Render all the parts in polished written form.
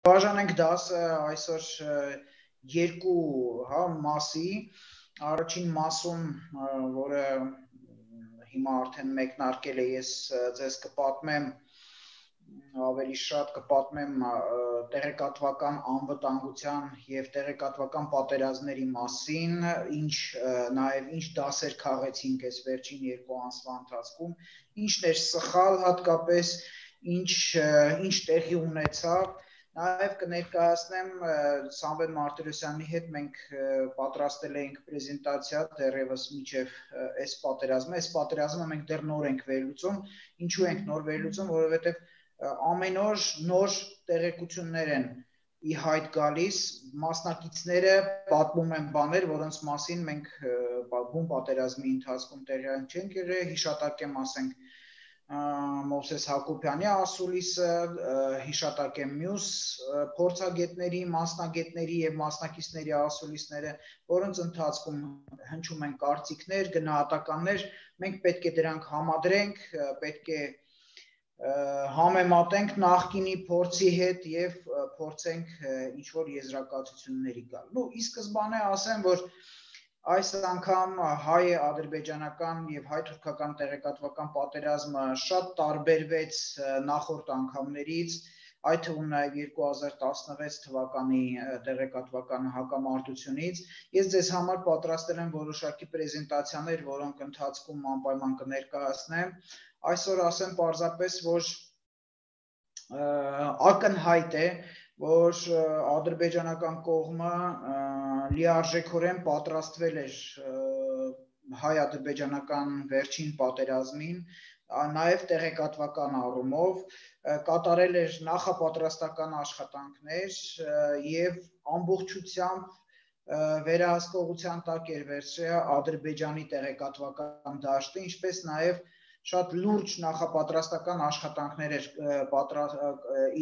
Բաժանենք դասը այսօր երկու մասի, առաջին մասում, որը հիմա արդեն մեկնարկել է, ես ձեզ կպատմեմ, ավելի շատ կպատմեմ տեղեկատվական անվտանգության և տեղեկատվական պատերազմների մասին, նաև ինչ դասեր քաղեցինք այս վերջին երկու ամսվա ընթացքում, ինչն էր սխալ հատկապես, ինչ տեղի ունեցավ, նաև կներկայացնեմ Սամվել Մարտիրոսյանի հետ մենք պատրաստել էինք պրեզենտացիա դեռևս մինչև այս պատերազմը մենք դեռ նոր ենք վերլուծում, ինչու ենք նոր վերլուծում, որովհետև ամեն օր նոր տեղեկություններ են ի հայտ գալիս, մասնակիցները պատմում են բաներ, որոնց մասին մենք բուն պատերազմի ընթացքում տեղյակ չենք եղել, հիշատակեմ ասենք Մովսես Հակոբյանի ասուլիսը, հիշատակեմ մյուս փորձագետների, մասնագետների և մասնակիցների ասուլիսները, որոնց ընթացքում հնչում են կարծիքներ, գնահատականներ, մենք պետք է դրանք համադրենք, պետք է համեմատենք նախկինի փորձի հետ և փորձենք ինչ-որ եզրակացությունների գալ։ Ի սկզբանե ասեմ, որ այս անգամ հայ-ադրբեջանական և հայ-թուրքական տեղեկատվական պատերազմը շատ տարբերվեց նախորդ անգամներից, այդ թվում նաև 2016 թվականի տեղեկատվական հակամարտությունից։ Ես ձեզ համար պատրաստել եմ որոշակի պրեզենտացիաներ, որոնք ընթացքում անպայման կներկայացնեմ։ Այսօր ասեմ պարզապես, որ ակնհայտ է, որ ադրբեջանական կողմը լիարժեքորեն պատրաստվել էր հայ-ադրբեջանական վերջին պատերազմին, նաև տեղեկատվական առումով, կատարել էր նախապատրաստական աշխատանքներ և ամբողջությամբ վերահսկողության տակ էր վերցրել Ադրբեջանի տեղեկատվական դաշտը, ինչպես նաև շատ լուրջ նախապատրաստական աշխատանքներ էր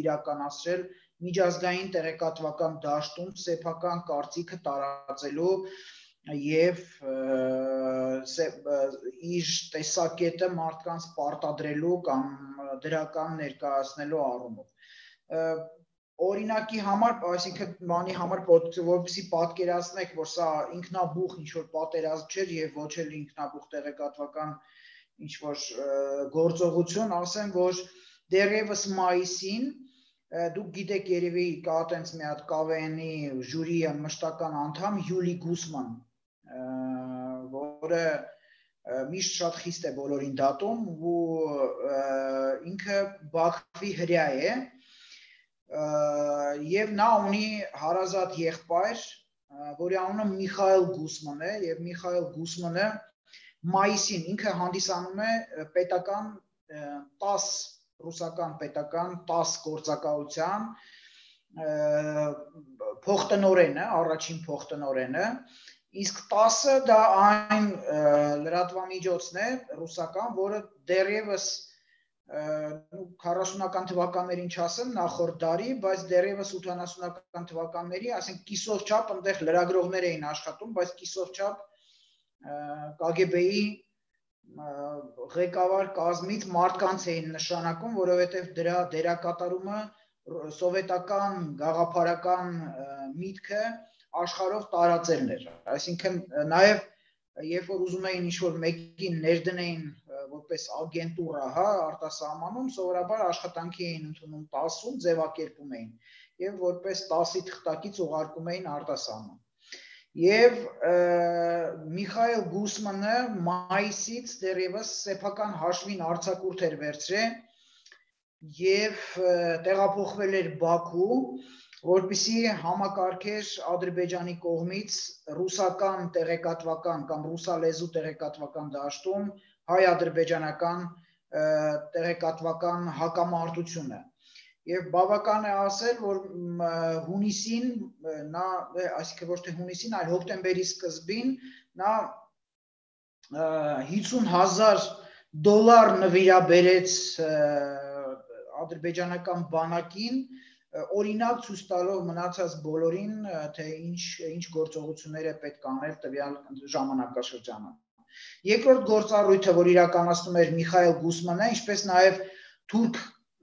իրականացրել միջազգային տեղեկատվական դաշտում սեփական կարծիքը տարածելու և իր տեսակետը մարդկանց պարտադրելու կամ դրական ներկայացնելու առումով։ Օրինակի համար, այսինքն բանի համար, որպեսզի պատկերացնեք, որ սա ինքնաբուխ ինչ-որ պատերազմ չէր և ոչ էլ ինքնաբուխ տեղեկատվական ինչ-որ գործողություն, ասեմ, որ դեռևս մայիսին, դուք գիտեք երևի կա տենց մի հատ KVN-ի ժյուրիի մշտական անդամ Յուլի Գուսման, որը միշտ շատ խիստ է բոլորին դատում ու ինքը Բաքվի հրյա է և նա ունի հարազատ եղբայր, որի անունը Միխայել Գուսման է և Միխայել Գուսմանը մայիսին ինքը հանդիսանում է պետական 10 ռուսական պետական 10 գործակալության փոխտնօրենը, առաջին փոխտնօրենը, իսկ 10-ը դա այն լրատվամիջոցն է ռուսական, որը դեռևս 40-ական թվականներին չասեմ նախորդ դարի, բայց դեռևս 80-ական թվականների, ասենք կիսով չափ այնտեղ լրագրողներ էին աշխատում, բայց կիսով չափ KGB-ի ղեկավար կազմից մարդկանց էին նշանակում, որովհետև դրա դերակատարումը սովետական գաղափարական միտքը աշխարհով տարածելն էր։ Այսինքն նաև երբ որ ուզում էին ինչ-որ մեկին ներդնեին որպես ագենտուրա, արտասահմանում, սովորաբար աշխատանքի էին ընդունում 10-ում, ձևակերպում էին և որպես 10-ի թղթակից ուղարկում էին արտասահման։ Եվ Միխայել Գուսմանը մայիսից դեռևս սեփական հաշվին արձակուրդ էր վերցրել և տեղափոխվել էր Բաքու, որպեսզի համակարգեր Ադրբեջանի կողմից ռուսական տեղեկատվական կամ ռուսալեզու տեղեկատվական դաշտում հայ-ադրբեջանական տեղեկատվական հակամարտությունը։ Եվ բավական է ասել, որ հունիսին, այսինքն ոչ թե հունիսին, այլ հոկտեմբերի սկզբին, նա $50,000 նվիրաբերեց ադրբեջանական բանակին, օրինակ ցույց տալով մնացած բոլորին, թե ինչ գործողություններ է պետք անել տվյալ ժամանակաշրջանում։ Երկրորդ գործառույթը, որ իրականացնում էր Միխայել Գուսմանը, ինչպես նաև թուրք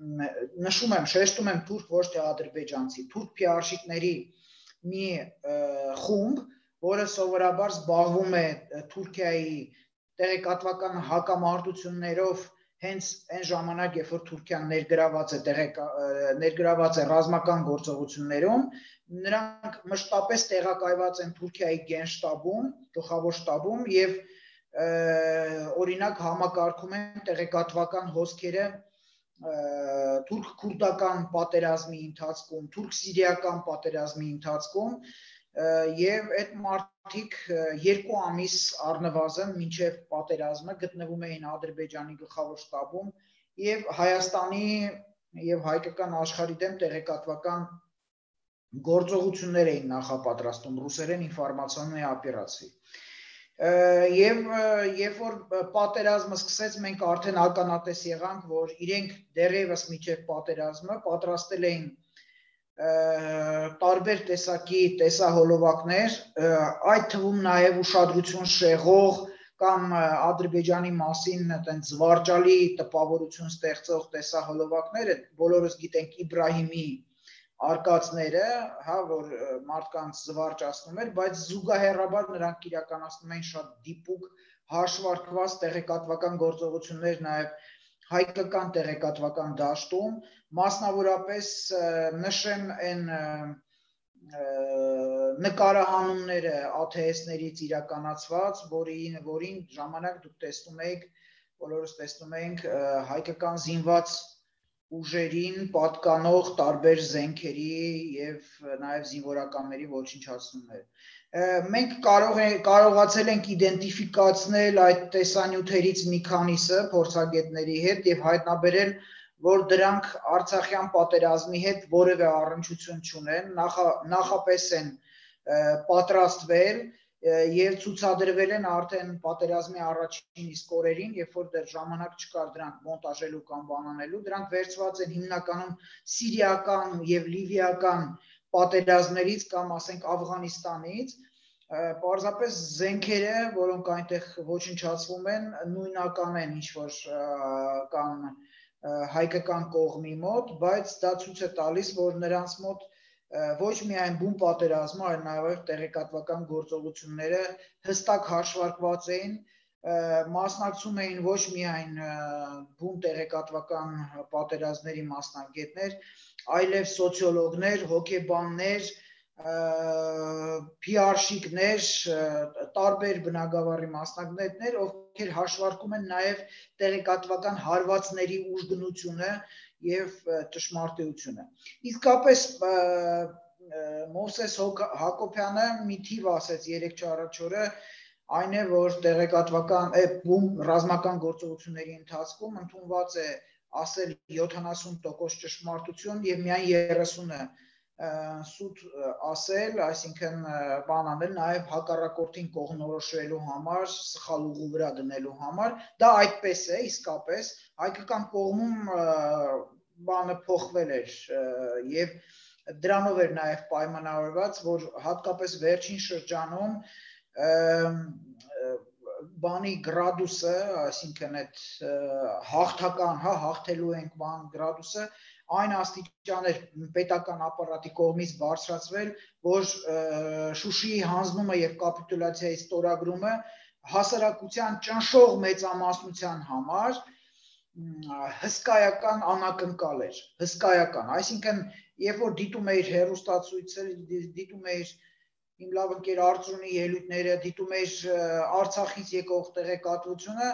նշում եմ, շեշտում եմ թուրք ոչ թե ադրբեջանցի, թուրք փիարշիկների մի խումբ, որը սովորաբար զբաղվում է Թուրքիայի տեղեկատվական հակամարտություններով հենց այն ժամանակ, երբ որ Թուրքիան ներգրաված է ռազմական գործողություններում, նրանք մշտապես տեղակայված են Թուրքիայի գենշտաբում, գլխավոր շտաբում եւ օրինակ համակարգում են տեղեկատվական հոսքերը թուրք-քուրդական պատերազմի ընթացքում, թուրք-սիրիական պատերազմի ընթացքում եւ այդ մարդիկ 2 ամիս առնվազն մինչեւ պատերազմը գտնվում էին Ադրբեջանի գլխավոր շտաբում եւ Հայաստանի եւ հայկական աշխարհի դեմ տեղեկատվական գործողություններ էին նախապատրաստում ռուսերեն ինֆորմացիոննի օպերացիա Եվ երբ որ պատերազմը սկսեց, մենք արդեն ականատես եղանք, որ իրենք դեռևս միջև պատերազմը պատրաստել էին տարբեր տեսակի տեսահոլովակներ, այդ թվում նաև ուշադրություն շեղող կամ Ադրբեջանի մասին այդպես զվարճալի տպավորություն ստեղծող տեսահոլովակներ, բոլորս գիտենք Իբրահիմի արկածները, հա, որ մարդկանց զվարճացնում էր, բայց զուգահեռաբար նրանք իրականացնում էին շատ դիպուկ հաշվարկված տեղեկատվական գործողություններ նաև հայկական տեղեկատվական դաշտում, մասնավորապես նշեմ այն նկարահանումները ATS-ներից իրականացված, որին ժամանակ դուք տեսնում եք, բոլորս տեսնում ենք հայկական զինված ուժերին պատկանող տարբեր զենքերի եւ նաեւ զինվորականների ոչնչացումներ։ Մենք կարողացել ենք իդենտիֆիկացնել այդ տեսանյութերից մի քանիսը փորձագետների հետ եւ հայտնաբերել, որ դրանք Արցախյան պատերազմի հետ որևէ առնչություն չունեն, նախապես են պատրաստվել եւ ցուցադրվել են արդեն պատերազմի առաջին իսկ օրերին, երբ որ դեռ ժամանակ չկար դրանք մոնտաժելու կամ բանանելու, դրանք վերցված են հիմնականում սիրիական եւ լիվիական պատերազմներից կամ ասենք Աֆղանիստանից, պարզապես զենքերը, որոնք այնտեղ ոչնչացվում են, նույնական են ինչ որ կան հայկական կողմի մոտ, բայց դա ցույց է տալիս, որ նրանց մոտ ոչ միայն բուն պատերազմը, այլ նաև տեղեկատվական գործողությունները հստակ հաշվարկված էին, մասնակցում էին ոչ միայն բուն տեղեկատվական պատերազմների մասնագետներ, այլև սոցիոլոգներ, հոգեբաններ, PR-շիկներ, տարբեր բնագավառի մասնագետներ, ովքեր հաշվարկում են նաև տեղեկատվական հարվածների ուժգնությունը եւ ճշմարտությունը։ Իսկապես Մովսես Հակոբյանը մի թիվ ասեց 3-4 օրը, այն է, որ տեղեկատվական ռազմական գործողությունների ընթացքում ընդունված է ասել 70% ճշմարտություն եւ միայն 30-ը սուտ ասել, այսինքն բան անել նաև հակառակորդին կողմնորոշվելու համար, սխալ ուղու վրա դնելու համար, դա այդպես է, իսկապես հայկական կողմում բանը փոխվել էր եւ դրանով էր նաև պայմանավորված, որ հատկապես վերջին շրջանում բանի գրադուսը, այսինքն այդ հաղթական, հա, հաղթելու ենք բան գրադուսը այն աստիճան էր պետական ապարատի կողմից բարձրացվել, որ Շուշիի հանձնումը եւ կապիտուլյացիայի ստորագրումը հասարակության ճնշող մեծամասնության համար հսկայական անակնկալ էր, հսկայական, այսինքն երբ որ դիտում էիր հեռուստացույցեր, դիտում էիր իմ լավ ընկեր Արծրունի ելույթները, դիտում էիր Արցախից եկող տեղեկատվությունը,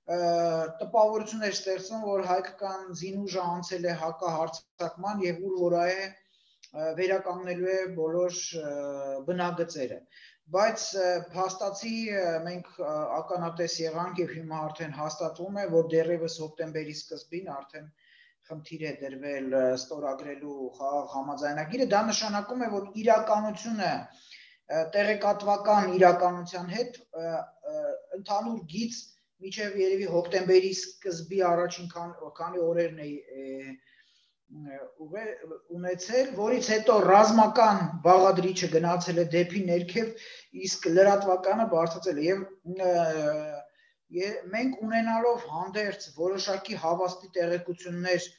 տպավորություն էր ստեղծում, որ հայկական զինուժը անցել է հակահարձակման եւ ուր որ է վերականգնելու է բոլոր բնագծերը, բայց փաստացի մենք ականատես եղանք եւ հիմա արդեն հաստատվում է, որ դեռևս հոկտեմբերի սկզբին արդեն խնդիր է դրվել ստորագրելու խաղաղ համաձայնագիրը, դա նշանակում է, որ իրականությունը տեղեկատվական իրականության հետ ընդհանուր գիծ Միջև երևի հոկտեմբերի սկզբի առաջին քանի օրերն է ունեցել, որից հետո ռազմական բաղադրիչը գնացել է դեպի ներքև, իսկ լրատվականը բարձրացել է եւ մենք ունենալով հանդերձ որոշակի հավաստի տեղեկություններ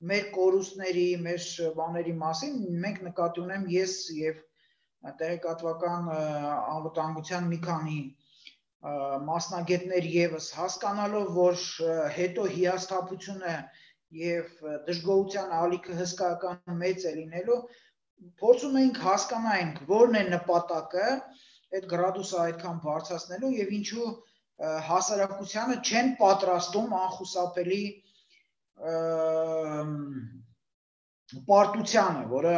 մեր կորուստների, մեր բաների մասին մենք նկատի ունեմ ես եւ տեղեկատվական անվտանգության մի քանի մասնագետներ եւս հասկանալով, որ հետո հիասթափությունը եւ դժգոհության ալիքը հսկայական մեծ է լինելու, փորձում ենք հասկանանք որն է նպատակը այդ գրադուսը այդքան բարձրացնելու եւ ինչու հասարակությանը չեն պատրաստում անխուսափելի պարտությանը, որը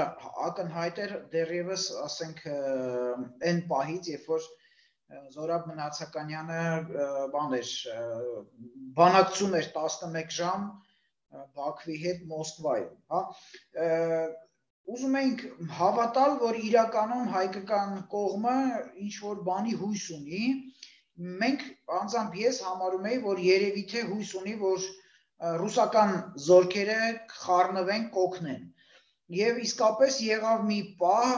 ակնհայտ էր դեռևս, ասենք, այն պահից, երբ որ Զորաբ Մնացականյանը բանակցում էր 11 ժամ Բաքվի հետ Մոսկվայում, հա, ուզում ենք հավատալ, որ իրականում հայկական կողմը ինչ որ բանի հույս ունի, մենք անձամբ ես համարում եի, որ երևի թե հույս ունի, որ ռուսական զորքերը խառնվեն, կօգնեն։ Եվ իսկապես եղավ մի պահ,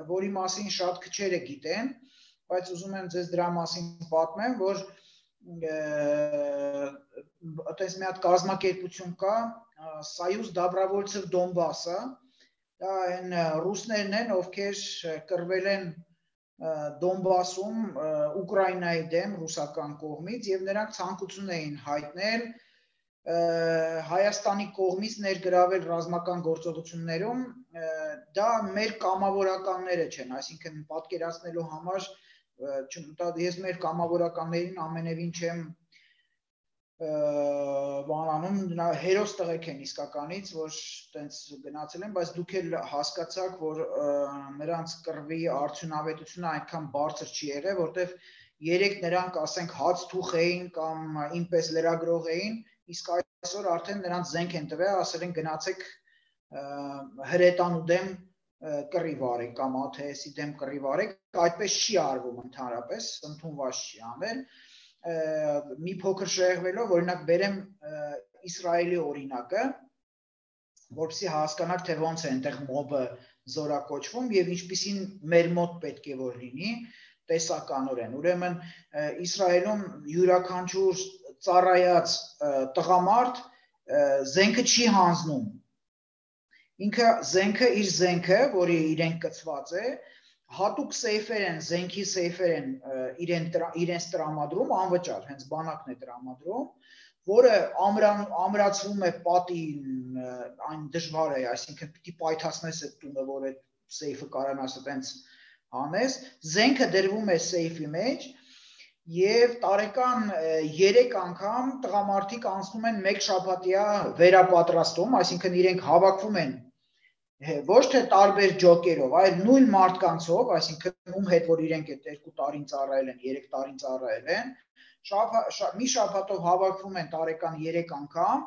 որի մասին շատ քչերը գիտեն, բայց ուզում եմ ձեզ դրա մասին պատմեմ, որ այդպես մի հատ կազմակերպություն կա, Սայուզ Դաբրավոլցև Դոնբասը, դա այն ռուսներն են, ովքեր կռվել են Դոնբասում Ուկրաինայի դեմ ռուսական կողմից եւ նրանք ցանկություն էին հայտնել Հայաստանի կողմից ներգրավել ռազմական գործողություններում, դա մեր կամավորականները չեն, այսինքն պատկերացնելու համար ես մեր կամավորականներին ամենևին չեմ բանանում, հերոս տղեկ են իսկականից, որ տենց գնացել են, բայց դուք էլ հասկացաք, որ նրանց կռվի արդյունավետությունը այնքան բարձր չի եղել, որտեվ երեք նրանք, ասենք, հաց թուխ էին կամ ինպես լրագրող էին, իսկ այսօր արդեն նրանց զենք են տվել, ասել են գնացեք հրետանու դեմ կռիվ արեք կամ ԱԹՍ-ի դեմ կռիվ արեք, այդպես չի արվում ընդհանրապես, ընդունված չի անել, մի փոքր շեղվելով, օրինակ բերեմ Իսրայելի օրինակը, որպեսզի հասկանաք, թե ոնց է այնտեղ մոբը զորակոչվում եւ ինչպիսին մեր մոտ պետք է որ լինի տեսականորեն։ Ուրեմն Իսրայելում յուրաքանչյուր ծառայած տղամարդ զենքը չի հանձնում։ Ինքը զենքը իր զենքը, որի իրեն կցված է, հատուկ սեյֆեր են, զենքի սեյֆեր են իրենց տրամադրում, անվճար, հենց բանակն է տրամադրում, որը ամրացվում է պատին, այն դժվար է, այսինքն պիտի պայթացնես այդ տունը, որ այդ սեյֆը կարողանաս այդպես հանես, զենքը դրվում է սեյֆի մեջ եւ տարեկան 3 անգամ տղամարդիկ անցնում են 1 շաբաթյա վերապատրաստում, այսինքն իրենք հավաքվում են ոչ թե տարբեր ջոկերով, այլ նույն մարդկանցով, այսինքն ում հետ որ իրենք այդ 2 տարին ծառայել են, 3 տարին ծառայել են, մի շաբաթով հավաքվում են տարեկան 3 անգամ,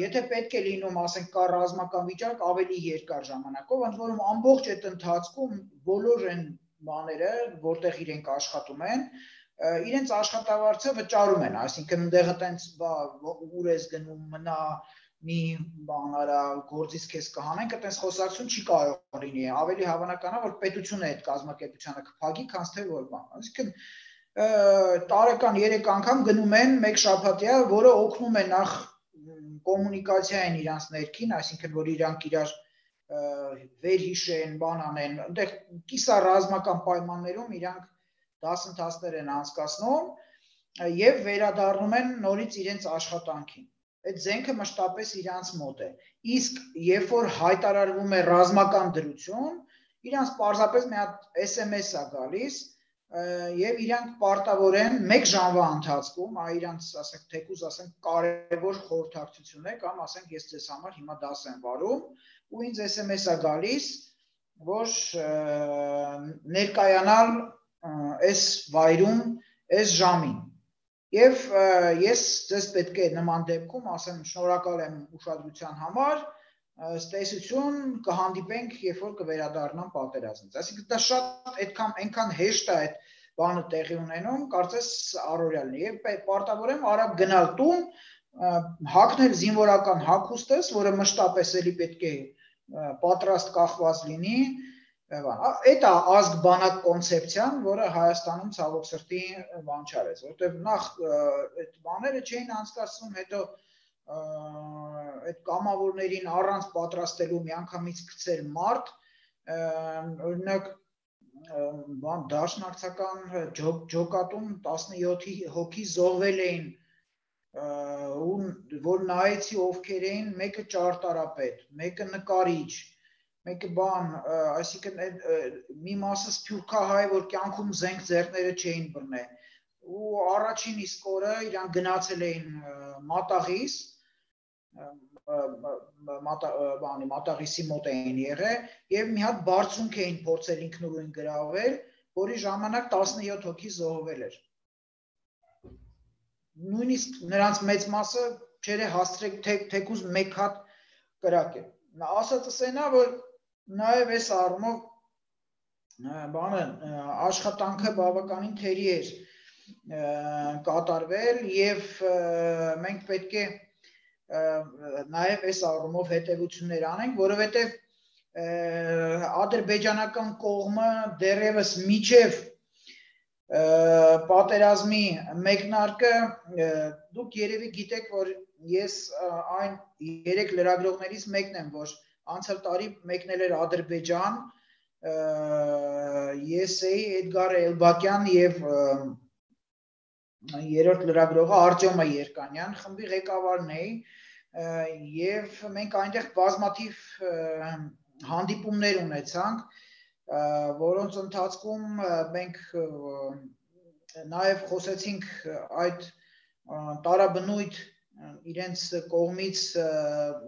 եթե պետք է լինում, ասենք, կա ռազմական վիճակ ավելի երկար ժամանակով, ընդ որում ամբողջ այդ ընթացքում բոլոր այն բաները, որտեղ իրենք աշխատում են, իրենց աշխատավարձը վճարում են, այսինքն ընդեղ այտենց ուր ես գնում, մնա մի բան արա, գործից քեզ կհանենք, այտենց խոսակցություն չի կարող լինի, ավելի հավանական է, որ պետությունը այդ կազմակերպությանը կփակի, քան թե որ բան, այսինքն տարեկան 3 անգամ գնում են 1 շաբաթյա, որը օգնում է նախ կոմունիկացիային իրանց ներքին, այսինքն որ իրանք իրար վերհիշեն, բան անեն, այնտեղ կիսառազմական պայմաններում իրանք դասընթացներ են անցկացնում եւ վերադառնում են նորից իրենց աշխատանքին։ Այդ զենքը մշտապես իրանց մոտ է։ Իսկ երբ որ հայտարարվում է ռազմական դրություն, իրանց պարզապես մի հատ SMS է գալիս եւ իրանք պարտավոր են 1 ժամվա ընթացքում, իրանց, ասենք, թեկուզ, ասենք, կարևոր խորհրդակցություն է կամ ասենք ես ձեզ համար հիմա դաս եմ վարում ու ինձ SMS է գալիս, որ ներկայանալ այս վայրում, այս ժամին։ Եվ ես ձեզ պետք է նման դեպքում ասեմ շնորհակալ եմ ուշադրության համար, ստեսություն կհանդիպենք, երբ որ կվերադառնամ պատերազմից։ Այսինքն դա շատ այնքան հեշտ է այդ բանը տեղի ունենում, կարծես առօրյա լինի։ Եվ պարտավոր եմ արագ գնալ տուն, հագնել զինվորական հագուստս, որը մշտապես էլի պետք է պատրաստ կախված լինի, այդ է ազգ բանակ կոնցեպցիան, որը Հայաստանում ցավոք սրտի բան չարեց, որտեղ նախ այդ բաները չէին անցկացվում, հետո այդ կամավորներին առանց պատրաստելու միանգամից գցել մարդ, օրինակ դաշնակցական ջոկատում 17 հոգի զոհվել էին, որ նայեցի ովքեր էին, մեկը ճարտարապետ, մեկը նկարիչ, մեկը բան, այսինքն մի մասը սփյուռքահայ, որ կյանքում զենք ձեռները չէին բռնել, ու առաջին իսկ օրը իրան գնացել էին մատաղիս, մատաղիսի մոտ էին եղել և մի հատ բարձունք էին փորձել ինքնուրույն գրավել, որի ժամանակ 17 հոգի զոհվել էր։ Նույնիսկ նրանց մեծ մասը չէր հասցրել թեկուզ մեկ հատ կրակել։ Ասածս այն է, որ նաև այս առումով աշխատանքը բավականին թերի էր կատարվել և մենք պետք է նաև այս առումով հետևություններ անենք, որովհետև ադրբեջանական կողմը դեռևս մինչև պատերազմի մեկնարկը, դուք երևի գիտեք, որ ես այն 3 լրագրողներից մեկն եմ, որ անցյալ տարի մեկնել էր Ադրբեջան, ես էի Էդգար Էլբակյան և երրորդ լրագրողը Արտյոմը Երկանյան, խմբի ղեկավարն էի, և մենք այնտեղ բազմաթիվ հանդիպումներ ունեցանք, որոնց ընթացքում մենք նաև խոսեցինք այդ տարաբնույթ իրենց կողմից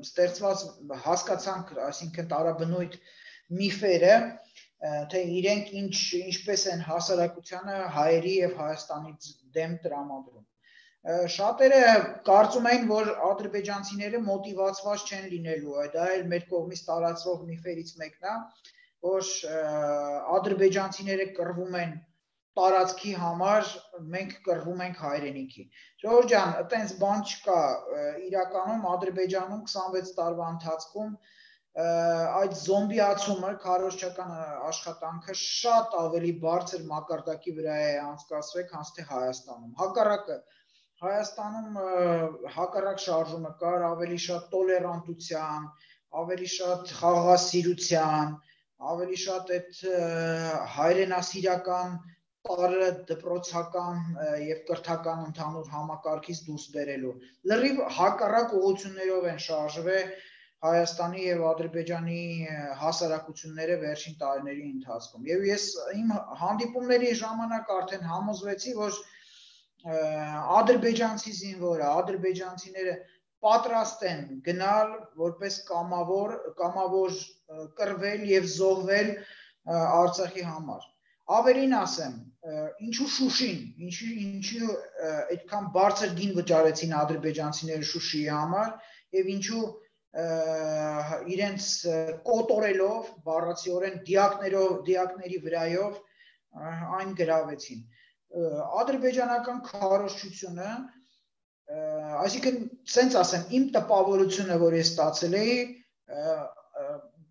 ստեղծված հասկացանք, այսինքն տարաբնույթ միֆերը, թե իրենք ինչպես են հասարակությանը հայերի և Հայաստանի դեմ տրամադրում։ Շատերը կարծում են, որ ադրբեջանցիները մոտիվացված չեն լինելու, դա էլ մեր կողմից տարածվող միֆերից մեկն է, որ ադրբեջանցիները կռվում են տարածքի համար, մենք կռվում ենք հայրենիքի։ Ժողովուրդ ջան, այտենց բան չկա, իրականում Ադրբեջանում 26 տարվա ընթացքում այդ զոմբիացումը, քարոզչական աշխատանքը շատ ավելի բարձր մակարդակի վրա է անցկացվել, քան թե Հայաստանում։ Հակառակը Հայաստանում հակառակ շարժումը կար, ավելի շատ տոլերանտության, ավելի շատ խաղաղասիրության, ավելի շատ այդ հայրենասիրական տարը դպրոցական և կրթական ընդհանուր համակարգից դուրս բերելու։ Լրիվ հակառակ ուղղություններով են շարժվել Հայաստանի և Ադրբեջանի հասարակությունները վերջին տարիների ընթացքում։ Եվ ես իմ հանդիպումների ժամանակ արդեն համոզվեցի, որ ադրբեջանցի զինվորը, ադրբեջանցիները պատրաստ են գնալ որպես կամավոր կռվել և զոհվել Արցախի համար։ Ավելին ասեմ, ինչու Շուշին, ինչու այդքան բարձր գին վճարեցին ադրբեջանցիները Շուշիի համար և ինչու իրենց կոտորելով, բառացիորեն դիակների վրայով այն գրավեցին։ Ադրբեջանական քարոզչությունը, այսինքն, սենց ասեմ, իմ տպավորությունը, որ ես ստացել էի,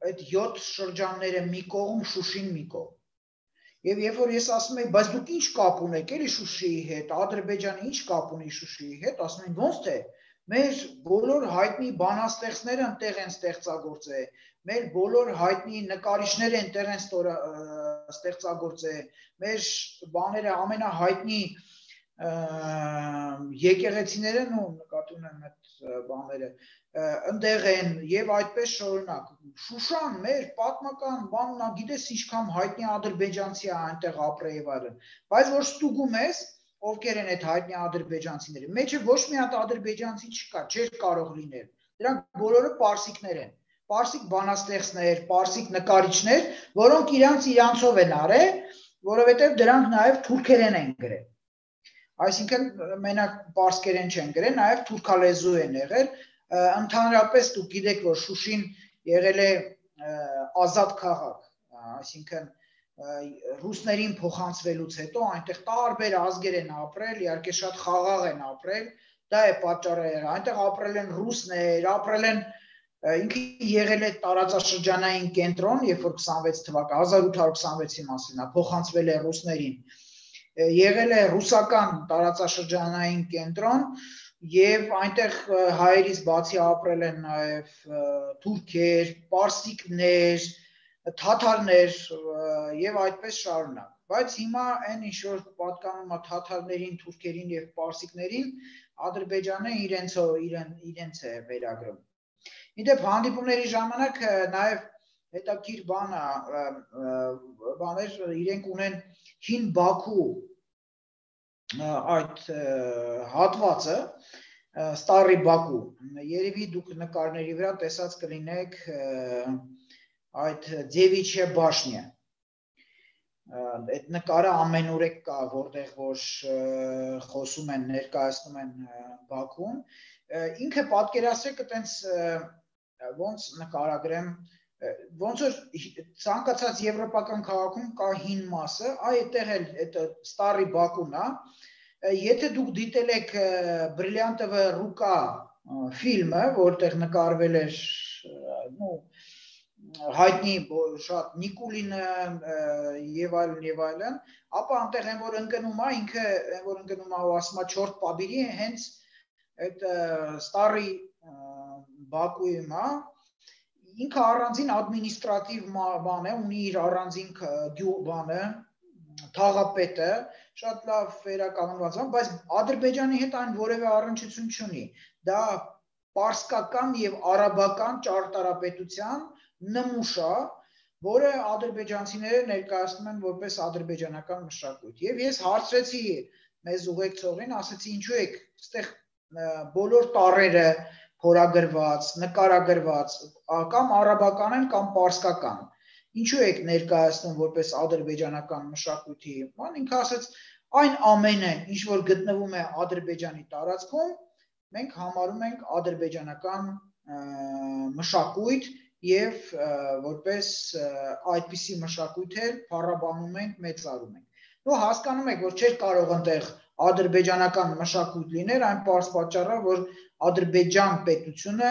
այդ 7 շրջանները մի կողմ, Շուշին մի կողմ։ Եվ երբ որ ես ասում եի, բայց դուք ինչ կապ ունեք էլի Շուշիի հետ, Ադրբեջանը ինչ կապ ունի Շուշիի հետ, ասում են ոնց թե, մեր բոլոր հայտնի բանաստեղծները ընտեղ են ստեղծագործել, մեր բոլոր հայտնի նկարիչները ընտեղ են ստեղծագործել, մեր բաները ամենահայտնի եկեղեցիները, նկատի ունեմ այդ բաները, ընդեղ են և այդպես շարունակ։ Շուշան մեր պատմական բանն, գիտես ինչքան հայտնի ադրբեջանցի է այնտեղ ապրել եւ այլն, բայց որ ստուգում ես, ովքեր են այդ հայտնի ադրբեջանցիները, մեջը ոչ մի հատ ադրբեջանցի չկա, չէր կարող լինել, դրանք բոլորը պարսիկներ են, պարսիկ բանաստեղծներ, պարսիկ նկարիչներ, որոնք իրանցով են արել, որովհետև դրանք նաև թուրքերեն են գրել։ Այսինքն մենակ պարսկերեն չեն գրել, նաև թուրքալեզու են եղել, ընդհանրապես դուք գիտեք, որ Շուշին եղել է ազատ քաղաք, այսինքն ռուսներին փոխանցվելուց հետո այնտեղ տարբեր ազգեր են ապրել, իհարկե շատ խաղաղ են ապրել, դա է պատճառը, այնտեղ ապրել են ռուսներ, ապրել են, ինքը եղել է տարածաշրջանային կենտրոն, երբ որ 26 թվականի 1826-ի մասին, փոխանցվել է ռուսներին, եղել է ռուսական տարածաշրջանային կենտրոն, Եվ այնտեղ հայերից բացի ապրել են նաև թուրքեր, պարսիկներ, թաթարներ եւ այդպես շարունակ։ Բայց հիմա այն ինչ որ պատկանում է թաթարներին, թուրքերին եւ պարսիկներին, Ադրբեջանը իրենց է վերագրում։ Իդեպ հանդիպումների ժամանակ նաև հետաքրքիր բաներ իրենք ունեն հին Բաքու այդ հատվածը Ստարի Բաքու երևի դուք նկարների վրա տեսած կլինեք այդ Դևիչե բաշնյա այդ նկարը ամենուրեք կա որտեղ որ խոսում են ներկայացնում են Բաքուն ինքը պատկերացրեք այտենց ոնց նկարագրեմ ոնց որ ցանկացած եվրոպական քաղաքում կա հին մասը այդտեղ էլ այդ Ստարի Բաքուն է Եթե դուք դիտել եք Բրիլյանտովը Ռուկա ֆիլմը, որտեղ նկարվել էր հայտնի շատ Նիկուլինը եւ այլն, ապա այնտեղ են որ ընկնում է, ինքը են որ ընկնում է ու ասում է 4 պաբիրի, հենց այդ Ստարի Բաքուում է, ինքը առանձին ադմինիստրատիվ բան է, ունի իր առանձին բանը թաղապետը շատ լավ վերականգնված է, բայց Ադրբեջանի հետ այն որևէ առնչություն չունի։ Դա պարսկական եւ արաբական ճարտարապետության նմուշ է, որը ադրբեջանցիները ներկայացնում են որպես ադրբեջանական մշակույթ։ Եվ ես հարցրեցի մեզ ուղեկցողին, ասեցի ինչու եք այստեղ բոլոր տառերը փորագրված, նկարագրված, կամ արաբական են, կամ պարսկական։ Ինչու եք ներկայացնում որպես ադրբեջանական մշակույթի, ման ինքը ասաց այն ամենը, ինչ որ գտնվում է Ադրբեջանի տարածքում, մենք համարում ենք ադրբեջանական մշակույթ եւ որպես այդպիսի մշակույթ էլ փառաբանում ենք, մեծարում ենք։ Դու հասկանում եք, որ չէր կարող այնտեղ ադրբեջանական մշակույթ լինել, այն պարզ պատճառով, որ Ադրբեջան պետությունը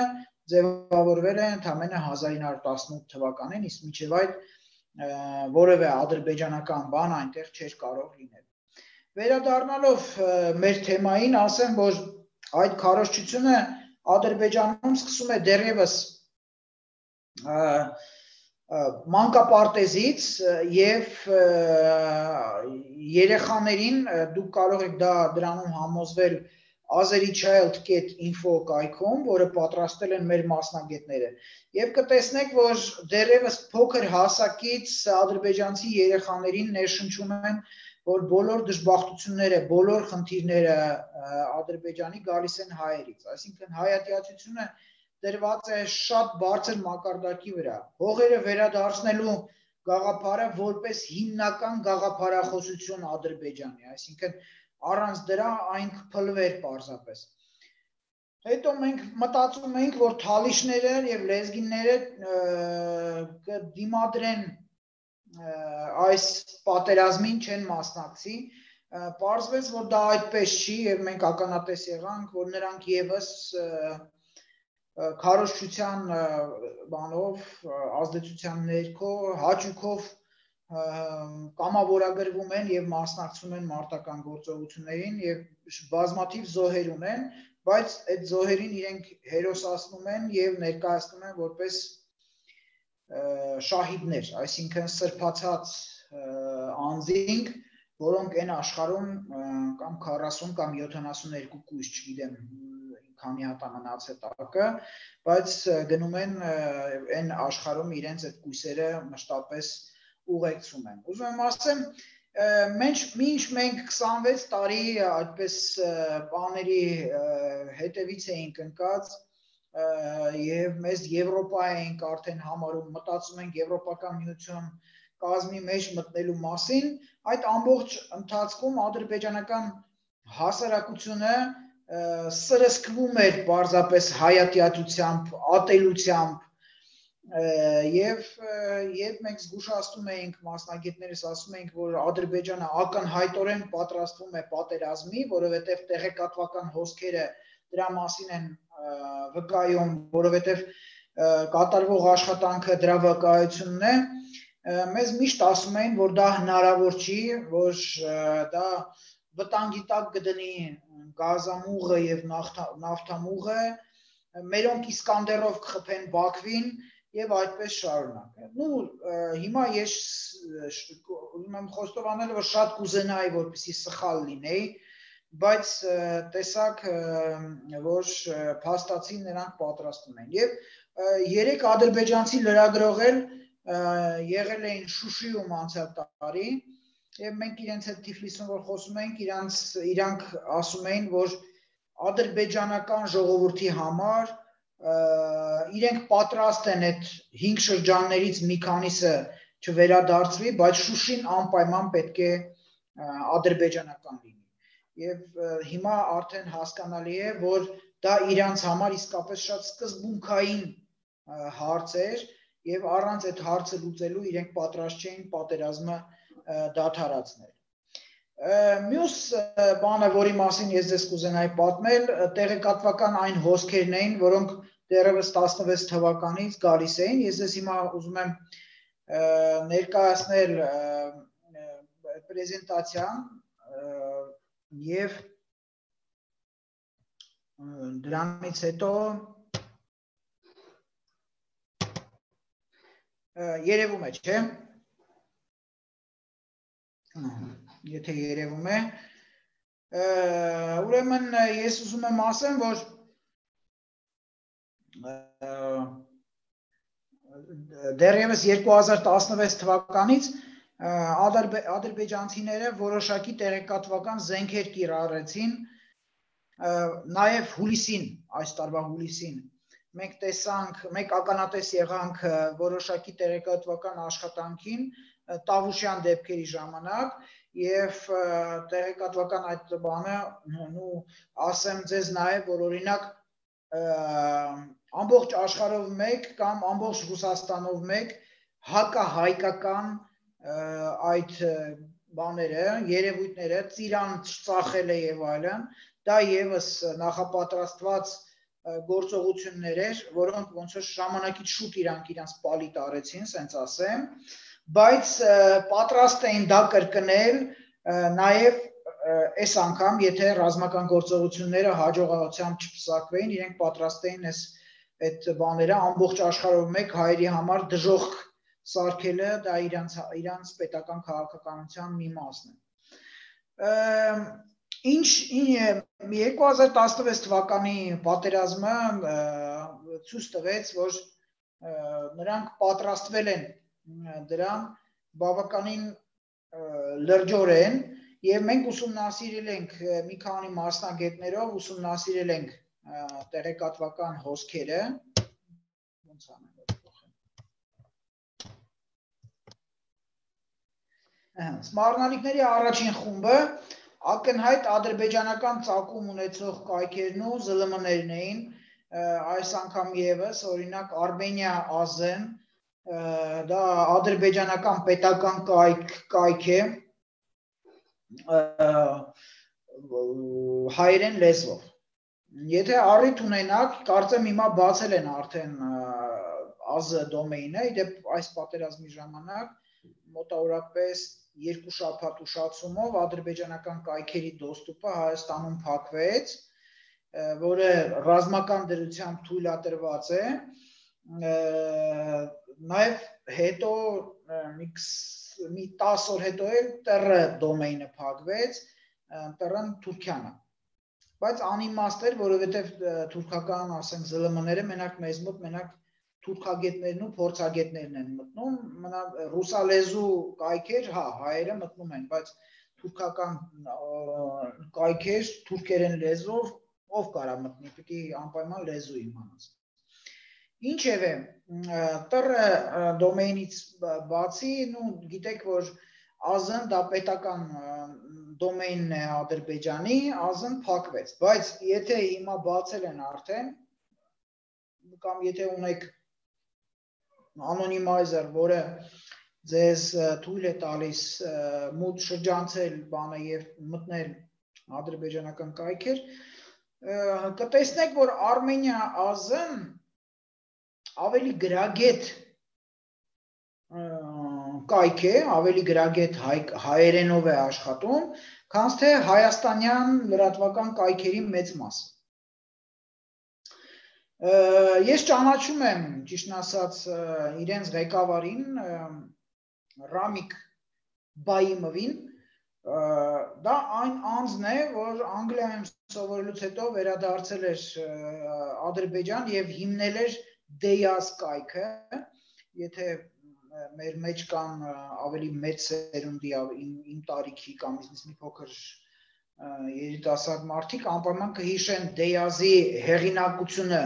ձևավորվել է ընդամենը 1918 թվականին, իսկ մինչև այդ որևէ ադրբեջանական բան այնտեղ չէր կարող լինել։ Վերադառնալով մեր թեմային, ասեմ, որ այդ քարոզչությունը Ադրբեջանում սկսում է դեռևս մանկապարտեզից եւ երեխաներին դուք կարող եք դրանում համոզվել azerichild.info կայքում, որը պատրաստել են մեր մասնագետները, եւ կտեսնեք, որ դեռևս փոքր հասակից ադրբեջանցի երեխաներին ներշնչում են, որ բոլոր դժբախտությունները, բոլոր խնդիրները Ադրբեջանի գալիս են հայերից, այսինքն հայատյացությունը դրված է շատ բարձր մակարդակի վրա, հողերը վերադարձնելու գաղափարը որպես հիմնական գաղափարախոսություն Ադրբեջանի, այսինքն առանց դրա այն կփլվեր պարզապես։ Հետո մենք մտածում ենք, որ թալիշները եւ լեզգինները կդիմադրեն այս պատերազմին չեն մասնակցի, պարզվեց, որ դա այդպես չի եւ մենք ականատես եղանք, որ նրանք եւս քարոզչության բանով, ազդեցության ներքո, հաճույքով կամավորագրվում են եւ մասնակցում են մարտական գործողություններին եւ բազմաթիվ զոհեր ունեն, բայց այդ զոհերին իրենք հերոսացնում են եւ ներկայացնում են որպես շահիդներ, այսինքն սրբացած անձինք, որոնք այն աշխարհում կամ 40 կամ 72 կույս, չգիտեմ, քանի հատ մնաց է տակը, բայց գնում են այն աշխարհում իրենց այդ կույսերը մշտապես ուղեկցում են։ Ուզում եմ ասեմ, մինչ մենք 26 տարի այդպես բաների հետևից էինք ընկած եւ մեզ Եվրոպա էինք արդեն համարում, մտածում ենք Եվրոպական միություն կազմի մեջ մտնելու մասին, այդ ամբողջ ընթացքում ադրբեջանական հասարակությունը սրսկվում էր պարզապես հայատյացությամբ, ատելությամբ եւ մենք զգուշացնում էինք մասնագետներս ասում էինք, որ Ադրբեջանը ակնհայտորեն պատրաստվում է պատերազմի, որովհետեւ տեղեկատվական հոսքերը դրա մասին են վկայում, որովհետեւ կատարվող աշխատանքը դրա վկայությունն է, մեզ միշտ ասում էին, որ դա հնարավոր չի, որ դա վտանգի տակ կդնի գազամուղը եւ նավթամուղը, մերոնք Իսկանդերով կխփեն Բաքվին եւ այդպես շարունակ։ Ну, հիմա ես ուզում եմ խոստովանել, որ շատ կուզենայի, որպեսզի սխալ լինեի, բայց տեսակ, որ փաստացի նրանք պատրաստում են։ Եվ երեք ադրբեջանցի լրագրողել եղել էին Շուշիում անցյալ տարի, եւ մենք իրենց հետ Թիֆլիսում որ խոսում ենք, իրանք ասում էին, որ ադրբեջանական ժողովրդի համար իրենք պատրաստ են այդ 5 շրջաններից մի քանիսը չվերադարձվի, բայց Շուշին անպայման պետք է ադրբեջանական լինի։ Եվ հիմա արդեն հասկանալի է, որ դա իրանց համար իսկապես շատ սկզբունքային հարց էր եւ առանց այդ հարցը լուծելու իրենք պատրաստ չէին պատերազմը դադարեցնել։ Մյուս բանը, որի մասին ես ձեզ կուզենայի պատմել, տեղեկատվական այն հոսքերն էին, որոնք դեռևս 16 թվականից գալիս էին։ Ես ձեզ հիմա ուզում եմ ներկայացնել պրեզենտացիան եւ դրանից հետո երևում է, չէ՞։ Եթե երևում է, ուրեմն ես ուզում եմ ասեմ, որ դեռևս 2016 թվականից ադրբեջանցիները որոշակի տեղեկատվական զենքեր կիրառեցին, նաև հուլիսին, այս տարվա հուլիսին մենք տեսանք, մենք ականատես եղանք որոշակի տեղեկատվական աշխատանքին Տավուշյան դեպքերի ժամանակ եւ տեղեկատվական այդ բանը, ասեմ ձեզ նաև, որ օրինակ ամբողջ աշխարհով մեկ կամ ամբողջ Ռուսաստանով մեկ հակահայկական այդ բաները, երևույթները, ծիրան ծախել է եւ այլն, դա եւս նախապատրաստված գործողություններ էր, որոնք ոնց որ ժամանակից շուտ իրանք պալիտ արեցին, ասենց ասեմ, բայց պատրաստ էին դա կրկնել նաև այս անգամ, եթե ռազմական գործողությունները հաջողությամբ չփսակվեին, իրենք պատրաստ էին այդ բաները ամբողջ աշխարհով մեկ հայերի համար դժոխք սարքելը, դա իրանց պետական քաղաքականության մի մասն է։ Ինչ 2016 թվականի պատերազմը ցույց տվեց, որ նրանք պատրաստվել են դրան բավականին լրջորեն եւ մենք ուսումնասիրել ենք մի քանի մասնագետներով ուսումնասիրել ենք տեղեկատվական հոսքերը, ոնց անեմ Սմարնալիքների առաջին խումբը ակնհայտ ադրբեջանական ծագում ունեցող կայքերն ու ԶԼՄ-ներն էին, այս անգամ եւս օրինակ Արմենիա Ազեն, դա ադրբեջանական պետական կայք է հայերեն լեզվով։ Եթե առիթ ունենաք, կարծեմ հիմա բացել են արդեն AZ դոմեյնը, իդեպ այս պատերազմի ժամանակ մոտավորապես 2 շաբաթ ուշացումով ադրբեջանական կայքերի դոստուպը Հայաստանում փակվեց, որը ռազմական դրությամբ թույլատրված է, նաև հետո մի 10 օր հետո էլ TR դոմեյնը փակվեց, TR-ն Թուրքիան է, բայց անիմաստ էր, որովհետև թուրքական, ասենք, ԶԼՄ-ները մեզ մոտ մենակ թուրքագետներն ու փորձագետներն են մտնում, ռուսալեզու կայքեր, հա, հայերը մտնում են, բայց թուրքական կայքեր, թուրքերեն լեզվով, ով կարա մտնի, պիտի անպայման լեզու իմանաս։ Ինչևէ, TR դոմեյնից բացի, գիտեք, որ AZ-ն դա պետական դոմեյնն է Ադրբեջանի, AZ-ն փակվեց, բայց եթե հիմա բացել են արդեն, կամ եթե ունեք անոնիմայզեր, որը ձեզ թույլ է տալիս մուտ շրջանցել բանը եւ մտնել ադրբեջանական կայքեր, կտեսնեք, որ Արմենիա AZ-ն ավելի գրագետ կայք է, ավելի գրագետ հայերենով է աշխատում, քան թե հայաստանյան լրատվական կայքերի մեծ մասը։ Ես ճանաչում եմ, ճիշտն ասած, իրենց ղեկավարին, Ռամիկ Բայիմովին, դա այն անձն է, որ Անգլիայում սովորելուց հետո վերադարձել էր Ադրբեջան եւ հիմնել էր Դեյազ կայքը, եթե մեր մեջ կան ավելի մեծ սերունդի իմ տարիքի կամ ինձ մի փոքր երիտասարդ մարդիկ անպայման կհիշեն Դեյազի հեղինակությունը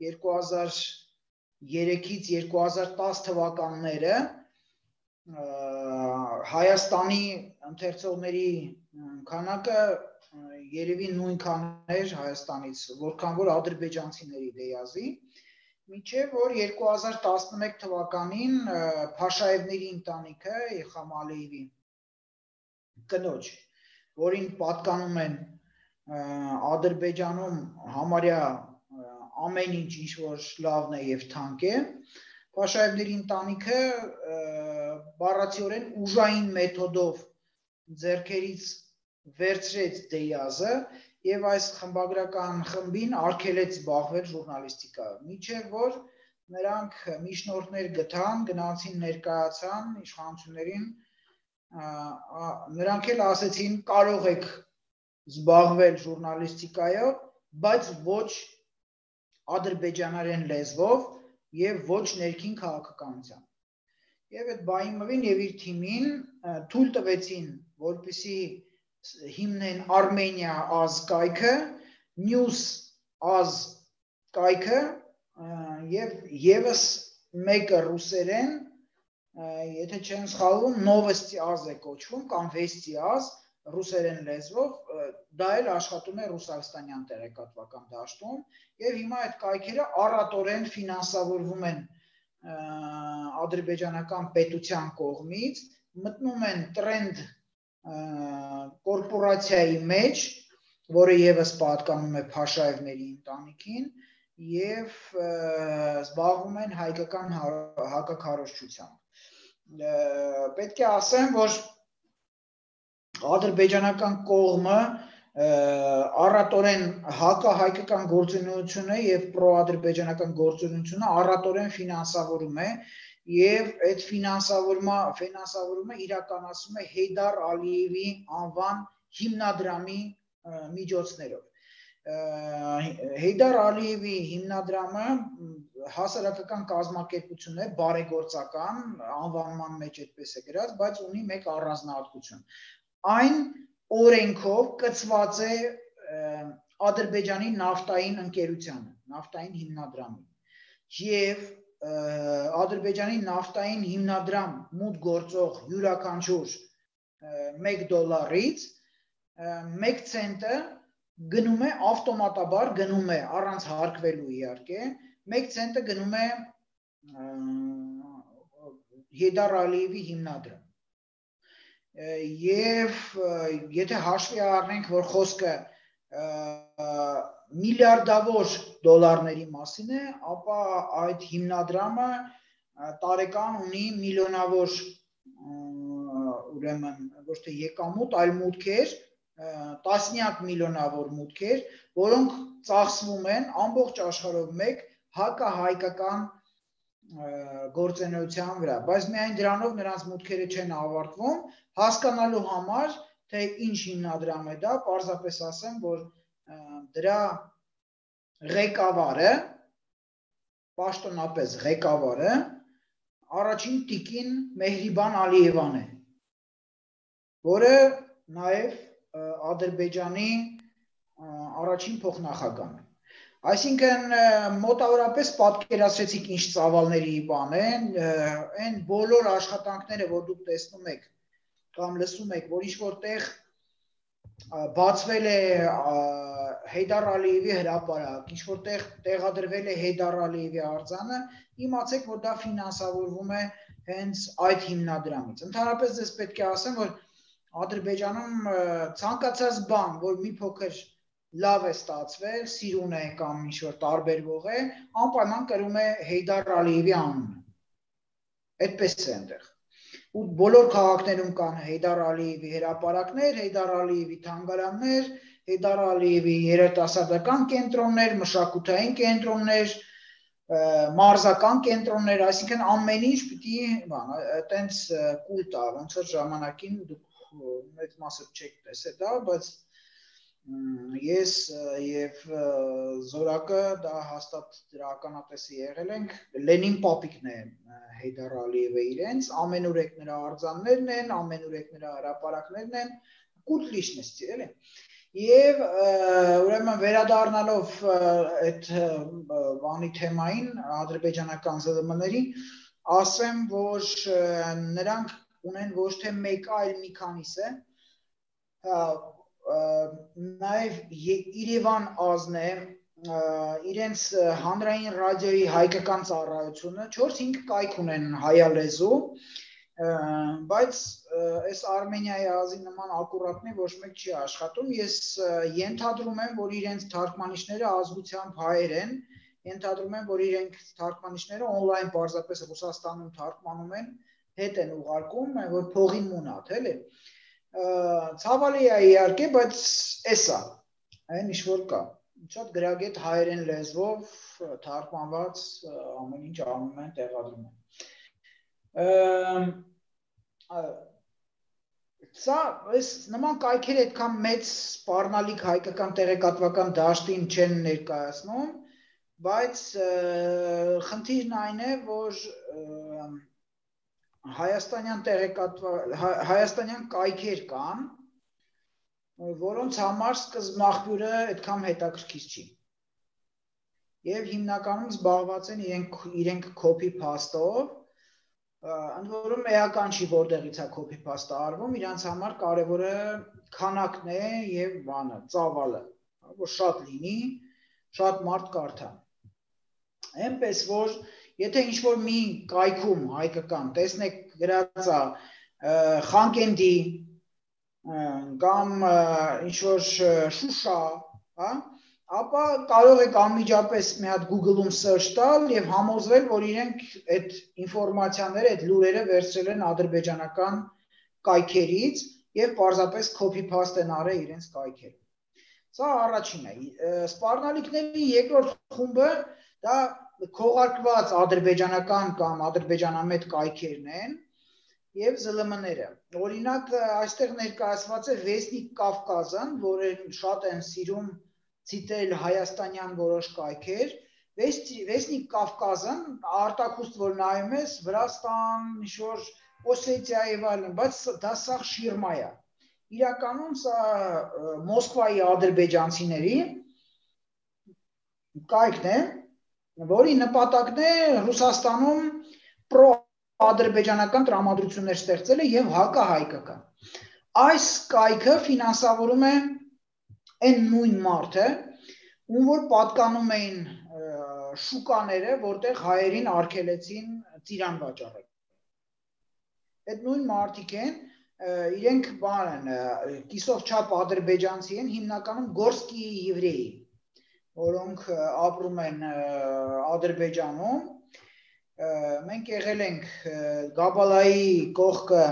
2003-ից 2010 թվականները Հայաստանի ընթերցողների քանակը երևի նույնքան էր Հայաստանից, որքան որ ադրբեջանցիների Դեյազի, մինչև որ 2011 թվականին Փաշաևների ընտանիքը Իլհամ Ալիևի կնոջ, որին պատկանում են Ադրբեջանում համարյա ամեն ինչ որ լավն է եւ թանկ է, Փաշաևների ընտանիքը բառացիորեն ուժային մեթոդով ձեռքերից վերցրեց Դեյազը եւ այս խմբագրական խմբին արգելեց զբաղվել ժուրնալիստիկայով, մինչև որ նրանք միջնորդներ գտան, գնացին ներկայացան իշխանություններին, նրանք էլ ասեցին կարող եք զբաղվել ժուրնալիստիկայով, բայց ոչ ադրբեջաներեն լեզվով եւ ոչ ներքին քաղաքականությամբ։ Եվ այդ Բայիմովին եւ իր թիմին թույլ տվեցին, որպեսզի հիմնեն Armenia Az կայքը, News Az կայքը եւ եւս մեկը ռուսերեն, եթե չեմ սխալվում, Novosti Az է կոչվում կամ Vesti Az ռուսերեն լեզվով, դա էլ աշխատում է ռուսաստանյան տեղեկատվական դաշտում եւ հիմա այդ կայքերը առատորեն ֆինանսավորվում են ադրբեջանական պետության կողմից, մտնում են Trend կորպորացիայի մեջ, որը եւս պատկանում է Փաշաևների ընտանիքին եւ զբաղվում են հայկական հակաքարոզչությամբ։ Պետք է ասեմ, որ ադրբեջանական կողմը առատորեն հակահայկական գործունեությունը եւ պրոադրբեջանական գործունեությունը առատորեն ֆինանսավորում է եւ այդ ֆինանսավորումը իրականացում է Հեյդար Ալիևի անվան հիմնադրամի միջոցներով։ Հեյդար Ալիևի հիմնադրամը հասարակական կազմակերպություն է, բարեգործական, անվանման մեջ այդպես է գրած, բայց ունի մեկ առանձնահատկություն։ Այն օրենքով կցված է Ադրբեջանի նավթային ընկերությանը, նավթային հիմնադրամին։ Եվ Ադրբեջանի նավթային հիմնադրամ մուտք գործող յուրաքանչյուր $1 1 ցենտը գնում է ավտոմատաբար գնում է առանց հարկվելու իհարկե 1 ցենտը գնում է Հեյդար Ալիևի հիմնադրամ։ Եվ եթե հաշվի առնենք, որ խոսքը միլիարդավոր դոլարների մասին է, ապա այդ հիմնադրամը տարեկան ունի միլիոնավոր ուրեմն ոչ թե եկամուտ, այլ մուտքեր, տասնյակ միլիոնավոր մուտքեր, որոնք ծախսվում են ամբողջ աշխարհով մեկ հակահայկական գործունեության վրա, բայց միայն դրանով նրանց մուտքերը չեն ավարտվում, հասկանալու համար, թե ինչ հիմնադրամ է դա, պարզապես ասեմ, որ դրա ղեկավարը, պաշտոնապես ղեկավարը, առաջին տիկին Մեհրիբան Ալիևան է, որը նաև Ադրբեջանի առաջին փոխնախագահն է։ Այսինքն մոտավորապես պատկերացրեցիք ինչ ծավալների բան են, այն բոլոր աշխատանքները, որ դուք տեսնում եք կամ լսում եք, որ ինչ-որտեղ բացվել է Հեյդար Ալիևի հրապարակ, ինչ-որտեղ տեղադրվել է Հեյդար Ալիևի արձանը, իմացեք, որ դա ֆինանսավորվում է հենց այդ հիմնադրամից։ Ընդհանրապես ձեզ պետք է ասեմ, որ Ադրբեջանում ցանկացած բան, որ մի փոքր լավ է ստացվել, սիրուն է կամ ինչ-որ տարբերվող է, անպայման կրում է Հեյդար Ալիևի անունը։ Այդպես է այնտեղ։ ու բոլոր քաղաքներում կան Հեյդար Ալիևի հրապարակներ, Հեյդար Ալիևի թանգարաններ, Հեյդար Ալիևի երիտասարդական կենտրոններ, մշակութային կենտրոններ, մարզական կենտրոններ, այսինքն ամեն ինչ պիտի այտենց կուլ տա, ոնց որ ժամանակին դուք մեծ մասը չեք տեսել դա, բայց ես եւ Զորակը դա հաստատ դրա ականատեսը եղել ենք, Լենին պապիկն է Հեյդար Ալիևը իրենց, ամենուրեք նրա արձաններն են, ամենուրեք նրա հրապարակներն են, կուլ լիշնեսցի, էլի։ Եվ ուրեմն վերադառնալով այդ բանի թեմային, ադրբեջանական ԶԼՄ-ների, ասեմ, որ նրանք ունեն ոչ թե մեկ այլ մի քանիսը, նաև Երևան ազն է, իրենց հանրային ռադիոյի հայկական ծառայությունը 4-5 կայք ունեն հայալեզու, բայց այս Արմենիայի ազի նման ակուրատնի ոչ մեկ չի աշխատում, ես ենթադրում եմ, որ իրենց թարգմանիչները ազգությամբ հայեր են, ենթադրում եմ, որ իրենք թարգմանիչները օնլայն պարզապես Ռուսաստանում թարգմանում են, հետ են ուղարկում, որ փողին մունատ, էլի։ Ցավալի է իհարկե, բայց էսա, այն ինչ որ կա, շատ գրագետ հայերեն լեզվով թարգմանված ամեն ինչ անում են, տեղադրում են։ Սա նման կայքերը այդքան մեծ սպառնալիք հայկական տեղեկատվական դաշտին չեն ներկայացնում, բայց խնդիրն այն է, որ հայաստանյան կայքեր կան, որոնց համար սկզբնաղբյուրը այդքան հետաքրքիր չի։ Եվ հիմնականում զբաղված են իրենք copy-paste-ով, ընդ որում էական չի որտեղից է copy-paste-ը արվում, իրանց համար կարևորը քանակն է եւ բանը, ծավալը, որ շատ լինի, շատ մարդ կարդա։ Այնպես որ եթե ինչ-որ մի կայքում հայկական տեսնեք գրած է Խանկենդի կամ ինչ-որ Շուշա, ապա կարող եք անմիջապես մի հատ Google-ում search տալ եւ համոզվել, որ իրենք այդ ինֆորմացիաները, այդ լուրերը վերցրել են ադրբեջանական կայքերից եւ պարզապես copy-paste են արել իրենց կայքերում։ Սա առաջինն է։ Սպառնալիքների երկրորդ խումբը դա քողարկված ադրբեջանական կամ ադրբեջանամետ կայքերն են եւ ԶԼՄ-ները։ Օրինակ այստեղ ներկայացված է Վեսնիկ Կավկազն, որը շատ են սիրում ցիտել հայաստանյան որոշ կայքեր։ Վեսնիկ Կավկազն արտաքուստ որ նայում ես Վրաստան, ինչ-որ Օսետիա եւ այլն, բայց դա սա շիրմա է։ Իրականում սա Մոսկվայի ադրբեջանցիների կայքն է, որի նպատակն է Ռուսաստանում պրո-ադրբեջանական տրամադրություններ ստեղծելը եւ հակահայկական։ Այս կայքը ֆինանսավորում է այն նույն մարդը, ում որ պատկանում էին շուկաները, որտեղ հայերին արգելեցին ծիրան վաճառել։ Այդ նույն մարդիկ են, իրենք բան են, կիսով չափ ադրբեջանցի են, հիմնականում գորսկի եվրեի, որոնք ապրում են Ադրբեջանում, մենք եղել ենք Գաբալայի կողքը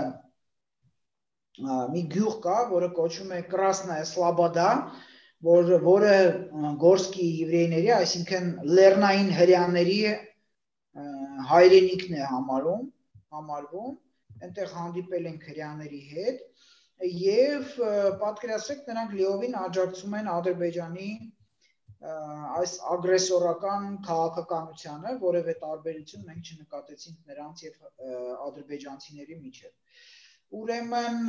մի գյուղ կա, որը կոչվում է Կրասնայա Սլաբադա, որը գորսկի եվրեյների, այսինքն լեռնային հրեաների հայրենիքն է համարվում, այնտեղ հանդիպել ենք հրեաների հետ եւ պատկերացրեք նրանք լիովին աջակցում են Ադրբեջանի այս ագրեսորական քաղաքականությանը, որևէ տարբերություն մենք չնկատեցինք նրանց եւ ադրբեջանցիների միջեւ։ Ուրեմն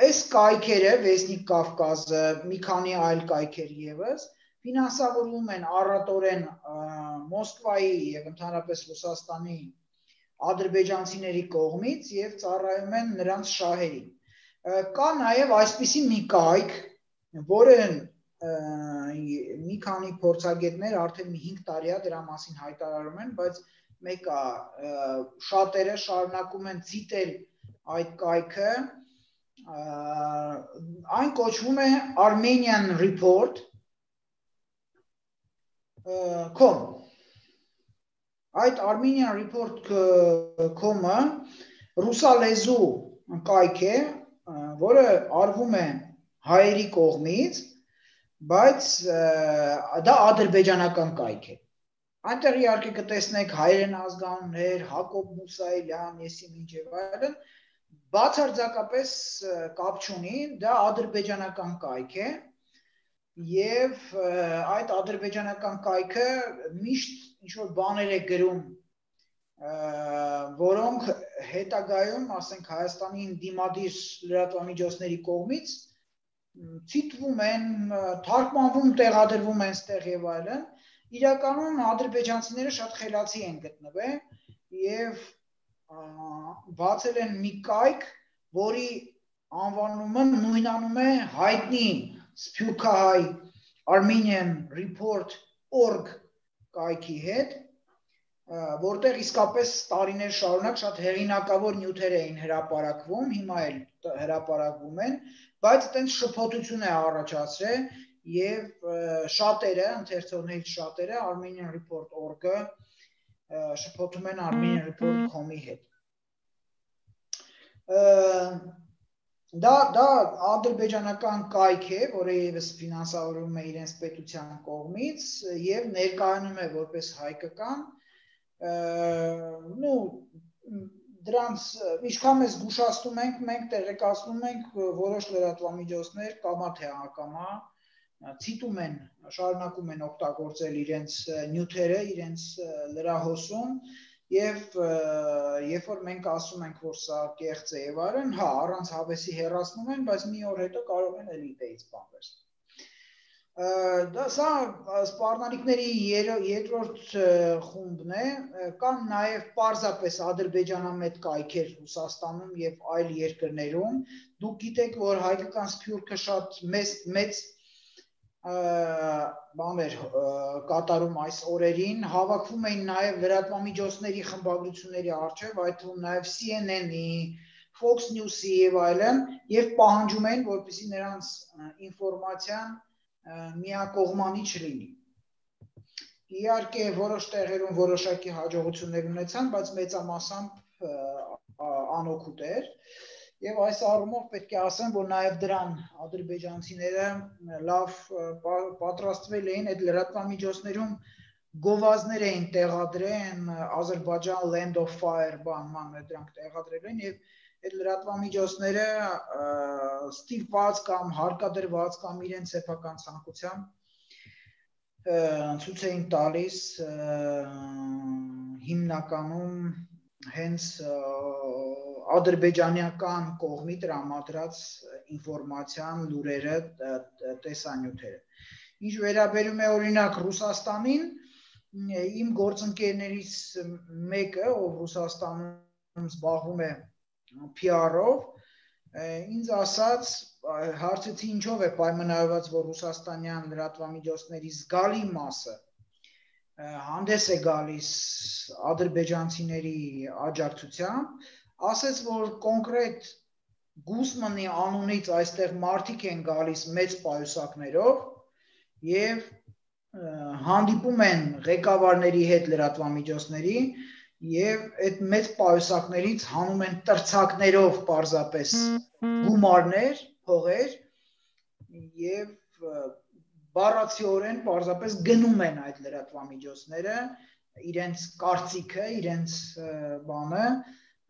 այս կայքերը, Վեսնիկ Կավկազը, մի քանի այլ կայքեր եւս ֆինանսավորվում են առատորեն Մոսկվայի եւ ընդհանրապես Ռուսաստանի ադրբեջանցիների կողմից եւ ծառայում են նրանց շահերին։ Կա նաեւ այսպիսի մի կայք, որը մի քանի փորձագետներ արդեն մի 5 տարի է դրա մասին հայտարարում են, բայց մեկը շատերը շարունակում են ցիտել այդ կայքը, այն կոչվում է Armenian Report.com Այդ Armenian Report.com-ը ռուսալեզու կայք է, որը արվում է հայերի կողմից, բայց դա ադրբեջանական կայք է։ Այնտեղ իհարկե կտեսնեք հայերեն ազգանուններ, Հակոբ Մուսայելյան, եսիմ ինչ եւ այլն, բացարձակապես կապ չունի, դա ադրբեջանական կայք է եւ այդ ադրբեջանական կայքը միշտ ինչ որ բաներ է գրում, որոնք հետագայում, ասենք Հայաստանի դիմադիր լրատվամիջոցների կողմից ցիտվում են, թարգմանվում, տեղադրվում են ստեղ եւ այլն, իրականում ադրբեջանցիները շատ խելացի են գտնվել եւ բացել են մի կայք, որի անվանումը նույնանում է հայտնի Սփյուռքահայ Armenian Report.org կայքի հետ, որտեղ իսկապես տարիներ շարունակ շատ հեղինակավոր նյութեր էին հրապարակվում, հիմա էլ հրապարակվում են, բայց այդպես շփոթություն է առաջացրել եւ շատերը, ընթերցողներից շատերը Armenian Report.org-ը շփոթում են Armenian Report.com-ի հետ։ Դա ադրբեջանական կայք է, որը ևս ֆինանսավորվում է իրենց պետության կողմից եւ ներկայանում է որպես հայկական, դրանց ինչքան մեզ զգուշացնում ենք, մենք տեղեկացնում ենք որոշ լրատվամիջոցներ կամա թե ակամա ցիտում են, շարունակում են օգտագործել իրենց նյութերը, իրենց լրահոսում եւ երբ որ մենք ասում ենք, որ սա կեղծ է եւ այլն, հա, առանց հավեսի հեռացնում են, բայց մի օր հետո կարող են էլի դեից բան վերցնել։ Դա սա սպառնալիքների երկրորդ խումբն է, կամ նաեւ պարզապես ադրբեջանամետ կայքեր Ռուսաստանում եւ այլ երկրներում։ Դուք գիտեք, որ հայկական սփյուռքը շատ մեծ բաներ կատարում այս օրերին, հավաքվում էին նաև լրատվամիջոցների խմբագրությունների առջև, այդ թվում նաև CNN-ի, Fox News-ի եւ այլն, եւ պահանջում էին, որպեսզի նրանց ինֆորմացիան միակողմանի չլինի։ Իհարկե, որոշ տեղերում որոշակի հաջողություններ ունեցան, բայց մեծամասամբ անօգուտ էր։ Եվ այս առումով պետք է ասեմ, որ նաև դրան ադրբեջանցիները լավ պատրաստվել էին, այդ լրատվամիջոցներում գովազդներ էին տեղադրել, Ադրբեջան Land of Fire բանման դրանք տեղադրել են եւ այդ լրատվամիջոցները ստիպված կամ հարկադրված կամ իրենց սեփական ցանկությամբ ցույց էին տալիս հիմնականում հենց ադրբեջանական կողմի տրամադրած ինֆորմացիան, լուրերը, տեսանյութերը։ Ինչ վերաբերում է օրինակ Ռուսաստանին, իմ գործընկերներից մեկը, ով Ռուսաստանում զբաղվում է PR-ով, ինձ ասաց, հարցեցի ինչով է պայմանավորված, որ ռուսաստանյան լրատվամիջոցների զգալի մասը հանդես է գալիս ադրբեջանցիների աջակցությամբ, ասեց, որ կոնկրետ Գուսմանի անունից այստեղ մարդիկ են գալիս մեծ պայուսակներով եւ հանդիպում են ղեկավարների հետ լրատվամիջոցների եւ այդ մեծ պայուսակներից հանում են տրցակներով պարզապես գումարներ, փողեր եւ բառացիորեն պարզապես գնում են այդ լրատվամիջոցները իրենց կարծիքը, իրենց բանը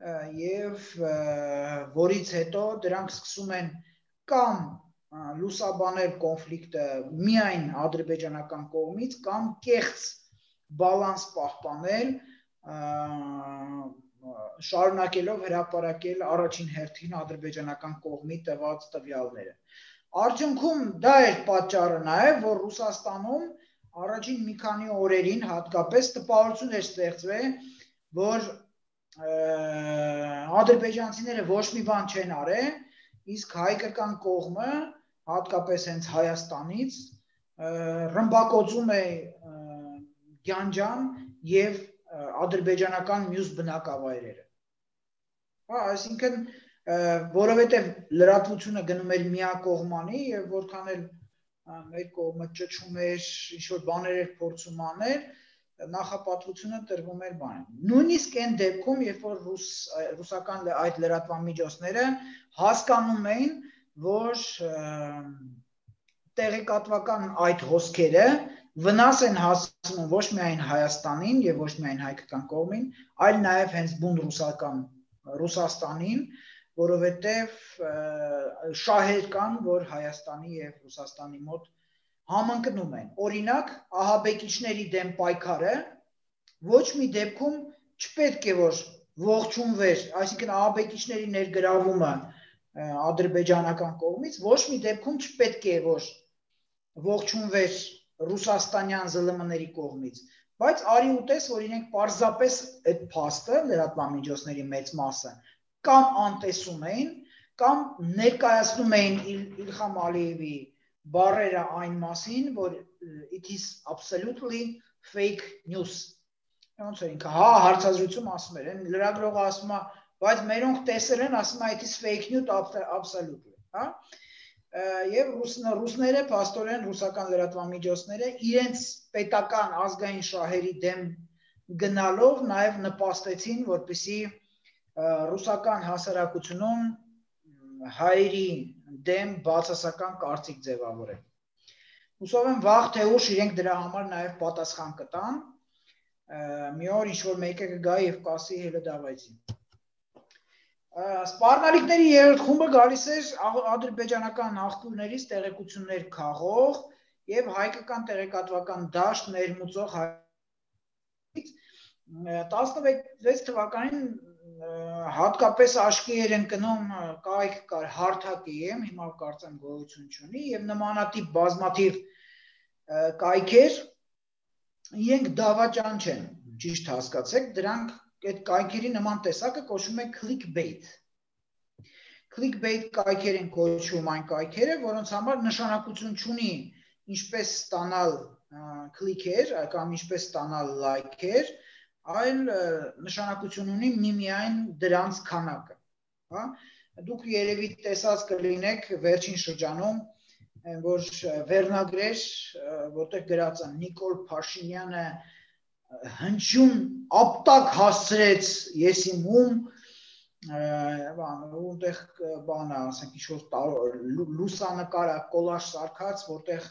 եւ որից հետո դրանք սկսում են կամ լուսաբանել կոնֆլիկտը միայն ադրբեջանական կողմից կամ կեղծ բալանս պահպանել շարունակելով հրապարակել առաջին հերթին ադրբեջանական կողմի տված տվյալները։ Արդյունքում դա էր պատճառը նաև, որ Ռուսաստանում առաջին մի քանի օրերին հատկապես տպավորություն էր ստեղծվել, որ ադրբեջանցիները ոչ մի բան չեն արել, իսկ հայկական կողմը, հատկապես հենց Հայաստանից, ռմբակոծում է Գյանջան եւ ադրբեջանական մյուս բնակավայրերը։ Այսինքն, որովհետեւ լրատվությունը գնում էր միակողմանի եւ որքան էլ մեր կողմը ճչում էր, ինչ որ բաներ էր փորձում անել, նախապատվությունը տրվում էր բան։ Նույնիսկ այն դեպքում, երբ որ ռուսական այդ լրատվամիջոցները հասկանում էին, որ տեղեկատվական այդ հոսքերը վնաս են հասցնում ոչ միայն Հայաստանին եւ ոչ միայն հայկական կողմին, այլ նաեւ հենց բուն Ռուսաստանին, որովհետեւ շահեր կան, որ Հայաստանի եւ Ռուսաստանի մոտ համընկնում են։ Օրինակ, ահաբեկիչների դեմ պայքարը ոչ մի դեպքում չպետք է որ ողջունվեր, այսինքն ահաբեկիչների ներգրավումը ադրբեջանական կողմից ոչ մի դեպքում չպետք է որ ողջունվեր ռուսաստանյան ԶԼՄ-ների կողմից, բայց արի ուտես, որ իրենք պարզապես այդ փաստը լրատվամիջոցների մեծ մասը կամ անտեսում էին, կամ ներկայացնում էին Իլհամ Ալիևի բառերը այն մասին, որ it is absolutely fake news։ Ոնց էր ինքը, հարցազրույցում ասում էր, լրագրողը ասում է, բայց մերոնք տեսել են, ասում է it is fake news absolutely, հա։ Եվ ռուսները, փաստորեն ռուսական լրատվամիջոցները իրենց պետական ազգային շահերի դեմ գնալով նաև նպաստեցին, որպեսզի ռուսական հասարակությունում հայերի դեմ բացասական կարծիք ձևավորեն։ Հուսով եմ վաղ թե ուշ իրենք դրա համար նաև պատասխան կտան։ Մի օր ինչ-որ մեկը կգա եւ կասի հելը դավայցի։ Սպառնալիքների երրորդ խումբը գալիս էր ադրբեջանական աղբյուրներից տեղեկություններ քաղող եւ հայկական տեղեկատվական դաշտ ներմուծող 16 թվականին հատկապես աչքի էր ընկնում կայք կար հարթակ-եմ, հիմա կարծեմ գոյություն չունի եւ նմանատիպ բազմաթիվ կայքեր իրենք դավաճան չեն, ճիշտ հասկացեք, դրանք այդ կայքերի նման տեսակը կոչվում է clickbait։ Clickbait կայքեր են կոչվում այն կայքերը, որոնց համար նշանակություն չունի ինչպես ստանալ click-եր կամ ինչպես ստանալ like-եր, այլ նշանակություն ունի միմիայն դրանց քանակը, հա։ Դուք երևի տեսած կլինեք վերջին շրջանում, որ վերնագրեր, որտեղ գրած է Նիկոլ Փաշինյանը հնչյուն ապտակ հասցրեց եսիմում, որտեղ բան է, ասենք ինչ-որ լուսանկար է, կոլաժ սարքած, որտեղ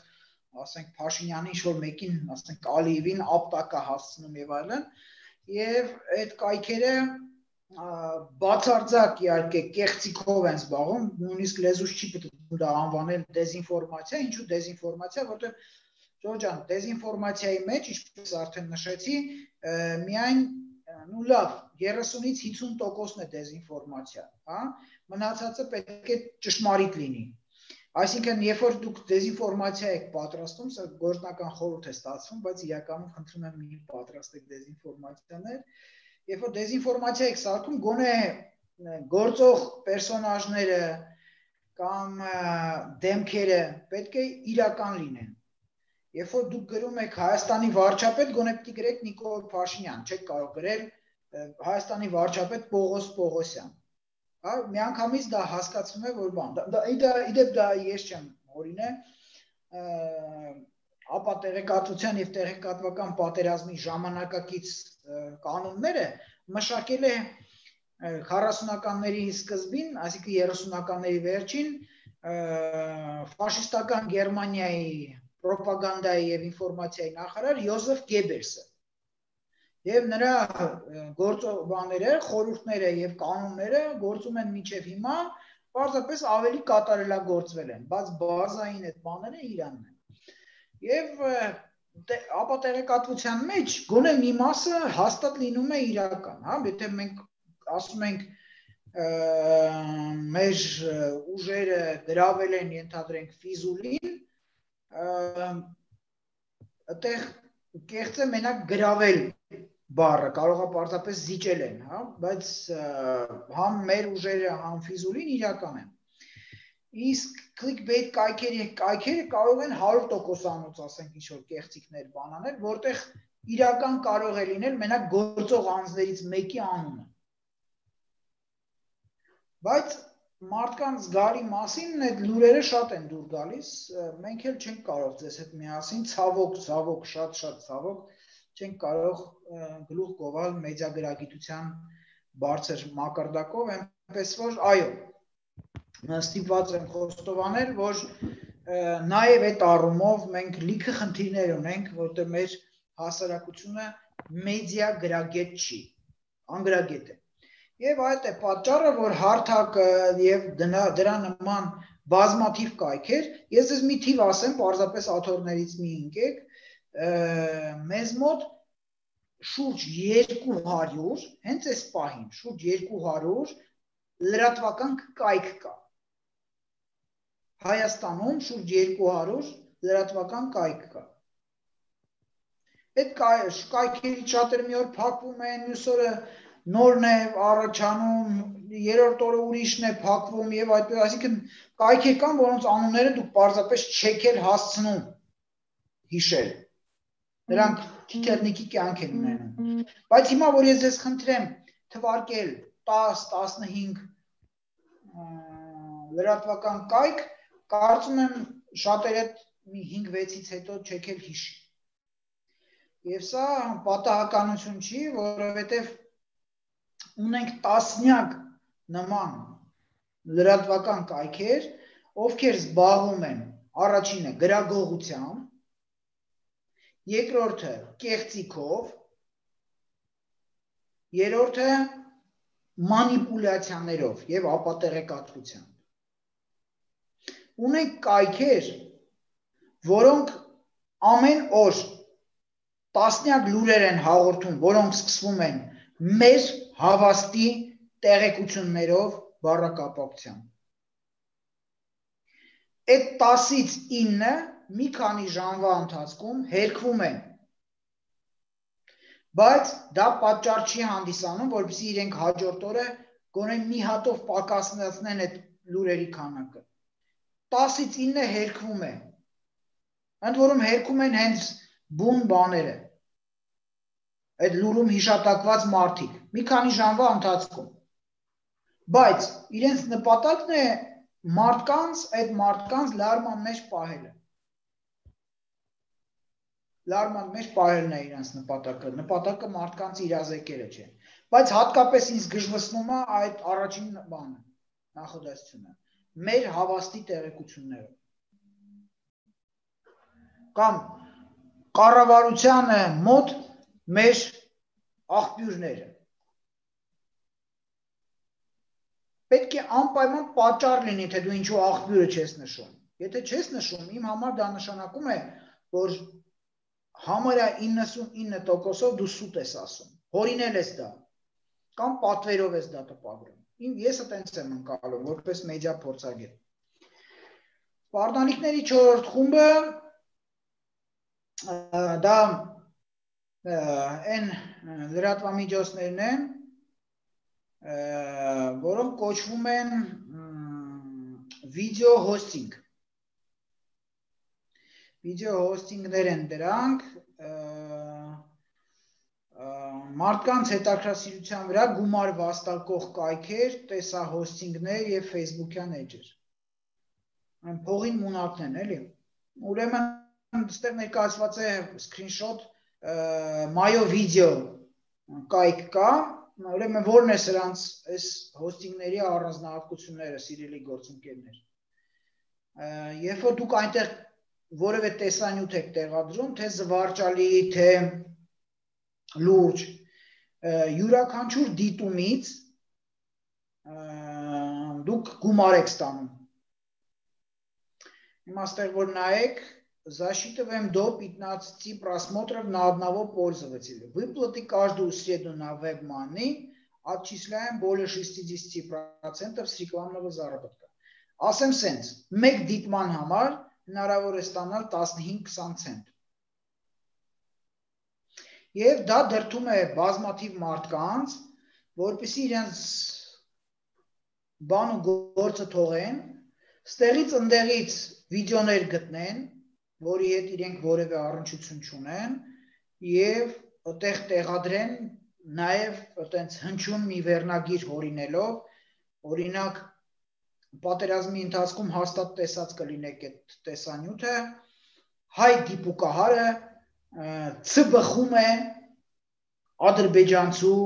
ասենք Փաշինյանի ինչ-որ մեկին, ասենք Ալիևին ապտակ է հասցնում եւ այլն, եւ այդ կայքերը բացարձակ իհարկե կեղծիքով են զբաղվում, նույնիսկ լեզուս չի պետք դա անվանել դեզինֆորմացիա, ինչու դեզինֆորմացիա, որտեղ Ջորջան, դեզինֆորմացիայի մեջ, ինչպես արդեն նշեցի, միայն ու լավ 30-ից 50%-ն է դեզինֆորմացիա, հա, մնացածը պետք է ճշմարիտ լինի։ Այսինքն, երբ որ դուք դեզինֆորմացիա եք պատրաստում, սա գործնական խորհուրդ է ստացվում, բայց իրականում խնդրում եմ մի պատրաստեք դեզինֆորմացիաներ, երբ որ դեզինֆորմացիա եք սարքում, գոնե գործող պերսոնաժները կամ դեմքերը պետք է իրական լինեն։ Երբ որ դուք գրում եք Հայաստանի վարչապետ, գոնե պիտի գրեք Նիկոլ Փաշինյան, չեք կարող գրել Հայաստանի վարչապետ Պողոս Պողոսյան։ Հա, միանգամից դա հասկացվում է, որ բան, իդեպ դա ես չեմ օրինե, ապա տեղեկատվության եւ տեղեկատվական պատերազմի ժամանակակից կանոնները մշակել է 40-ականների սկզբին, այսինքն 30-ականների վերջին ֆաշիստական Գերմանիայի պրոպագանդայի եւ ինֆորմացիայի նախարար Յոզեֆ Գեբելսը եւ նրա գործողությունները, խորհուրդները եւ կանոնները գործում են մինչեւ հիմա, պարզապես ավելի կատարելագործվել են, բայց բազային այդ բաները Իրանն են։ Եվ ապա տեղեկատվության մեջ գոնե մի մասը հաստատ լինում է իրական, հա, եթե մենք ասում ենք մեր ուժերը գրավել են, ենթադրենք Ֆիզուլին, այդտեղ կեղծ է մենակ գրավել բառը, կարող է պարզապես զիջել են, հա, բայց համ մեր ուժերը, համ Ֆիզուլին իրական են։ Իսկ clickbait կայքերը կարող են 100%-անոց, ասենք, ինչ-որ կեղծիքներ բանանել, որտեղ իրական կարող է լինել մենակ գործող անձներից մեկի անունը։ Բայց մարդկանց զգալի մասին այդ լուրերը շատ են դուր գալիս, մենք էլ չենք կարող ձեզ հետ միասին, ցավոք, շատ ցավոք չենք կարող գլուխ գովալ մեդիագրագիտության բարձր մակարդակով, այնպես որ այո, ստիպված եմ խոստովանել, որ նաև այդ առումով մենք լիքը խնդիրներ ունենք, որտեղ մեր հասարակությունը մեդիա գրագետ չի, անգրագետ է։ Եվ այդ է պատճառը, որ հարթակը եւ դրա նման բազմաթիվ կայքեր, ես ես մի թիվ ասեմ, պարզապես աթոռներից մի ընկեք, մեզ մոտ շուրջ 200, հենց այս պահին, շուրջ 200 լրատվական կայք կա։ Հայաստանում շուրջ 200 լրատվական կայք կա։ Այդ կայքերից շատերը մի օր փակվում են, մյուս օրը նորն է առաջանում, երրորդ օրը ուրիշն է փակվում եւ այդպես, այսինքն կայքեր կան, որոնց անունները դուք պարզապես չեք էլ հասցնում հիշել։ Նրանք տեխնիկի կյանք են ունենում։ Բայց հիմա որ ես ձեզ խնդրեմ թվարկել 10-15 լրատվական կայք, կարծում եմ շատերը 5-6-ից հետո չեք էլ հիշի։ Եվ սա պատահականություն չի, որովհետև ունենք տասնյակ նման լրատվական կայքեր, ովքեր զբաղվում են առաջինը գրագողությամբ, երկրորդը կեղծիքով, երրորդը մանիպուլյացիաներով եւ ապատեղեկատվությամբ։ Ունենք կայքեր, որոնք ամեն օր տասնյակ լուրեր են հաղորդում, որոնք սկսվում են մեր հավաստի տեղեկություններով բառակապակցությամբ։ Այդ 10-ից 9-ը մի քանի ժամվա ընթացքում հերքվում են, բայց դա պատճառ չի հանդիսանում, որպեսզի իրենք հաջորդ օրը գոնե մի հատով պակասնացնեն այդ լուրերի քանակը։ 10-ից 9-ը հերքվում է, ընդ որում հերքում են հենց բուն բաները, այդ լուրում հիշատակված մարդիկ, մի քանի ժամվա ընթացքում, բայց իրենց նպատակն է այդ մարդկանց լարման մեջ պահելը։ Լարման մեջ պահելն է իրենց նպատակը մարդկանց իրազեկելը չէ։ Բայց հատկապես ինձ գժվսնում է այդ առաջին բանը, նախադասությունը, մեր հավաստի տեղեկությունները։ Կամ կառավարությանը մոտ մեր աղբյուրները։ Պետք է անպայման պատճառ լինի, թե դու ինչու աղբյուրը չես նշում։ Եթե չես նշում, իմ համար դա նշանակում է, որ համարյա 99%-ով դու սուտ ես ասում, հորինել ես դա, կամ պատվերով ես դա տպագրում։ Ես այտենց եմ ընկալում, որպես մեդիա փորձագետ։ Սպարտանիկների 4-րդ խումբը դա այն լրատվամիջոցներն են, որոնք կոչվում են վիդեո հոստինգ։ Վիդեո հոստինգներ են դրանք, մարդկանց հետաքրքրասիրության վրա գումար վաստակող կայքեր, տեսահոստինգներ եւ Facebook-յան էջեր։ Այն փողին մունակն են, էլի։ Ուրեմն այստեղ ներկայացված է screenshot Mayo Video կայք կա, ուրեմն որն է սրանց այս հոստինգների առանձնահատկությունները, սիրելի գործընկերներ։ Երբ որ դուք այնտեղ որևէ տեսանյութ եք տեղադրում, թե զվարճալի, թե լուրջ, յուրաքանչյուր դիտումից դուք գումար եք ստանում։ Հիմա այստեղ որ наեք, засчитываем до 15 просмотров на одного пользователя. Выплаты каждую среду на WebMoney отчисляем более 60% с рекламного заработка. Ասեմ սենց, մեկ դիտման համար հնարավոր է ստանալ 15-20 ցենտ։ Եվ դա դրդում է բազմաթիվ մարդկանց, որպեսզի իրենց բան ու գործը թողեն, ստեղից ընդեղից վիդեոներ գտնեն, որի հետ իրենք որևէ առնչություն չունեն, եւ այդտեղ տեղադրեն նաեւ այտենց հնչյուն մի վերնագիր հորինելով, օրինակ պատերազմի ընթացքում հաստատ տեսած կլինեք այդ տեսանյութը, հայ դիպուկահարը Ցբխում է ադրբեջանցու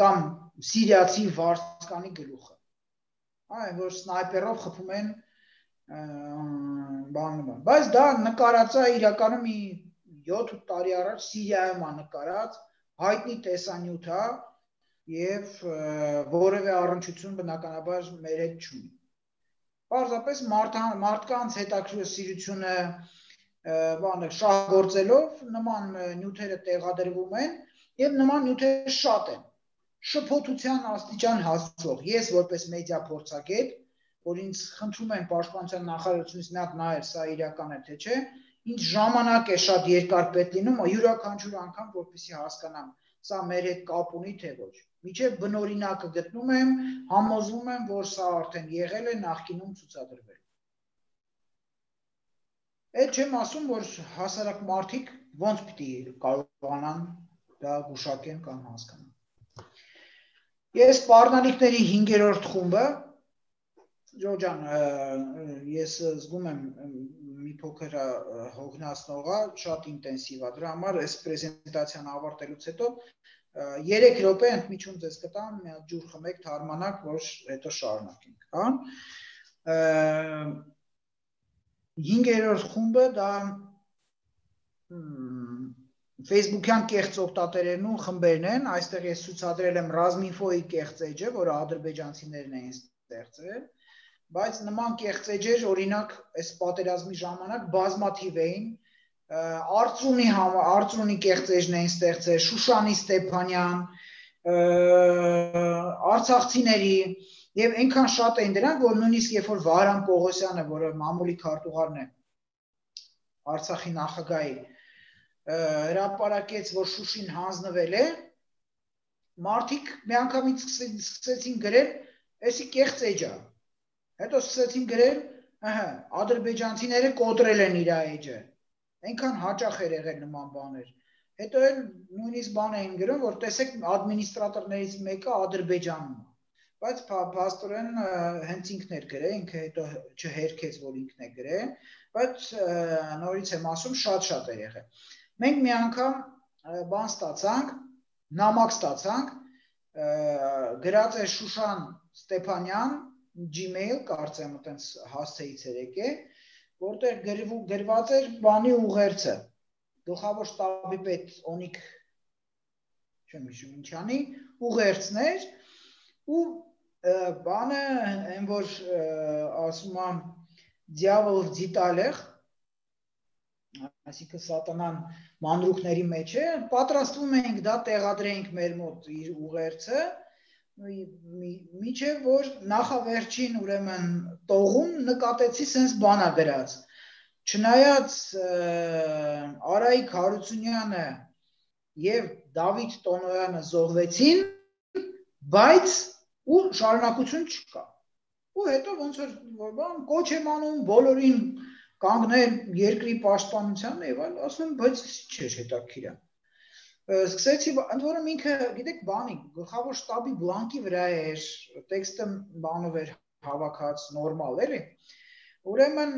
կամ սիրիացի վարձկանի գլուխը։ Այն որ սնայպերով խփում են բանը։ Բայց դա նկարած է իրականում 7-8 տարի առաջ Սիրիայում է նկարած, հայտնի տեսանյութ է եւ որևէ առնչություն բնականաբար մեր հետ չունի։ Պարզապես մարդկանց հետաքրքրությունը բանը շահգործելով նման նյութերը տեղադրվում են եւ նման նյութերը շատ են։ Շփոթության աստիճան հասցող ես որպես մեդիա փորձագետ, որ ինձ խնդրում են պաշտպանության նախարարությունից մի հատ նայել, սա իրական է թե չէ, ինձ ժամանակ է շատ երկար պետք լինում յուրաքանչյուր անգամ, որպեսզի հասկանամ, սա մեր հետ կապ ունի թե ոչ։ Մինչև բնօրինակը գտնում եմ, համոզվում եմ, որ սա արդեն եղել է նախկինում ցուցադրվել։ Այդ չեմ ասում, որ հասարակ մարդիկ ոնց պիտի կարողանան դա գուշակեն կամ հասկանան։ Ես սպառնալիքների 5-րդ խումբը, Ջոջան, ես զգում եմ մի փոքր հոգնածնող է, շատ ինտենսիվ է, դրա համար այս պրեզենտացիան ավարտելուց հետո 3 րոպե ընդմիջում ձեզ կտամ, մի հատ ջուր խմեք, թարմանաք, որ հետո շարունակենք, հա։ 5-րդ խումբը դա Facebook-յան կեղծ օգտատերերն ու խմբերն են, այստեղ ես ցուցադրել եմ Razminfo-ի կեղծ էջը, որը ադրբեջանցիներն էին ստեղծել, բայց նման կեղծ էջեր, օրինակ, այս պատերազմի ժամանակ բազմաթիվ էին, Արծրունի կեղծ էջն էին ստեղծել, Շուշանի Ստեփանյան, արցախցիների եւ այնքան շատ էին դրանք, որ նույնիսկ երբ որ Վահրամ Պողոսյանը, որը մամուլի քարտուղարն է Արցախի նախագահի, հրապարակեց, որ Շուշին հանձնվել է, մարդիկ միանգամից սկսեցին գրել, էսի կեղծ էջ է, հետո սկսեցին գրել, ադրբեջանցիները կոտրել են իր էջը, այնքան հաճախ էր եղել նման բաներ, հետո էլ նույնիսկ բան էին գրում, որ տեսեք ադմինիստրատորներից մեկը Ադրբեջանում է, բայց փաստորեն հենց ինքն էր գրել, ինքը հետո չհերքեց, որ ինքն է գրել, բայց նորից եմ ասում, շատ է եղել։ Մենք մի անգամ բան ստացանք, նամակ ստացանք, գրած է Շուշան Ստեփանյան, Gmail, կարծեմ այտենց հասցեից էր եկել, որտեղ գրված էր բանի ուղերձը, գլխավոր շտաբի պետ Օնիկ չեմ հիշում ինչանի, ուղերձն էր ու բանը այն որ ասում եմ դիավոլ в деталях, այսինքն սատանան մանրուքների մեջ է, պատրաստվում ենք դա տեղադրենք մեր մոտ իր ուղերձը, միջև որ նախավերջին ուրեմն տողում նկատեցի սենց բանա գրած, չնայած Արայիկ Հարությունյանը և Դավիթ Տոնոյանը զոհվեցին, բայց ու շարունակություն չկա, ու հետո ոնց որ կոչ եմ անում բոլորին կանգնել երկրի պաշտպանության եւ այլ, ասում եմ, բայց չէ հետաքրքիր է։ Սկսեցի, ընդ որում ինքը, գիտեք, բանի, գլխավոր շտաբի բլանկի վրա էր, տեքստը բանով էր հավաքած, նորմալ էլի։ Ուրեմն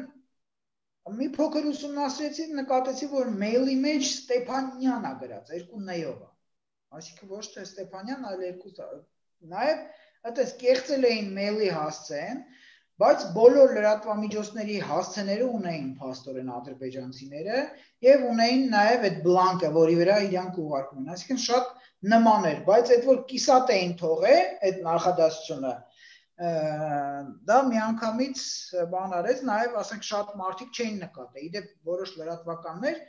մի փոքր ուսումնասիրեցի, նկատեցի, որ մեյլի մեջ Ստեփանյան է գրած, 2 ն-ով է։ Այսինքն ոչ թե Ստեփանյան, այլ 2 նաև այդպես կեղծել էին մեյլի հասցեն, բայց բոլոր լրատվամիջոցների հասցեները ունեին փաստորեն ադրբեջանցիները եւ ունեին նաև այդ բլանկը, որի վրա իրանք ուղարկում են, այսինքն շատ նման էր, բայց այդ որ կիսատ էին թողել այդ նախադասությունը, դա միանգամից բան արեց, նաև ասենք շատ մարդիկ չէին նկատել, իդեպ որոշ լրատվականներ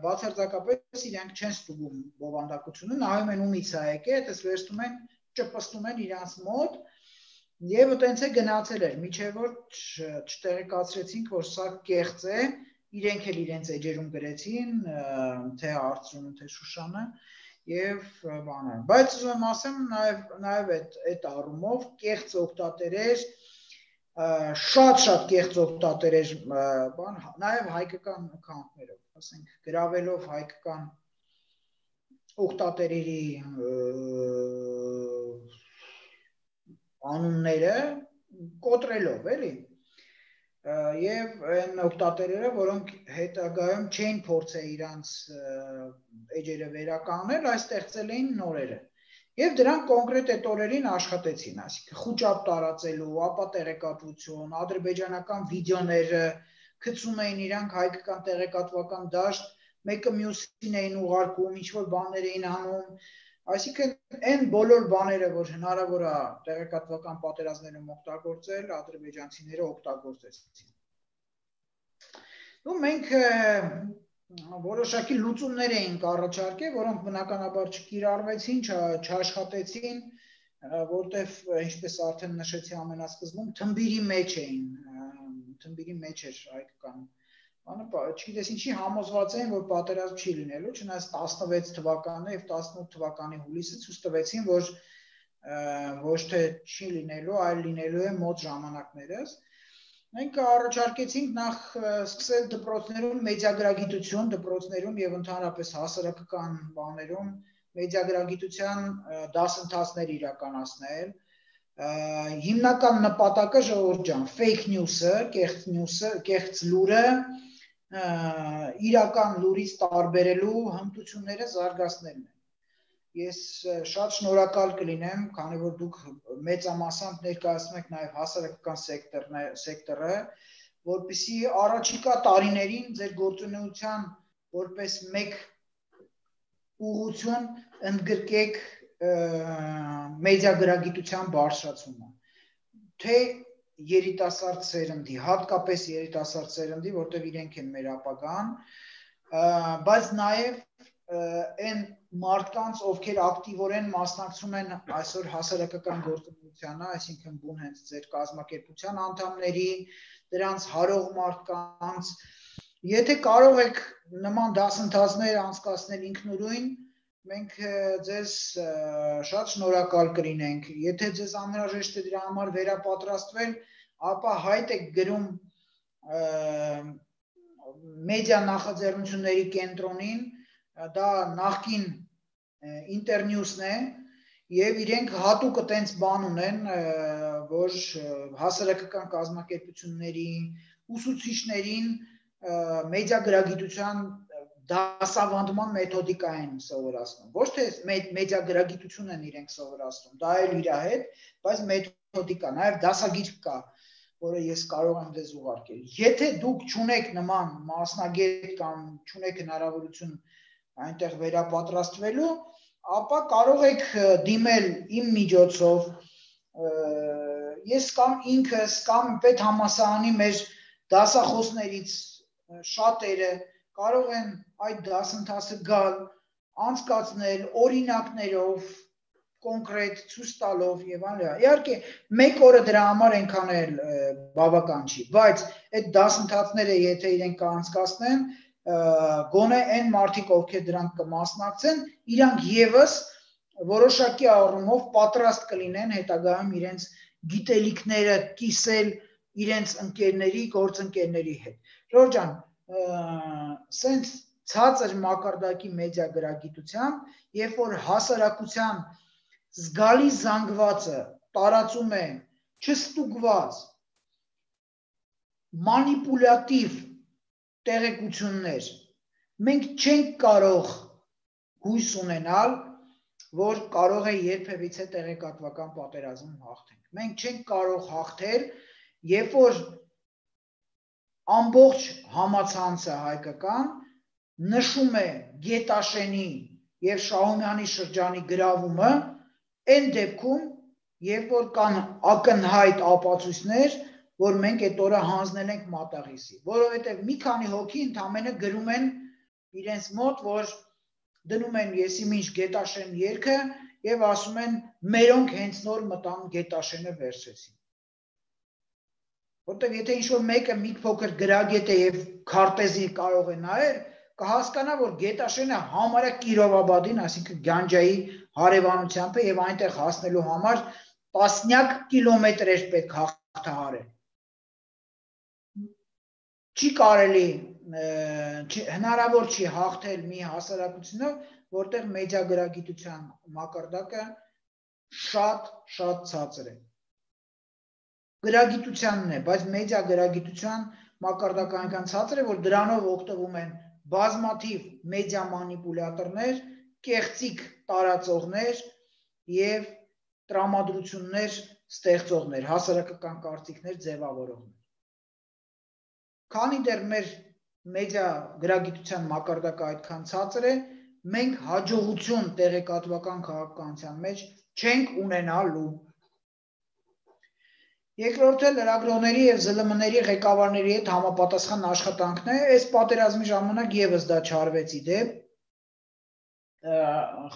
բացարձակապես իրանք չեն ստուգում բովանդակությունը, նայում են ումից է եկել, այդպես վերցնում են, ճպստում են իրանց մոտ եւ այտենց է գնացել էր, միջև որ չտեղեկացրեցինք, որ սա կեղծ է, իրենք էլ իրենց էջերում գրեցին, թե Արծրունը, թե Շուշանը եւ բանը, բայց ուզում եմ ասեմ նաեւ այդ առումով կեղծ օգտատերեր, շատ կեղծ օգտատերեր, բան, նաեւ հայկական account-ներով, ասենք գրավելով հայկական օգտատերերի անունները կոտրելով, էլի։ եւ այն օգտատերերը, որոնք հետագայում չէին փորձել իրանց էջերը վերականգնել, այս ստեղծել էին նորերը։ Եվ դրանք կոնկրետ այդ օրերին աշխատեցին, այսինքն խուճապ տարածելու, ապա տեղեկատվություն, ադրբեջանական վիդեոները գցում էին իրանք հայկական տեղեկատվական դաշտ, մեկը մյուսին էին ուղարկում, ինչ-որ բաներ էին անում, այսինքն այն բոլոր բաները, որ հնարավոր է տեղեկատվական պատերազմներում օգտագործել, ադրբեջանցիները օգտագործեցին։ Ու մենք որոշակի լուծումներ էինք առաջարկել, որոնք բնականաբար չկիրառվեցին, չաշխատեցին, որտեվ ինչպես արդեն նշեցի ամենասկզբում, թմբիրի մեջ էին, թմբիրի մեջ էր հայկական բանը, չգիտես ինչի համոզված էին, որ պատերազմ չի լինելու, չնայած 16 թվականը եւ 18 թվականի հուլիսը ցույց տվեցին, որ ոչ թե չի լինելու, այլ լինելու է մոտ ժամանակներս։ Մենք առաջարկեցինք նախ սկսել դպրոցներում մեդիագրագիտություն, դպրոցներում եւ ընդհանրապես հասարակական բաներում մեդիագրագիտության դասընթացներ իրականացնել։ Հիմնական նպատակը ժողովուրդ ջան, fake news-ը, կեղծ լուրը իրական լուրից տարբերելու հմտությունները զարգացնելն է։ Ես շատ շնորհակալ կլինեմ, քանի որ դուք մեծամասամբ ներկայացնում եք նաև հասարակական սեկտորը, որպեսզի առաջիկա տարիներին ձեր գործունեության որպես մեկ ուղղություն ընդգրկեք մեդիագրագիտության բարձրացումը, թե երիտասարդ սերնդի, հատկապես երիտասարդ սերնդի, որտեղ իրենք են մեր ապագան, բայց նաև այն մարդկանց, ովքեր ակտիվորեն մասնակցում են այսօր հասարակական գործունեությանը, այսինքն բուն հենց ձեր կազմակերպության անդամների, դրանց հարող մարդկանց, եթե կարող եք նման դասընթացներ անցկացնել ինքնուրույն, մենք ձեզ շատ շնորհակալ կլինենք, եթե ձեզ անհրաժեշտ է դրա համար վերապատրաստվել, ապա հայտ եք գրում մեդիա նախաձեռնությունների կենտրոնին, դա նախկին ինտերնյուսն է, եւ իրենք հատուկ այդպես բան ունեն, որ հասարակական կազմակերպությունների, ուսուցիչներին մեդիագրագիտության դասավանդման մեթոդիկա են սովորացնում, ոչ թե մեդիագրագիտություն են իրենք սովորացնում, դա էլ իր հետ, բայց մեթոդիկա, նաև դասագիր կա, որը ես կարող եմ ձեզ ուղարկել։ Եթե դուք չունեք նման մասնագետ կամ չունեք հնարավորություն այնտեղ վերապատրաստվելու, ապա կարող եք դիմել իմ միջոցով, ես կամ ինքս կամ պետհամալսարանի մեր դասախոսներից շատերը կարող են այդ դասընթացը գալ, անցկացնել օրինակներով, կոնկրետ ցույց տալով եւ այլն։ Իհարկե, մեկ օրը դրա համար այնքան էլ բավական չի, բայց այդ դասընթացները եթե իրենք կանցկացնեն, գոնե այն մարդիկ, ովքեր դրանք կմասնակցեն, իրանք եւս որոշակի առումով պատրաստ կլինեն հետագայում իրենց գիտելիքները կիսել իրենց ընկերների, գործընկերների հետ։ Ժողովուրդ ջան, սենց ցածր մակարդակի մեդիագրագիտությամբ, երբ որ հասարակության զգալի զանգվածը տարածում է չստուգված, մանիպուլյատիվ տեղեկություններ, մենք չենք կարող հույս ունենալ, որ կարող է երբևիցե տեղեկատվական պատերազմ հաղթենք։ Մենք չենք կարող հաղթել, երբ որ ամբողջ համացանցը հայկական նշում է Գետաշենի եւ Շահումյանի շրջանի գրավումը, այն դեպքում, երբ որ կան ակնհայտ ապացույցներ, որ մենք այդ օրը հանձնել ենք մատաղիսի, որովհետեւ մի քանի հոգի ընդամենը գրում են իրենց մոտ, որ դնում են եսիմինչ Գետաշեն երգը եւ ասում են մերոնք հենց նոր մտան Գետաշենը վերցրեցին։ Որտեւ եթե ինչ-որ մեկը մի փոքր գրագետ է եւ քարտեզի կարող է նայել, կհասկանա, որ Գետաշենը համարյա Կիրովաբադին, այսինքն Գանջայի հարևանությամբ է եւ այնտեղ հասնելու համար տասնյակ կիլոմետրեր պետք հաղթահարել։ Չի կարելի, հնարավոր չի հաղթել մի հասարակությունով, որտեղ մեդիագրագիտության մակարդակը շատ ցածր է։ գրագիտությանն է, բայց մեդիա գրագիտության մակարդակը այնքան ցածր է, որ դրանով օգտվում են բազմաթիվ մեդիա մանիպուլյատորներ, կեղծիք տարածողներ եւ տրամադրություններ ստեղծողներ, հասարակական կարծիքներ ձևավորողներ։ Քանի դեռ մեր մեդիա գրագիտության մակարդակը այդքան ցածր է, մենք հաջողություն տեղեկատվական քաղաքականության մեջ չենք ունենալու։ Երկրորդը լրագրողների եւ ԶԼՄ-ների ղեկավարների հետ համապատասխան աշխատանքն է, այս պատերազմի ժամանակ եւս դա չարվեց իդեպ։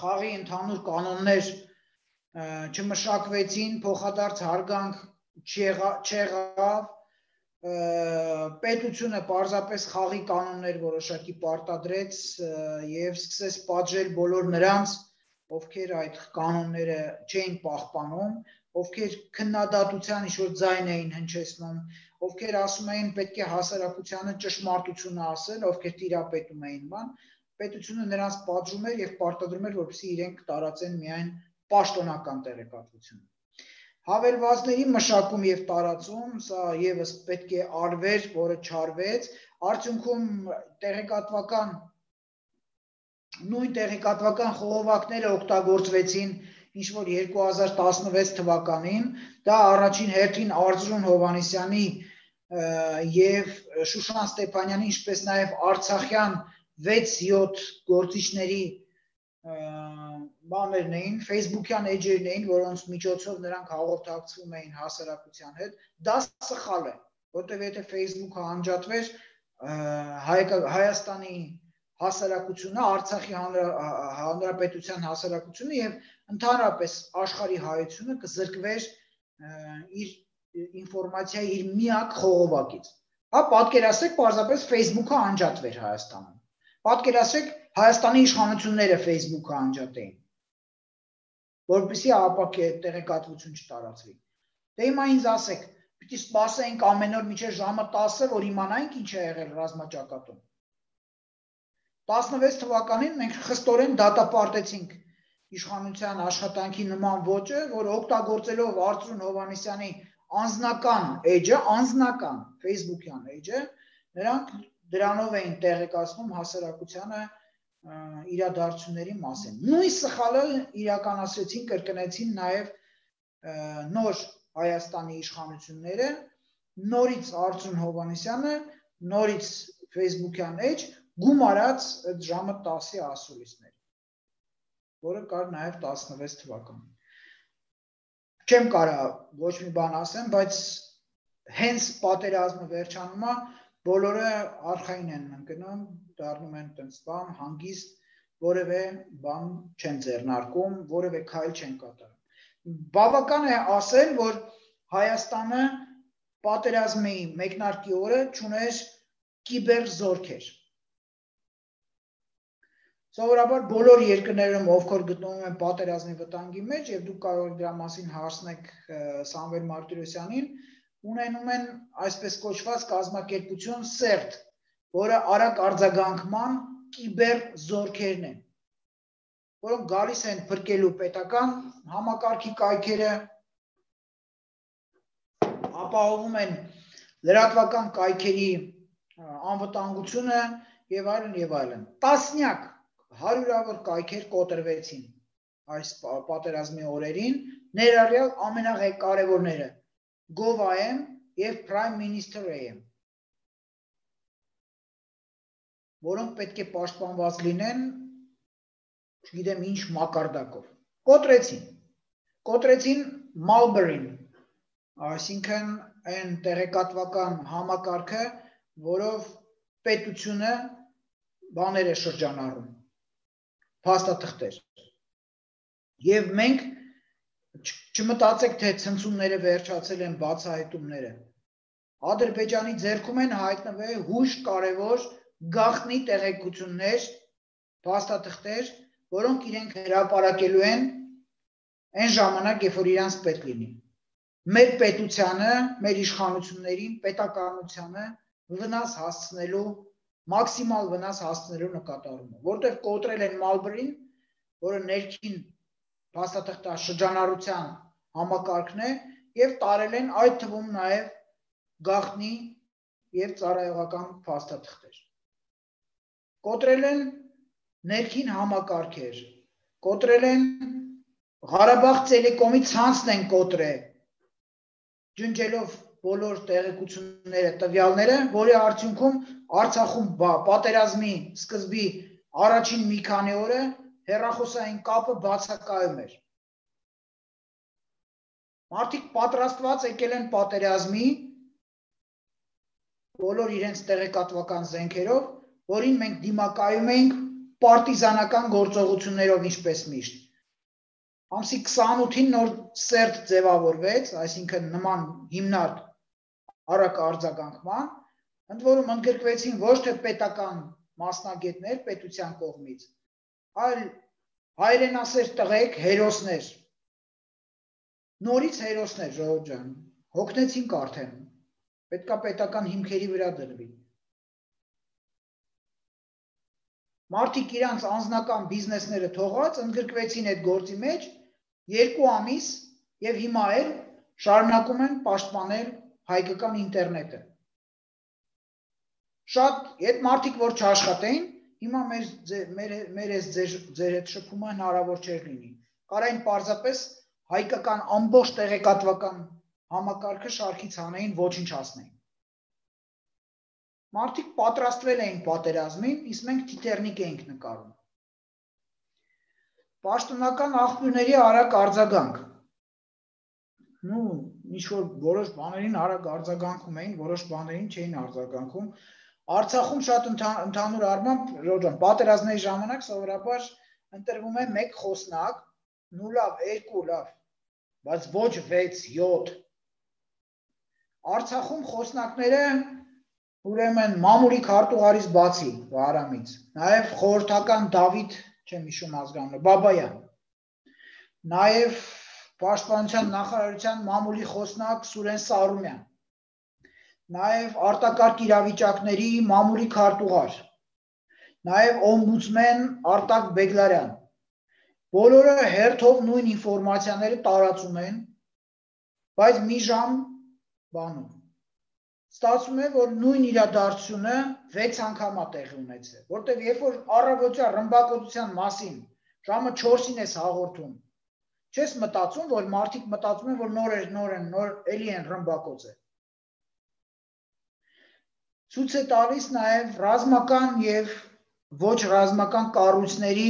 Խաղի ընդհանուր կանոններ չմշակվեցին, փոխադարձ հարգանք չեղավ, պետությունը պարզապես խաղի կանոններ որոշակի պարտադրեց եւ սկսեց պատժել բոլոր նրանց, ովքեր այդ կանոնները չէին պահպանում, ովքեր քննադատության ինչ-որ ձայն էին հնչեցնում, ովքեր ասում էին պետք է հասարակությանը ճշմարտությունը ասել, ովքեր տիրապետում էին բան, պետությունը նրանց պատժում էր եւ պարտադրում էր, որպեսզի իրենք տարածեն միայն պաշտոնական տեղեկատվությունը։ Հավելվածների մշակում եւ տարածում, սա եւս պետք է արվեր, որը չարվեց, արդյունքում նույն տեղեկատվական խողովակները օգտագործվեցին ինչ-որ 2016 թվականին, դա առաջին հերթին Արծրուն Հովհաննիսյանի եւ Շուշան Ստեփանյանի, ինչպես նաեւ Արցախյան 6-7 գործիչների բաներն էին, Facebook-յան էջերն էին, որոնց միջոցով նրանք հաղորդակցվում էին հասարակության հետ, դա սխալ է, որտեղ եթե Facebook-ը անջատվեր, Հայաստանի հասարակությունը, Արցախի հանրապետության հասարակությունը եւ ընդհանրապես աշխարհի հայությունը կզրկվեր իր ինֆորմացիայի իր միակ խողովակից։ Հա, պատկերացրեք, պարզապես Facebook-ը անջատվեր Հայաստանում։ Պատկերացրեք, Հայաստանի իշխանությունները Facebook-ը անջատեին, որպեսզի ապակե տեղեկատվություն չտարածվի։ Դե հիմա ինձ ասեք, պիտի սպասենք ամեն օր մինչև ժամը 10-ը, որ իմանանք ինչ է եղել ռազմաճակատում։ 16 թվականին մենք խստորեն դատապարտեցինք իշխանության աշխատանքի նման ոճը, որ օգտագործելով Արծրուն Հովհաննիսյանի անձնական էջը, անձնական Facebook-յան էջը, նրանք դրանով էին տեղեկացնում հասարակությանը իրադարձությունների մասին։ Նույն սխալը իրականացրեցին, կրկնեցին նաև նոր Հայաստանի իշխանությունները, նորից Արծրուն Հովհաննիսյանը, նորից Facebook-յան էջ գումարած այդ ժամը 10-ի ասուլիսներ, որը կար նաև 16 թվականին։ Չեմ կարա ոչ մի բան ասեմ, բայց հենց պատերազմը վերջանում է, բոլորը արխային են ընկնում, դառնում են տենց բան, հանգիստ, որևէ բան չեն ձեռնարկում, որևէ քայլ չեն կատարում։ Բավական է ասել, որ Հայաստանը պատերազմի մեկնարկի օրը չուներ կիբերզորքեր։ Սովորաբար բոլոր երկրներում, ովքեր գտնվում են պատերազմի վտանգի մեջ, եւ դուք կարող եք դրա մասին հարցնեք Սամվել Մարտիրոսյանին, ունենում են այսպես կոչված կազմակերպություն CERT, որը արագ արձագանքման կիբերզորքերն են, որոնք գալիս են փրկելու պետական համակարգի կայքերը, ապահովում են լրատվական կայքերի անվտանգությունը եւ այլն եւ այլն։ Տասնյակ հարյուրավոր կայքեր կոտրվեցին այս պատերազմի օրերին, ներառյալ ամենակարևորները Gov.am եւ Prime Minister.am, որոնք պետք է պաշտպանված լինեն, չգիտեմ ինչ մակարդակով։ Կոտրեցին Marlboro-ին, այսինքն այն տեղեկատվական համակարգը, որով պետությունը բաներ է շրջանառում, փաստաթղթեր։ Եվ մենք չմտածեք, թե ցնցումները վերջացել են բացահայտումները։ Ադրբեջանի ձեռքում են հայտնվել հույժ կարևոր գաղտնի տեղեկություններ, փաստաթղթեր, որոնք իրենք հրապարակելու են այն ժամանակ, երբ որ իրանց պետք լինի։ Մեր պետությանը, մեր իշխանություններին, պետականությանը վնաս հասցնելու, մաքսիմալ վնաս հասցնելու նկատառումով, որտեղ կոտրել են Marlboro-ին, որը ներքին փաստաթղթաշրջանառության համակարգն է, եւ տարել են այդ թվում նաեւ գաղտնի եւ ծառայողական փաստաթղթեր։ Կոտրել են ներքին համակարգեր, կոտրել են Ղարաբաղ Տելեկոմի ցանցն են կոտրել, ջնջելով բոլոր տեղեկությունները, տվյալները, որի արդյունքում Արցախում պատերազմի սկզբի առաջին մի քանի օրը հեռախոսային կապը բացակայում էր։ Մարդիկ պատրաստված եկել են պատերազմի, բոլոր իրենց տեղեկատվական զենքերով, որին մենք դիմակայում ենք պարտիզանական գործողություններով, ինչպես միշտ։ Ամսի 28-ին նոր սերտ ձևավորվեց, այսինքն նման հիմնարկ արագ արձագանքման, ընդ որում ընդգրկվեցին ոչ թե պետական մասնագետներ պետության կողմից, այլ հայրենասեր տղեկ, հերոսներ, նորից հերոսներ, ժողովուրդ ջան, հոգնեցինք արդեն, պետքա պետական հիմքերի վրա դրվի։ Մարդիկ իրանց անձնական բիզնեսները թողած ընդգրկվեցին այդ գործի մեջ 2 ամիս եւ հիմա էլ շարունակում են պաշտպանել հայկական ինտերնետը։ Շատ այդ մարդիկ, որ չաշխատեին, հիմա մեր այս ձեր հետ շփումը հնարավոր չէր լինի։ Կարային պարզապես հայկական ամբողջ տեղեկատվական համակարգը շարքից հանեին, ոչնչացնեին։ Մարդիկ պատրաստվել էին պատերազմին, իսկ մենք թիթեռնիկ էինք նկարում։ Պաշտոնական աղբյուրների արագ արձագանք։ Ինչ-որ որոշ բաներին արագ արձագանքում էին, որոշ բաներին չէին արձագանքում։ Արցախում շատ ընդհանուր առմամբ, պատերազմների ժամանակ սովորաբար ընտրվում է 1 խոսնակ, լավ, 2 լավ, բայց ոչ 6-7։ Արցախում խոսնակները ուրեմն մամուլի քարտուղարից բացի Վահրամից, նաև խորհրդական Դավիթ, չեմ հիշում ազգանունը, Բաբայան, նաև Պաշտպանության նախարարության մամուլի խոսնակ Սուրեն Սարումյան, նաև արտակարգ իրավիճակների մամուլի քարտուղար, նաև օմբուդսմեն Արտակ Բեգլարյան, բոլորը հերթով նույն ինֆորմացիաները տարածում են, բայց մի ժամ բանում։ Ստացվում է, որ նույն իրադարձությունը 6 անգամ է տեղի ունեցել, որտեղ երբ որ առավոտյան ռմբակոծության մասին ժամը 4-ին ես հաղորդում, չես մտածում, որ մարդիկ մտածում են, որ նոր էլի են ռմբակոծել։ Ցույց է տալիս նաև ռազմական եւ ոչ ռազմական կառույցների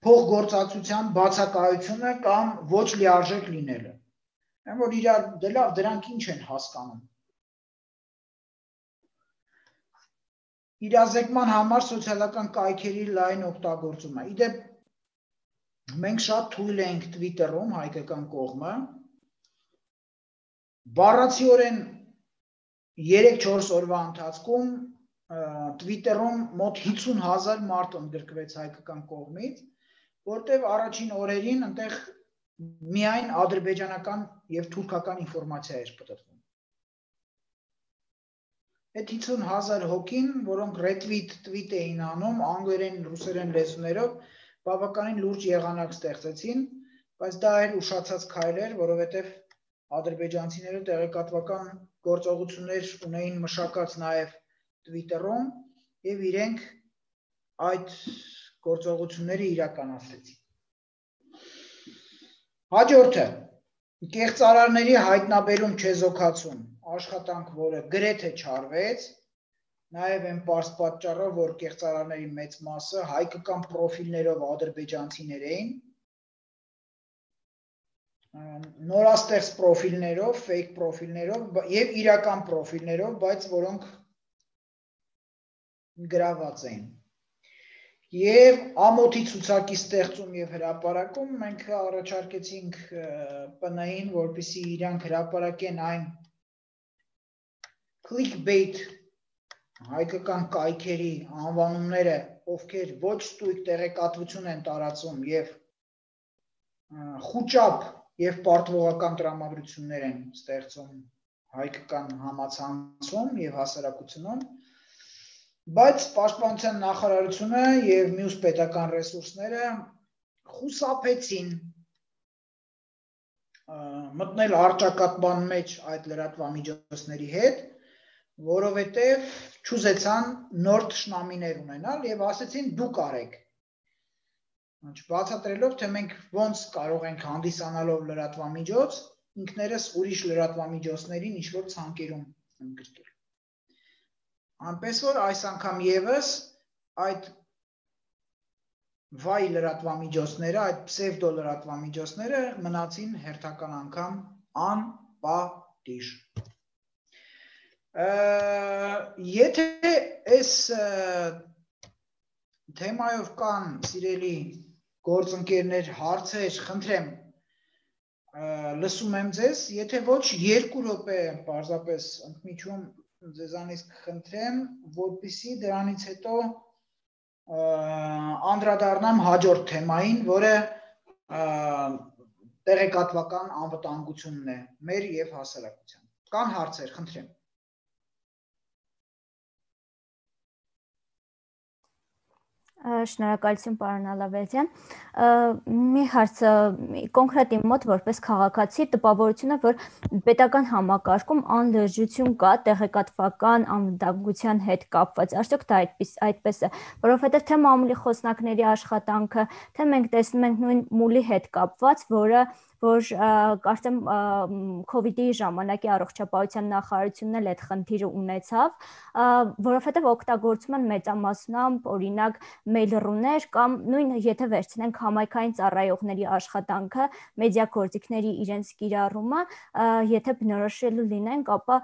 փոխգործակցության բացակայությունը կամ ոչ լիարժեք լինելը։ Այն որ իրար դելով դրանք ինչ են հասկանում։ Իրազեկման համար սոցիալական կայքերի լայն օգտագործումը։ Իդեպ մենք շատ թույլ ենք Twitter-ում հայկական կողմը բառացիորեն 3-4 օրվա ընթացքում Twitter-ում մոտ 50,000 մարդ ընդգրկվեց հայկական կողմից, որտեղ առաջին օրերին այնտեղ միայն ադրբեջանական եւ թուրքական ինֆորմացիա էր պատտվում։ Այդ 50,000 հոգին, որոնք retweet էին անում անգլերեն, ռուսերեն լեզուներով, բավականին լուրջ եղանակ ստեղծեցին, բայց դա էր ուշացած քայլ էր, որովհետև ադրբեջանցիները տեղեկատվական գործողություններ ունեին մշակած նաև Twitter-ում եւ իրենք այդ գործողությունները իրականացրեցին։ Հաջորդը կեղծարարների հայտնաբերում չեզոքացում աշխատանք, որը գրեթե չարվեց, նաև այն պարզ պատճառով, որ կեղծարարների մեծ մասը հայկական պրոֆիլներով ադրբեջանցիներ էին, նորաստեղծ պրոֆիլներով, fake պրոֆիլներով եւ իրական պրոֆիլներով, բայց որոնք գրաված էին։ Եվ ամոթի ցուցակի ստեղծում եւ հրապարակում մենք առաջարկեցինք ՊՆ-ին, որպեսզի իրանք հրապարակեն այն clickbait հայկական կայքերի անվանումները, ովքեր ոչ ստույգ տեղեկատվություն են տարածում եւ խուճապ եւ պարտվողական տրամադրություններ են ստեղծում հայկական համացանցում եւ հասարակությունում, բայց Պաշտպանության նախարարությունը եւ մյուս պետական ռեսուրսները խուսափեցին մտնել առճակատման մեջ այդ լրատվամիջոցների հետ, որովհետև չուզեցան նոր թշնամիներ ունենալ եւ ասեցին դուք արեք։ Բացատրելով, թե մենք ոնց կարող ենք հանդիսանալով լրատվամիջոց, ինքներս ուրիշ լրատվամիջոցներին ինչ-որ ցանկերում ընդգրկել։ Այնպես որ այս անգամ եւս այդ վայ լրատվամիջոցները, այդ պսևդո լրատվամիջոցները մնացին հերթական անգամ անպատիժ։ Եթե այս թեմայով կան սիրելի գործընկերներ, հարցեր, խնդրեմ, լսում եմ ձեզ, եթե ոչ 2 րոպե պարզապես ընդմիջում ձեզանից կխնդրեմ, որպեսզի դրանից հետո անդրադառնամ հաջորդ թեմային, որը տեղեկատվական անվտանգությունն է մեր եւ հասարակության։ Կան հարցեր, խնդրեմ։ Շնորհակալություն պարոն Ալավերդյան։ Մի հարց կոնկրետ իմ մոտ որպես քաղաքացի տպավորությունը, որ պետական համակարգում անլրջություն կա տեղեկատվական անվտանգության հետ կապված։ Արդյոք դա այդպես է, որովհետև թե մամուլի խոսնակների աշխատանքը, թե մենք տեսնում ենք նույն մուլի հետ կապված, որ կարծեմ COVID-ի ժամանակի առողջապահության նախարարությունն էլ այդ խնդիրը ունեցավ, որովհետև օգտագործում են մեծամասնամբ օրինակ մեյլռուներ կամ նույն եթե վերցնենք համայնքային ծառայողների աշխատանքը, մեդիագործիքների իրենց կիրառումը, եթե բնորոշելու լինենք, ապա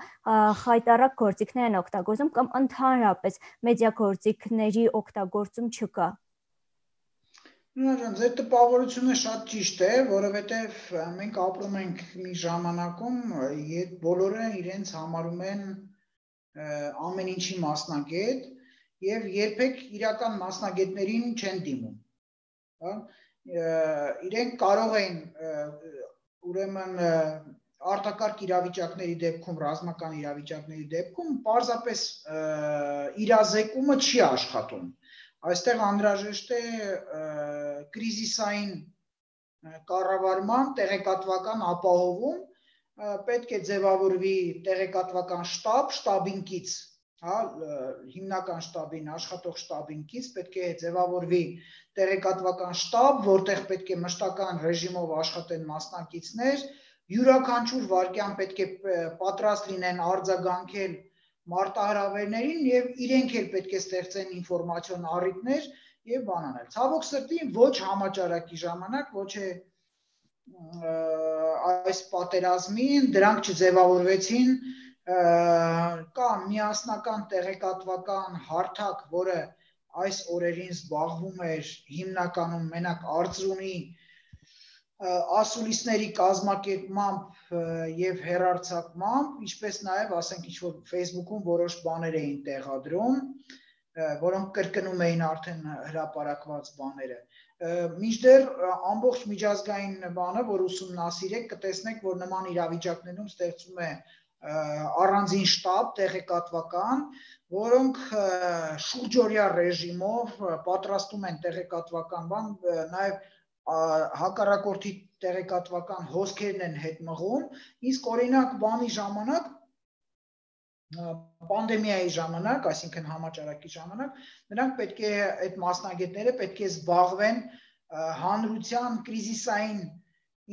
խայտառակ գործիքներ են օգտագործում կամ ընդհանրապես մեդիագործիքների օգտագործում չկա։ Նույնիսկ ձեր տպավորությունը շատ ճիշտ է, որովհետև մենք ապրում ենք մի ժամանակում, երբ բոլորը իրենց համարում են ամեն ինչի մասնագետ եւ երբեք իրական մասնագետներին չեն դիմում։ Հա? Իրենք կարող են ուրեմն արտակարգ իրավիճակների դեպքում, ռազմական իրավիճակների դեպքում պարզապես իրազեկումը չի աշխատում։ Այստեղ անհրաժեշտ է կրիզիսային կառավարման տեղեկատվական ապահովում, պետք է ձևավորվի տեղեկատվական շտաբ, շտաբին կից, հա, հիմնական շտաբին, աշխատող շտաբին կից, պետք է ձևավորվի տեղեկատվական շտաբ, որտեղ պետք է մշտական ռեժիմով աշխատեն մասնակիցներ, յուրաքանչյուր վայրկյան պետք է պատրաստ լինեն արձագանքել մարտահրավերներին եւ իրենք էլ պետք է ստեղծեն ինֆորմացիոն առիթներ եւ բան անել։ Ցավոք սրտի ոչ համաճարակի ժամանակ, ոչ է այս պատերազմին դրանք չձևավորվեցին, կա միասնական տեղեկատվական հարթակ, որը այս օրերին զբաղվում էր հիմնականում մենակ արծրունի ասուլիսների կազմակերպմամբ եւ հեռարձակմամբ, ինչպես նաեւ ասենք ինչ-որ Facebook-ում որոշ բաներ էին տեղադրում, որոնք կրկնում էին արդեն հրապարակված բաները։ Մինչդեռ ամբողջ միջազգային բանը, որ ուսումնասիրեք, կտեսնեք, որ նման իրավիճակներում ստեղծում է առանձին շտաբ տեղեկատվական, որոնք շուրջօրյա ռեժիմով պատրաստում են տեղեկատվական բան, նաեւ հակառակորդի տեղեկատվական հոսքերն են հետ մղում, իսկ օրինակ բանի ժամանակ, պանդեմիայի ժամանակ, այսինքն համաճարակի ժամանակ, նրանք պետք է այդ մասնագետները պետք է զբաղվեն հանրության կրիզիսային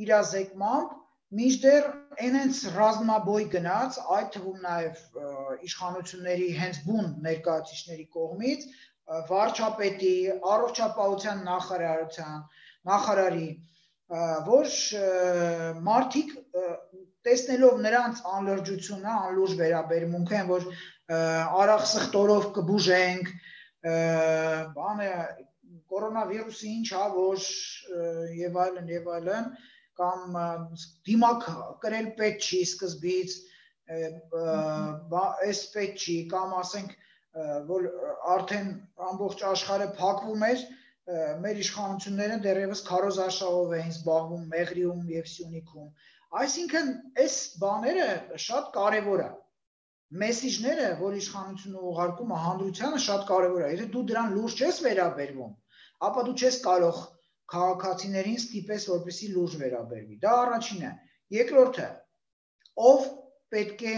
իրազեկմամբ, մինչդեռ այնց ռազմաբոյ գնաց, այդ թվում նաև իշխանությունների հենց բուն ներկայացուցիչների կողմից, վարչապետի, առողջապահության նախարարի, որ մարդիկ տեսնելով նրանց անլրջությունը, անլուրջ վերաբերմունքը, որ արագ սխտորով կբուժենք, բանը կորոնավիրուսը ինչ ա, որ եւ այլն, կամ դիմակ կրել պետք չի սկզբից, այս պետք չի, կամ ասենք, որ արդեն ամբողջ աշխարհը փակվում էր, մեր իշխանությունները դեռևս քարոզարշավով էին զբաղվում Մեղրիում եւ Սյունիքում։ Այսինքն, այս բաները շատ կարևոր է։ Մեսիջները, որ իշխանությունը ուղարկում է հանրությանը, շատ կարևոր է։ Եթե դու դրան լուրջ չես վերաբերվում, ապա դու չես կարող քաղաքացիներին ստիպես, որպեսզի լուրջ վերաբերվի։ Դա առաջինը։ Երկրորդը, ով պետք է,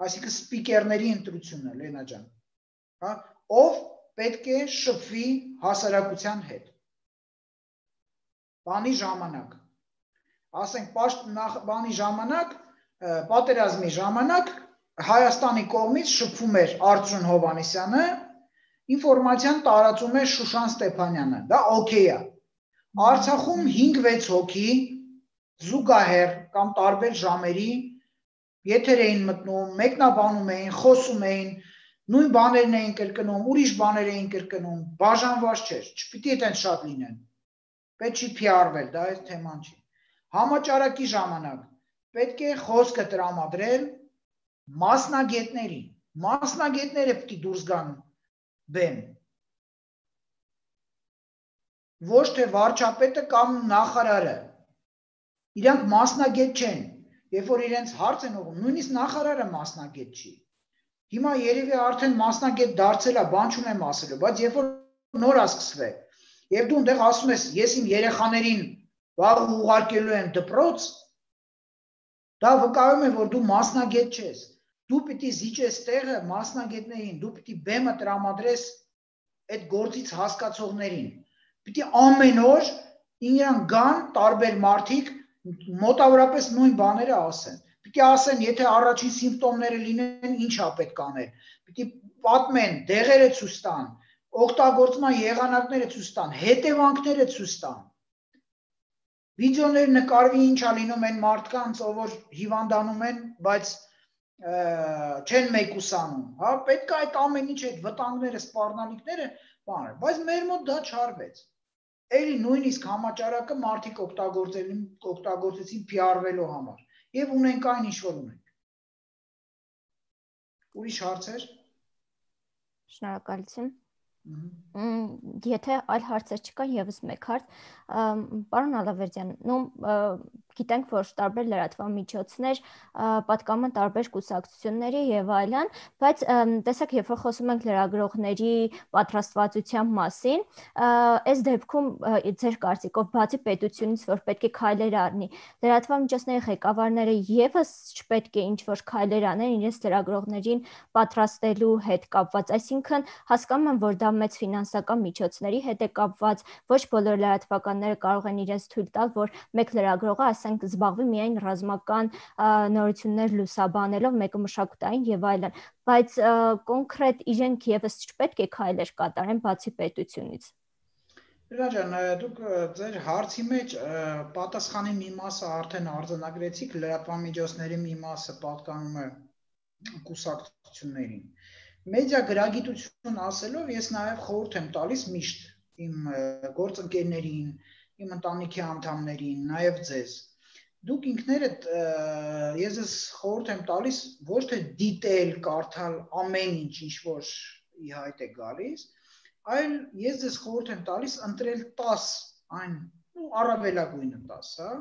այսինքն սպիկերների ընտրությունը, Լենա ջան, հա, ով պետք է շփվի հասարակության հետ։ Բանի ժամանակ, ասենք բանի ժամանակ, պատերազմի ժամանակ Հայաստանի կողմից շփվում էր Արծրուն Հովհաննիսյանը, ինֆորմացիան տարածում էր Շուշան Ստեփանյանը, դա օքեյ է։ Արցախում 5-6 հոգի զուգահեռ կամ տարբեր ժամերի եթեր էին մտնում, մեկնաբանում էին, խոսում էին, նույն բաներն էին կրկնում, ուրիշ բաներ էին կրկնում, բաժանված չէր, չպիտի այդպես շատ լինեն։ Պետք չի PR-վել, դա այս թեման չի։ Համաճարակի ժամանակ պետք է խոսքը տրամադրել մասնագետներին։ Մասնագետները պետք է դուրս գան բեմ։ Ոչ թե վարչապետը կամ նախարարը։ Իրանք մասնագետ չեն։ Երբ որ իրենց հարց են ուղղում, նույնիսկ նախարարը մասնագետ չի։ Հիմա երևի արդեն մասնագետ դարձել է, բան չունեմ ասելու, բայց երբ որ նոր է սկսվել, եւ դու այնտեղ ասում ես, ես իմ երեխաներին վաղ ուղարկելու եմ դպրոց, դա վկայում է, որ դու մասնագետ չես։ Դու պիտի զիջես տեղը մասնագետներին, դու պիտի բեմը տրամադրես այդ գործից հասկացողներին։ Պիտի ամեն օր իրան գան տարբեր մարդիկ մոտավորապես նույն բաները ասեն։ Պիտի ասեն, եթե առաջին սիմպտոմները լինեն, ինչ է պետք անել։ Պիտի պատմեն, դեղերը ցույց տան, օգտագործման եղանակները ցույց տան, հետևանքները ցույց տան։ Վիդեոներ նկարվի, ինչ է լինում այն մարդկանց, ով հիվանդանում են, բայց չեն մեկուսանում, հա, պետք է այդ ամեն ինչ այդ վտանգները, սպառնալիքները բաներ, բայց մեր մոտ դա չարվեց։ Էլի նույնիսկ համաճարակը մարդիկ օգտագործեցին PR-վելու համար եւ ունենք այն ինչ որ ունենք։ Ուրիշ հարցեր։ Շնորհակալություն։ Եթե այլ հարցեր չկա, եւս մեկ հարց, պարոն Ալավերդյան, գիտենք, որ տարբեր լրատվամիջոցներ պատկանում են տարբեր կուսակցությունների եւ այլն, բայց տեսեք, երբ որ խոսում ենք լրագրողների պատրաստվածության մասին, այս դեպքում ձեր կարծիքով բացի պետությունից, որ պետք է քայլեր առնի, լրատվամիջոցների ղեկավարները եւս չպետք է ինչ-որ քայլեր անեն իրենց լրագրողներին պատրաստելու հետ կապված, այսինքն հասկանում եմ, որ դա մեծ ֆինանսական միջոցների հետ է կապված, ոչ բոլոր լրատվականները կարող են իրենց թույլ տալ, որ մեկ լրագրողը, ասենք, զբաղվի միայն ռազմական նորություններ լուսաբանելով, մեկը մշակութային եւ այլն, բայց կոնկրետ իրենք եւս չպետք է քայլեր կատարեն բացի պետությունից։ Լենա ջան, դուք ձեր հարցի մեջ պատասխանի մի մասը արդեն արձանագրեցիք, լրատվամիջոցների մի մասը պատկանում է կուսակցություններին։ Մեդիա գրագիտություն ասելով ես նաև խորհուրդ եմ տալիս միշտ իմ գործընկերներին, իմ ընտանիքի անդամներին, նաև ձեզ։ Դուք ինքներդ ես ես խորհուրդ եմ տալիս ոչ թե դիտել, կարդալ ամեն ինչ, ինչ որ ի հայտ է գալիս, այլ ես ձեզ խորհուրդ եմ տալիս ընտրել 10 այն, առավելագույնը 10, հա,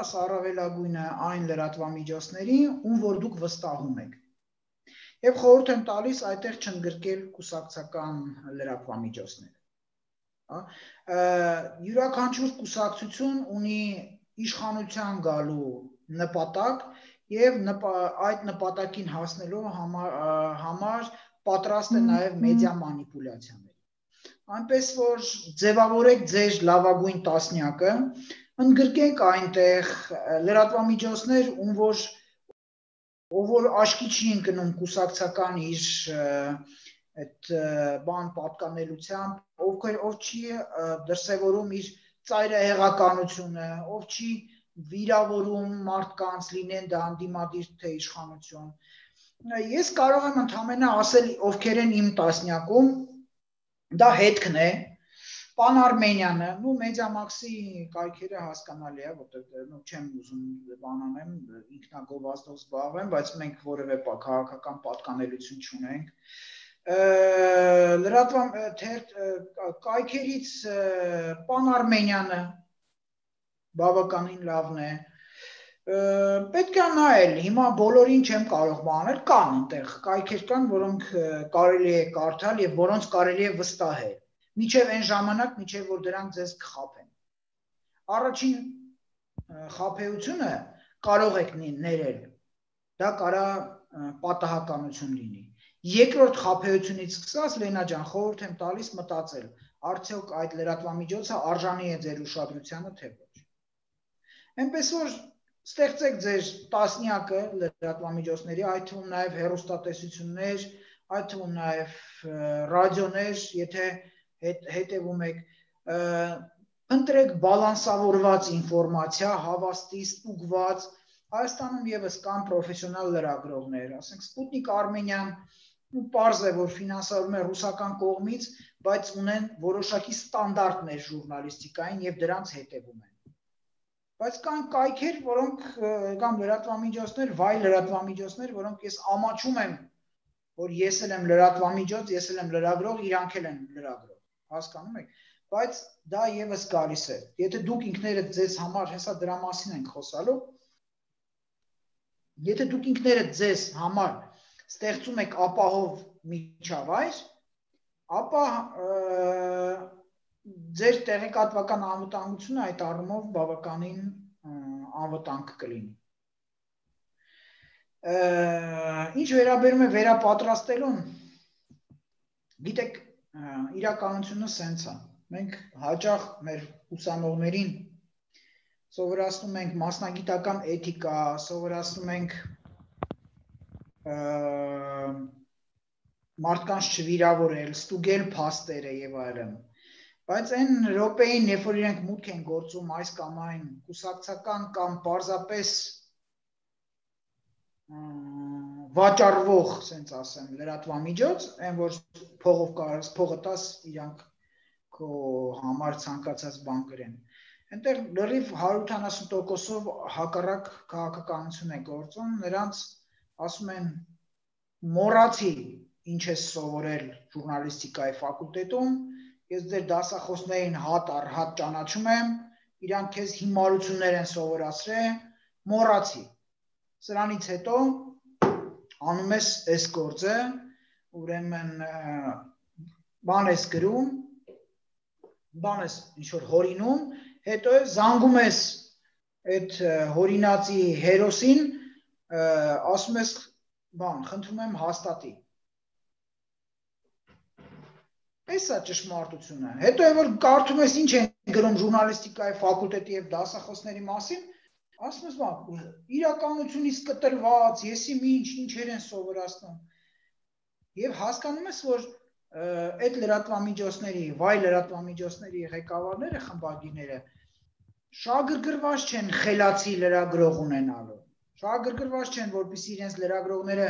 10 առավելագույնը այն լրատվամիջոցների, ում որ դուք վստահում եք։ Եվ խորհուրդ եմ տալիս այդտեղ չընդգրկել կուսակցական լրատվամիջոցները։ Յուրաքանչյուր կուսակցություն ունի իշխանության գալու նպատակ եւ այդ նպատակին հասնելու համար պատրաստ է նաեւ մեդիա մանիպուլյացիաների։ Այնպես որ ձևավորեք ձեր լավագույն տասնյակը, ընդգրկենք այնտեղ լրատվամիջոցներ, ով որ աշկի չի ընկնում կուսակցական իր այդ բան պատկանելությամբ, ով չի դրսևորում իր ծայրահեղականությունը, ով չի վիրավորում մարդկանց լինեն դա անդիմադիր թե իշխանություն։ Ես կարող եմ ընդհանրապես ասել ովքեր են իմ տասնյակում, դա հետքն է, Պան Արմենյանը, Մեդիամաքսի կայքերը հասկանալի է, որտեղ չեմ ուզում բան անեմ, ինքնագովազդով զբաղվեմ, բայց մենք որևէ քաղաքական պատկանելություն չունենք։ Կայքերից Պան Արմենյանը բավականին լավն է։ Պետք է նայել, հիմա բոլորին չեմ կարող բանել, կան այնտեղ կայքեր կան, որոնք կարելի է կարդալ եւ որոնց կարելի է վստահել։ Միջև այն ժամանակ, միջև որ դրանք ձեզ կխաբեն։ Առաջին խաբեությունը կարող եք ներել, դա կարա պատահականություն լինի։ Երկրորդ խաբեությունից սկսած Լենա ջան, խորհուրդ եմ տալիս մտածել, արդյոք այդ լրատվամիջոցը արժանի է ձեր ուշադրությանը, թե ոչ։ Այնպես որ ստեղծեք ձեր տասնյակը լրատվամիջոցների, այդ թվում նաև հեռուստատեսություններ, այդ թվում նաև ռադիոներ, եթե հետևում եք, ընտրեք բալանսավորված ինֆորմացիա, հավաստի, ստուգված, Հայաստանում ևս կան պրոֆեսիոնալ լրագրողներ, ասենք Սպուտնիկ Արմենիան, պարզ է, որ ֆինանսավորվում է ռուսական կողմից, բայց ունեն որոշակի ստանդարտներ ժուրնալիստիկային եւ դրանց հետևում են։ Բայց կան կայքեր, որոնք կամ լրատվամիջոցներ, վայ լրատվամիջոցներ, որոնք ես ամաչում եմ, որ ես էլ եմ լրատվամիջոց, ես էլ եմ լրագրող, իրանք էլ են լրագրող, հասկանում եք, բայց դա եւս գալիս է։ Եթե դուք ինքներդ ձեզ համար, հեսա դրա մասին ենք խոսալու, եթե դուք ինքներդ ձեզ համար ստեղծում եք ապահով միջավայր, ապա ձեր տեղեկատվական անվտանգությունը այդ առումով բավականին անվտանգ կլինի։ Ինչ վերաբերում է վերապատրաստելուն, գիտեք, իրականությունը սենց է։ Մենք հաճախ մեր ուսանողներին սովորացնում ենք մասնագիտական էթիկա, սովորացնում ենք մարդկանց չվիրավորել, ստուգել փաստերը եւ այլն։ Բայց այն րոպեին, երբ որ իրենք մուտք են գործում այս կամ այն կուսակցական կամ պարզապես վաճառվող, ասենց ասեմ, լրատվամիջոց, այն որ փողով կարաս փողը տաս, իրանք քո համար ցանկացած բան կրեն։ Այնտեղ լրիվ 170%-ով հակառակ քաղաքականություն է գործում, նրանց ասում են մոռացի ինչ ես սովորել ժուրնալիստիկայի ֆակուլտետում, ես ձեր դասախոսներին հատ առ հատ ճանաչում եմ, իրանք քեզ հիմարություններ են սովորացրել, մոռացի։ Սրանից հետո անում ես այս գործը, ուրեմն բան ես գրում, բան ես ինչ-որ հորինում, հետո զանգում ես այդ հորինածի հերոսին, ասում ես, բան, խնդրում եմ հաստատի։ Այս է ճշմարտությունը։ Հետո որ կարդում ես ինչ են գրում ժուրնալիստիկայի ֆակուլտետի եւ դասախոսների մասին, ասում ես, բան, իրականությունից կտրված, եսի ինչեր են սովորացնում։ Եվ հասկանում ես, որ այդ լրատվամիջոցների, վայ լրատվամիջոցների ղեկավարները, խմբագիրները շահագրգռված չեն խելացի լրագրող ունենալու։ Շահագրգռված չեն, որպեսզի իրենց լրագրողները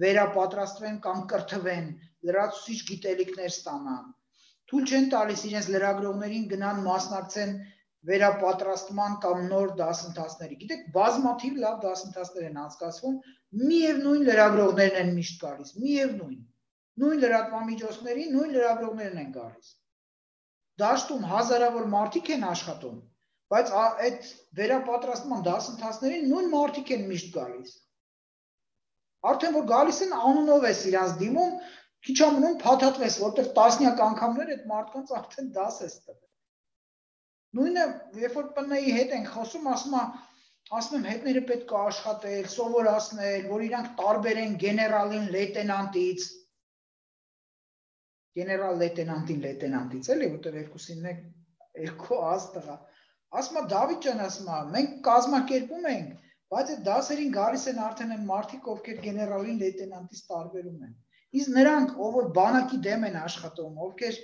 վերապատրաստվեն կամ կրթվեն, լրացուցիչ գիտելիքներ ստանան։ Թույլ չեն տալիս իրենց լրագրողներին գնան մասնակցեն վերապատրաստման կամ նոր դասընթացների։ Գիտեք, բազմաթիվ լավ դասընթացներ են անցկացվում, միևնույն լրագրողներն են միշտ գալիս, միևնույն։ Նույն լրատվամիջոցների, նույն լրագրողներն են գալիս։ Դաշտում հազարավոր մարդիկ են աշխատում, բայց այդ վերապատրաստման դասընթացներին նույն մարդիկ են միշտ գալիս։ Արդեն որ գալիս են անունով ես իրանց դիմում, քիչ ամնում փաթաթվես, որտեղ տասնյակ անգամներ այդ մարդկանց արդեն դաս ես տվել։ Նույնը, երբ որ ՊՆ-ի հետ ենք խոսում, ասում եմ հետները պետք է աշխատել, սովորացնել, որ իրանք տարբերեն գեներալին լեյտենանտից։ Գեներալ լեյտենանտից էլի, որտեղ երկուսին է երկու աստղա։ Ասում է Դավիթ ջան, ասում է, մենք կազմակերպում ենք, բայց այդ դասերին գալիս են արդեն այն մարդիկ, ովքեր գեներալին լեյտենանտից տարբերում են։ Իսկ նրանք, ով որ բանակի դեմ են աշխատում, ովքեր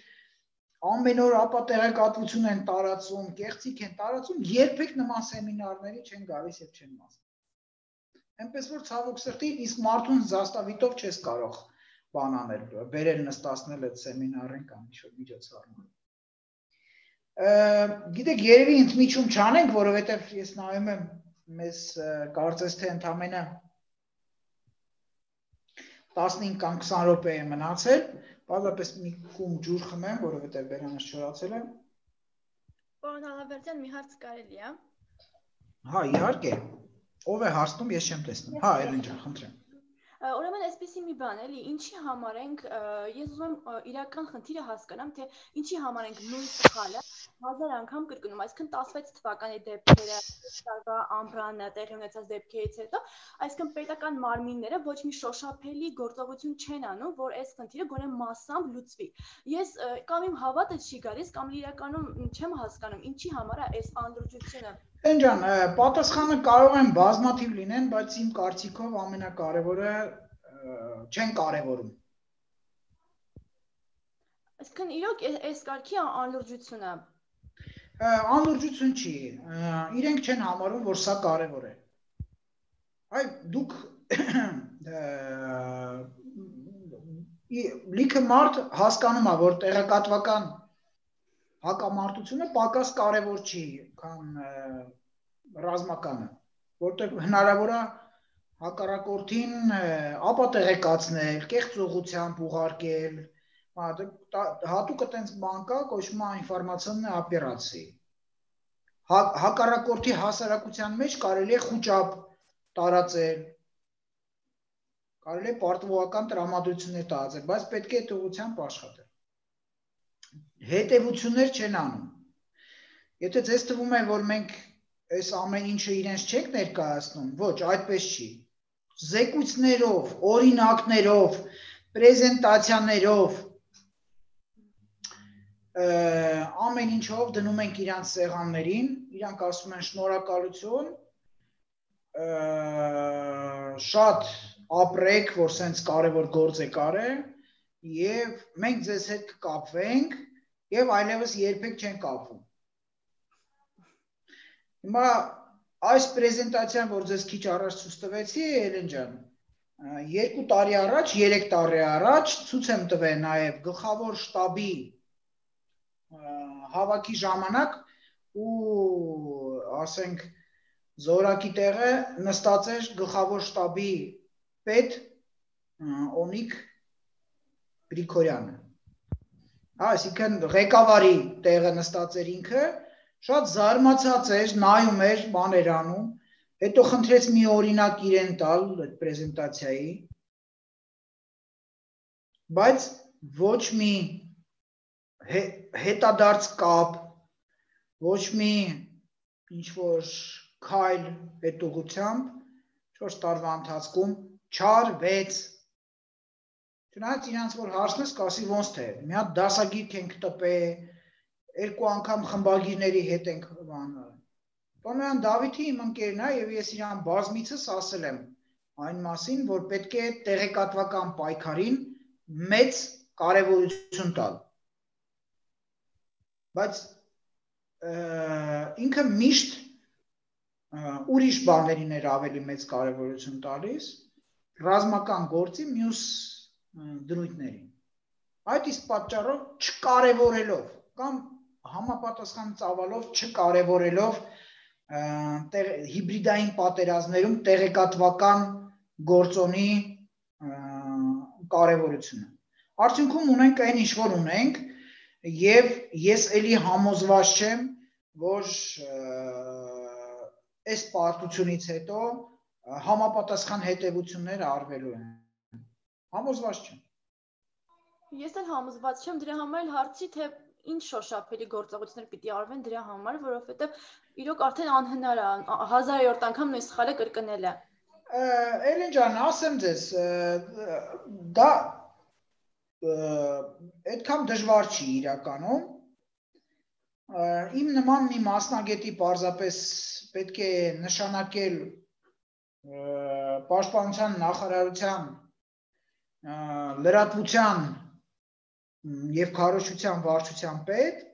ամեն օր ապա տեղեկատվություն են տարածում, կեղծիք են տարածում, երբեք նման սեմինարների չեն գալիս եւ չեն մասնակցում։ Այնպես որ ցավոք սրտի, իսկ մարդուն զաստավիտով չես կարող բան անել, բերել նստացնել այդ սեմինարին կամ ինչ-որ միջոցառման։ Գիտեք, երևի ընդմիջում չանենք, որովհետեւ ես նայում եմ մեզ կարծես թե ընդամենը 15 կամ 20 րոպե է մնացել, բազմապես մի կում ջուր խմեմ, որովհետև բերանս չորացել է։ Պարոն Հալավերդյան, մի հարց կարելի է։ Հա, իհարկե։ Ով է հարցնում, ես չեմ տեսնում։ Հա, Էլեն ջան, խնդրեմ։ Ուրեմն այսպեսի մի բան էլի, ինչի համար ենք, ես ուզում եմ իրական խնդիրը հասկանամ, թե ինչի համար ենք նույն սխալը 1000 անգամ կրկնում, այսինքն 16 թվականի դեպքերը, տարվա ամռանը տեղի ունեցած դեպքերից հետո, այսինքն պետական մարմինները ոչ մի շոշափելի գործողություն չեն անում, որ այս խնդիրը գոնե մասամբ լուծվի։ Ես կամ իմ հավատը չի գալիս, կամ իրականում չեմ հասկանում, ինչի համար է այս անլրջությունը։ Էնջան, պատասխանը կարող են բազմաթիվ լինեն, բայց իմ կարծիքով ամենակարևորը չեն կարևորում։ Այսինքն իրոք այս կարգի անլրջությունը Անլրջություն չի, իրենք չեն համարում, որ սա կարևոր է։ Այ դուք լիքը մարդ հասկանում է, որ տեղեկատվական հակամարտությունը պակաս կարևոր չի, քան ռազմականը, որտեղ հնարավոր է հակառակորդին ապա տեղեկացնել, կեղծողությամբ ուղարկել, հատուկ այտենց բան կա, կոչվում է ինֆորմացիոննե օպերացիա։ Հակառակորդի հասարակության մեջ կարելի է խուճապ տարածել, կարելի է պարտվողական տրամադրություններ տարածել, բայց պետք է այդ ուղղությամբ աշխատել։ Հետևություններ չեն անում։ Եթե ձեզ թվում է, որ մենք այս ամեն ինչը իրենց չենք ներկայացնում, ոչ, այդպես չի։ Զեկույցներով, օրինակներով, պրեզենտացիաներով, ամեն ինչով դնում ենք իրանց սեղաններին, իրանք ասում են շնորհակալություն, շատ ապրեք, որ սենց կարևոր գործ եք արել, եւ մենք ձեզ հետ կկապվենք եւ այլևս երբեք չեն կապվում։ Հիմա այս պրեզենտացիան, որ ձեզ քիչ առաջ ցույց տվեցի, Էլեն ջան, 2 տարի առաջ, 3 տարի առաջ ցույց եմ տվել նաեւ գլխավոր շտաբի հավաքի ժամանակ ու ասենք զորակի տեղը նստած էր գլխավոր շտաբի պետ Օնիկ Գրիգորյանը։ Այսինքն ղեկավարի տեղը նստած էր ինքը, շատ զարմացած էր, նայում էր, բաներ անում, հետո խնդրեց մի օրինակ իրեն տալ այդ պրեզենտացիայի, բայց ոչ մի հետադարձ կապ, ոչ մի ինչ-որ քայլ այդ ուղղությամբ 4 տարվա ընթացքում չարվեց։ Չնայած իրանց որ հարցնես, կասի ոնց թե, մի հատ դասագիրք ենք տպել, 2 անգամ խմբագիրների հետ ենք բանը։ Պարոն Դավիթի իմ ընկերն է եւ ես իրան բազմիցս ասել եմ այն մասին, որ պետք է տեղեկատվական պայքարին մեծ կարևորություն տալ։ Բայց ինքը միշտ ուրիշ բաներին էր ավելի մեծ կարևորություն տալիս, ռազմական գործի մյուս դրույթներին։ Այդ իսկ պատճառով չկարևորելով կամ համապատասխան ծավալով չկարևորելով հիբրիդային պատերազմներում տեղեկատվական գործոնի կարևորությունը։ Արդյունքում ունենք այն ինչ որ ունենք եւ ես էլի համոզված չեմ, որ այս պարտությունից հետո համապատասխան հետևություններ արվելու են։ Համոզված չեմ։ Ես էլ համոզված չեմ, դրա համար էլ հարցի, թե ինչ շոշափելի գործողություններ պիտի արվեն դրա համար, որովհետև իրոք արդեն անհնար է 1000-րդ անգամ նույն սխալը կրկնելը։ Էլեն ջան, ասեմ ձեզ, դա այդքան դժվար չի իրականում։ Իմ նման մի մասնագետի պարզապես պետք է նշանակել Պաշտպանության նախարարության լրատվության եւ քարոզչության վարչության պետ,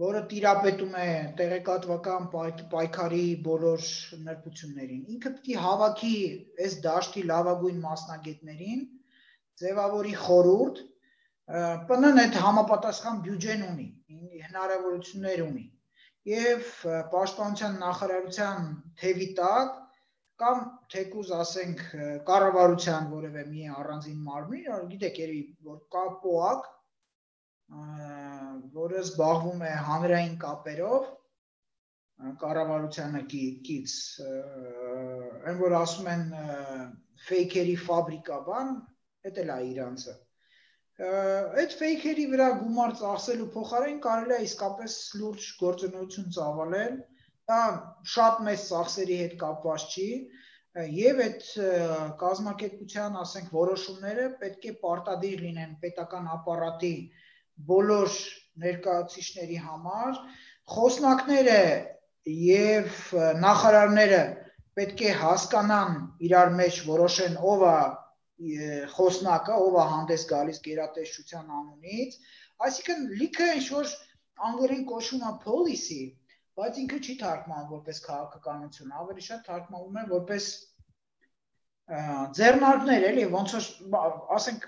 որը տիրապետում է տեղեկատվական պայքարի բոլոր նրբություններին։ Ինքը պետք է հավաքի այս դաշտի լավագույն մասնագետներին, ձևավորի խորհուրդ, ՊՆ-ն այդ համապատասխան բյուջեն ունի, հնարավորություններ ունի եւ Պաշտպանության նախարարության թևի տակ կամ թեկուզ ասենք կառավարության որևէ մի առանձին մարմին, գիտեք, որ կա ՊՕԱԿ, որը զբաղվում է հանրային կապերով, կառավարությանը կից, այն որ ասում են ֆեյքերի ֆաբրիկա բան, էդ էլ է իրանցը։ Այդ ֆեյքերի վրա գումար ծախսելու փոխարեն կարելի է իսկապես լուրջ գործունեություն ծավալել, դա շատ մեծ ծախսերի հետ կապված չի, եւ այդ կազմակերպության, ասենք, որոշումները պետք է պարտադիր լինեն պետական ապարատի բոլոր ներկայացուցիչների համար, խոսնակները եւ նախարարները պետք է հասկանան իրար մեջ որոշեն ով է խոսնակը, ով է հանդես գալիս գերատեսչության անունից, այսինքն լիքը ինչ-որ անգլերեն կոչվում է policy, բայց ինքը չի թարգմանվում որպես քաղաքականություն, ավելի շատ թարգմանվում է որպես ձեռնարկներ, էլի, ոնց որ ասենք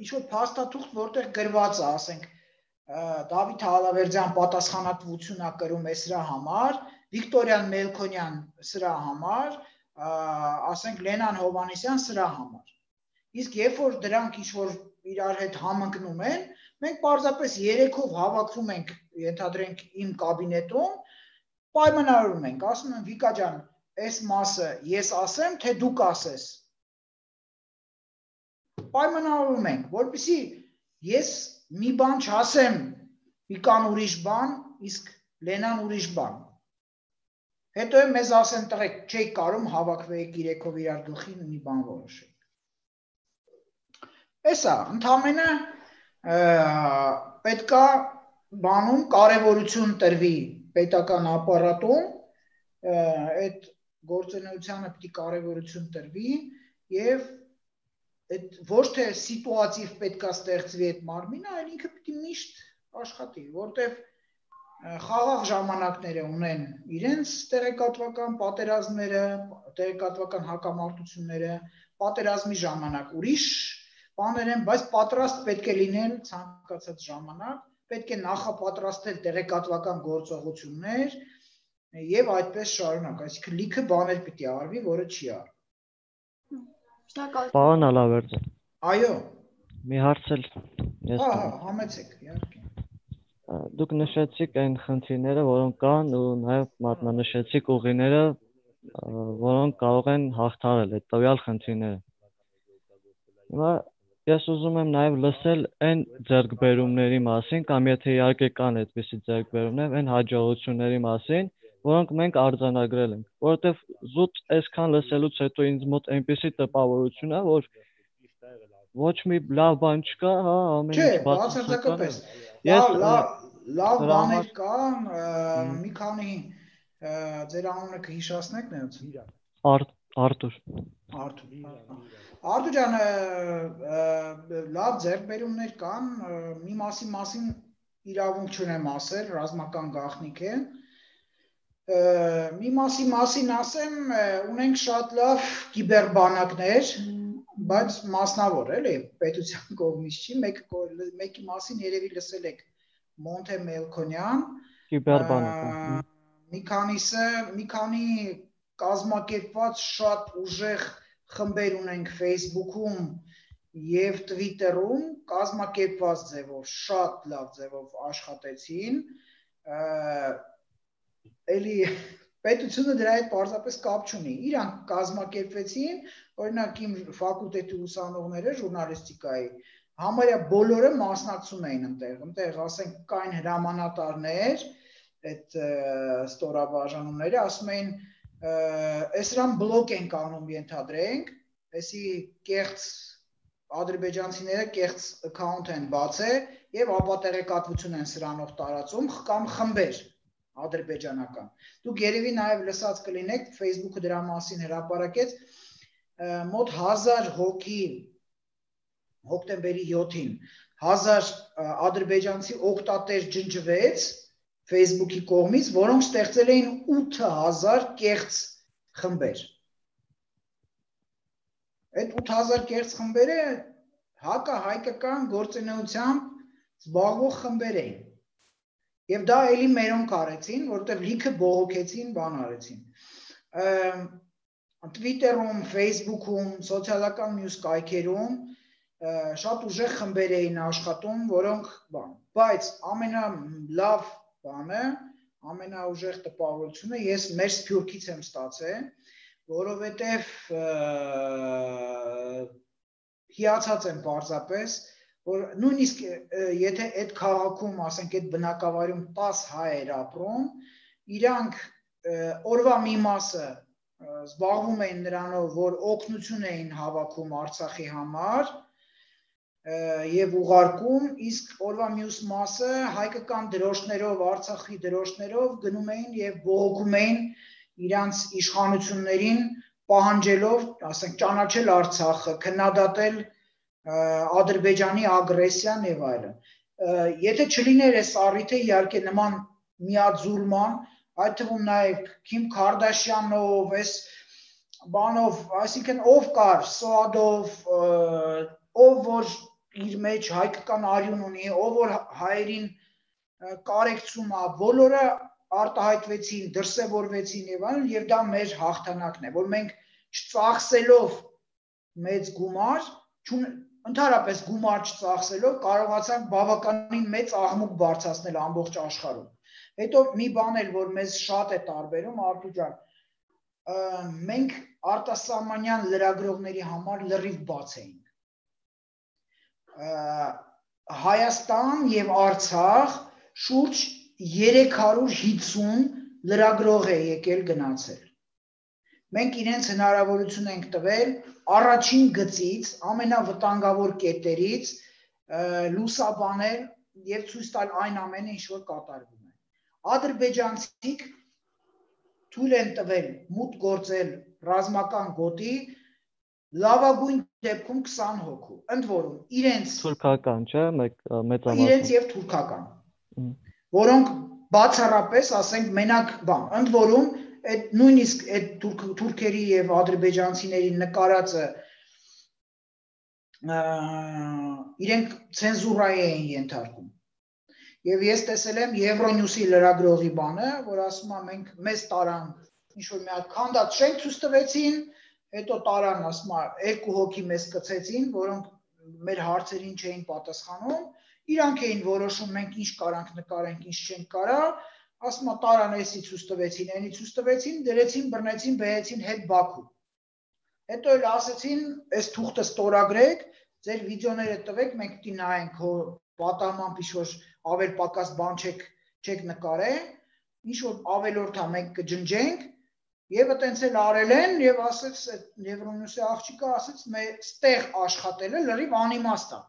ինչ-որ փաստաթուղթ, որտեղ գրված է, ասենք Դավիթ Հալավերդյան պատասխանատվություն է կրում է սրա համար, Վիկտորյան Մելքոնյան սրա համար, ասենք Լենան Հովանեսյան սրա համար։ Իսկ երբ որ դրանք ինչ-որ իրար հետ համընկնում են, մենք պարզապես երեքով հավաքվում ենք, ենթադրենք իմ կաբինետում, պայմանավորում ենք, ասում եմ Վիկա ջան, այս մասը ես ասեմ, թե դու կասես։ Պայմանավորում ենք, որպեսզի ես մի բան չասեմ, Վիկան ուրիշ բան, իսկ Լենան ուրիշ բան։ Հետո մեզ ասեն տղեկ, չեք կարում հավաքվեիք երեքով իրար գլխին մի բան որոշեք։ Էսա, ընդամենը պետքա բանում կարևորություն տրվի պետական ապարատում, այդ գործունեությանը պիտի կարևորություն տրվի եւ այդ ոչ թե սիտուատիվ պետքա ստեղծվի այդ մարմինը, այլ ինքը պիտի միշտ աշխատի, որտեվ խաղաղ ժամանակները ունեն իրենց տեղեկատվական պատերազմները, տեղեկատվական հակամարտությունները, պատերազմի ժամանակ ուրիշ բաներ են, բայց պատրաստ պետք է լինել ցանկացած ժամանակ, պետք է նախապատրաստել տեղեկատվական գործողություններ եւ այդպես շարունակ, այսինքն լիքը բաներ պիտի արվի, որը չի արվում։ Պարոն Հալավերդյան։ Այո։ Մի հարց էլ ես համեցեք, իհարկե։ Դուք նշեցիք այն խնդիրները, որոնք կան ու նաեւ մատնանշեցիք ուղիները, որոնք կարող են հաղթահարել այդ տվյալ խնդիրները։ Հիմա ես ուզում եմ նաև լսել այն ձեռքբերումների մասին, կամ եթե իհարկե կան այդպիսի ձեռքբերումներ, այն հաջողությունների մասին, որոնք մենք արձանագրել ենք, որովհետև զուտ այսքան լսելուց հետո ինձ մոտ այնպիսի տպավորություն է, որ ոչ մի լավ բան չկա, հա, ամեն ինչ բացարձակապես։ Լավ բաներ կան, մի քանի ձեր անունը կհիշացնեք նրանց։ Արտուր։ Արտուր ջան, լավ ձեռքբերումներ կան, մի մասին իրավունք չունեմ ասել, ռազմական գաղտնիք է։ Մի մասին ասեմ, ունենք շատ լավ կիբերբանակներ, բայց մասնավոր, էլի, պետության կողմից չի, մեկի մասին երևի լսել եք Մոնթե Մելքոնյան, մի քանի կազմակերպված շատ ուժեղ խմբեր ունենք Facebook-ում եւ Twitter-ում, կազմակերպված ձևով, շատ լավ ձևով աշխատեցին, էլի պետությունը դրա հետ պարզապես կապ չունի, իրանք կազմակերպվեցին, օրինակ իմ ֆակուլտետի ուսանողները ժուրնալիստիկայի, համարյա բոլորը մասնակցում էին ընտեղ, ասենք կային հրամանատարներ, այդ ստորաբաժանումները, ասում էին, էսրան բլոկ ենք անում ենթադրենք, էսի կեղծ ադրբեջանցիները կեղծ account են բացել եւ ապատեղեկատվություն են սրանով տարածում կամ խմբեր ադրբեջանական։ Դուք երևի նաեւ լսած կլինեք, Facebook-ը դրա մասին հրապարակեց, մոտ 1000 հոգի հոկտեմբերի 7-ին 1000 ադրբեջանցի օգտատեր ջնջվեց Facebook-ի կողմից, որոնք ստեղծել էին 8000 կեղծ խմբեր։ Այդ 8000 կեղծ խմբերը հակահայկական գործունեությամբ զբաղվող խմբեր էին։ Եվ դա էլի մերոնք արեցին, որովհետև լիքը բողոքեցին, բան արեցին։ Twitter-ում, Facebook-ում, սոցիալական մյուս կայքերում շատ ուժեղ խմբեր էին աշխատում, որոնք բան, բայց ամենալավ բանը, ամենաուժեղ տպավորությունը ես մեր Սփյուռքից եմ ստացել, որովհետև հիացած եմ պարզապես, որ նույնիսկ եթե այդ քաղաքում, ասենք այդ բնակավայրում 10 հայեր ապրում, իրանք օրվա մի մասը զբաղվում էին նրանով, որ օգնություն էին հավաքում Արցախի համար եւ ուղարկում, իսկ օրվա մյուս մասը հայկական դրոշներով, Արցախի դրոշներով գնում էին եւ բողոքում էին իրանց իշխանություններին, պահանջելով, ասենք, ճանաչել Արցախը, քննադատել Ադրբեջանի ագրեսիան եւ այլն։ Եթե չլիներ այս առիթը, իհարկե նման միաձուլման, այդ թվում նաեւ Քիմ Քարդաշյանով, այս բանով, այսինքն ով կար, Սոադով, ով որ իր մեջ հայկական արյուն ունի, ով որ հայերին կարեկցում է, բոլորը արտահայտվեցին, դրսևորվեցին եւ այլն, եւ դա մեր հաղթանակն է, որ մենք չծախսելով մեծ գումար, ընդհանրապես գումար չծախսելով կարողացանք բավականին մեծ աղմուկ բարձրացնել ամբողջ աշխարհում։ Հետո մի բան էլ, որ մեզ շատ է տարբերում, Արտուր ջան, մենք արտասահմանյան լրագրողների համար լրիվ բաց էինք։ Հայաստան եւ Արցախ շուրջ 350 լրագրող է եկել գնացել։ Մենք իրենց հնարավորություն ենք տվել առաջին գծից, ամենավտանգավոր կետերից լուսաբանել եւ ցույց տալ այն ամենը, ինչ որ կատարվում է։ Ադրբեջանցիք թույլ են տվել մուտք գործել ռազմական գոտի լավագույն դեպքում 20 հոգու, ընդ որում իրենց թուրքական, չէ՞, մեծամասն։ Իրենց եւ թուրքական, որոնք բացառապես, ասենք, մենակ բան, ընդ որում այդ նույնիսկ այդ թուրքերի եւ ադրբեջանցիների նկարածը իրենք ցենզուրայի էին ենթարկում։ Եվ ես տեսել եմ Euronews-ի լրագրողի բանը, որ ասում է մենք մեզ տարան ինչ որ մի հատ քանդած շենք ցույց տվեցին, հետո տարան, ասում է, 2 հոգի մեզ կցեցին, որոնք մեր հարցերին չէին պատասխանում, իրանք էին որոշում մենք ինչ կարանք նկարենք, ինչ չենք կարա, ասում է տարան էսի ցույց տվեցին, այնի ցույց տվեցին, դրեցին, բռնեցին, բերեցին հետ Բաքու։ Հետո էլ ասեցին, այս թուղթը ստորագրեք, ձեր վիդեոները տվեք, մենք պիտի նայենք, հո պատահմամբ ինչ-որ ավել պակաս բան չեք նկարել, ինչ-որ ավելորդ է մենք կջնջենք, եւ այտենց էլ արել են, եւ ասեց Euronews-ի աղջիկը ասեց, մեր ստեղ աշխատելը լրիվ անիմաստ է,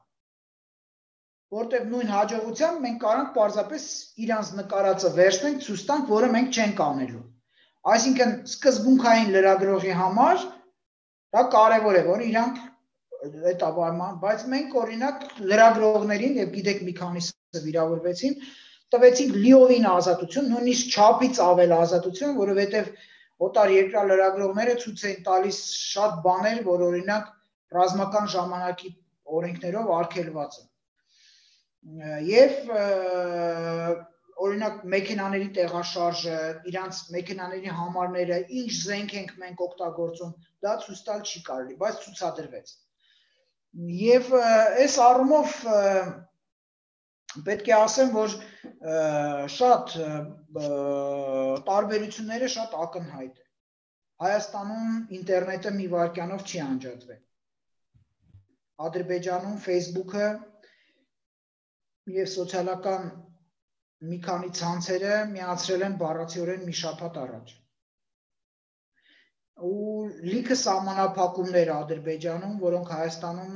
որտեղ նույն հաջողությամբ մենք կարանք պարզապես իրանց նկարածը վերցնենք, ցույց տանք, որը մենք չենք անելու։ Այսինքն սկզբունքային լրագրողի համար դա կարևոր է, որ իրանք այդ ապարման, բայց մենք օրինակ լրագրողներին եւ գիտեք մի քանիսը վիրավորվեցին, տվեցինք լիովին ազատություն, նույնիսկ չափից ավել ազատություն, որովհետեւ օտար երկրա լրագրողները ցույց էին տալիս շատ բաներ, որ օրինակ ռազմական ժամանակի օրենքներով արգելված են։ Եվ օրինակ մեքենաների տեղաշարժը, իրանց մեքենաների համարները, ինչ զենք ենք մենք օգտագործում, դա ցույց տալ չի կարելի, բայց ցուցադրվեց։ Եվ այս առումով պետք է ասեմ, որ շատ տարբերությունները շատ ակնհայտ է։ Հայաստանում ինտերնետը մի վայրկյանով չի անջատվել։ Ադրբեջանում Facebook-ը եւ սոցիալական մի քանի ցանցերը միացրել են բառացիորեն մի շաբաթ առաջ։ Ու լիքը սահմանափակումներ Ադրբեջանում, որոնք Հայաստանում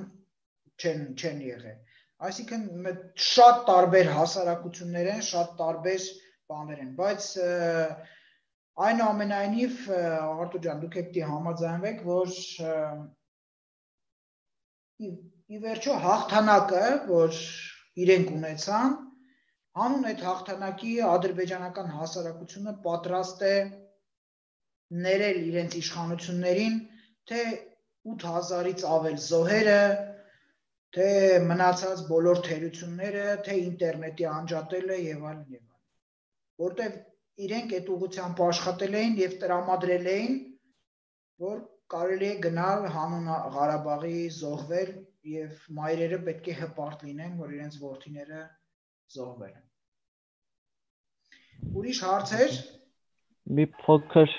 չեն եղել։ Այսինքն շատ տարբեր հասարակություններ են, շատ տարբեր բաներ են, բայց այնուամենայնիվ Արտուր ջան, դուք եք համաձայնվեք, որ ի վերջո հաղթանակը, որ իրենք ունեցան, հանուն այդ հաղթանակի ադրբեջանական հասարակությունը պատրաստ է ներել իրենց իշխանություններին, թե 8000-ից ավել զոհերը, թե մնացած բոլոր թերությունները, թե ինտերնետի անջատելը եւ այլն եւ այլն, որտեղ իրենք այդ ուղղությամբ աշխատել էին եւ տրամադրել էին, որ կարելի է գնալ հանուն Ղարաբաղի զոհվել եւ մայրերը պետք է հպարտ լինեն, որ իրենց որդիները զոհվել են։ Ուրիշ հարցեր։ Մի փոքր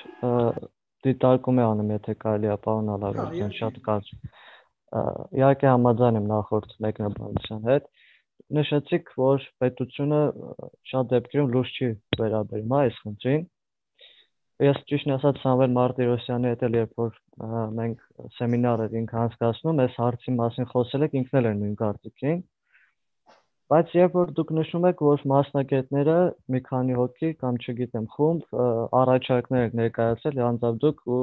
դիտարկում է անում, եթե կարելի է, պարոն Ալավերդյան, շատ կարճ։ Իհարկե համաձայն եմ նախորդ մեկնաբանության հետ։ Նշեցիք, որ պետությունը շատ դեպքերում լուրջ չի վերաբերում այս խնդրին։ Ես ճիշտն ասած Սամվել Մարտիրոսյանի հետ էլ երբ որ մենք սեմինար էինք անցկացնում, այս հարցի մասին խոսել եք, ինքն էլ էր նույն կարծիքին։ Բայց երբ որ դուք նշում եք, որ մասնագետները մի քանի հոգի կամ չգիտեմ խումբ առաջարկներ եք ներկայացրել անձամբ դուք ու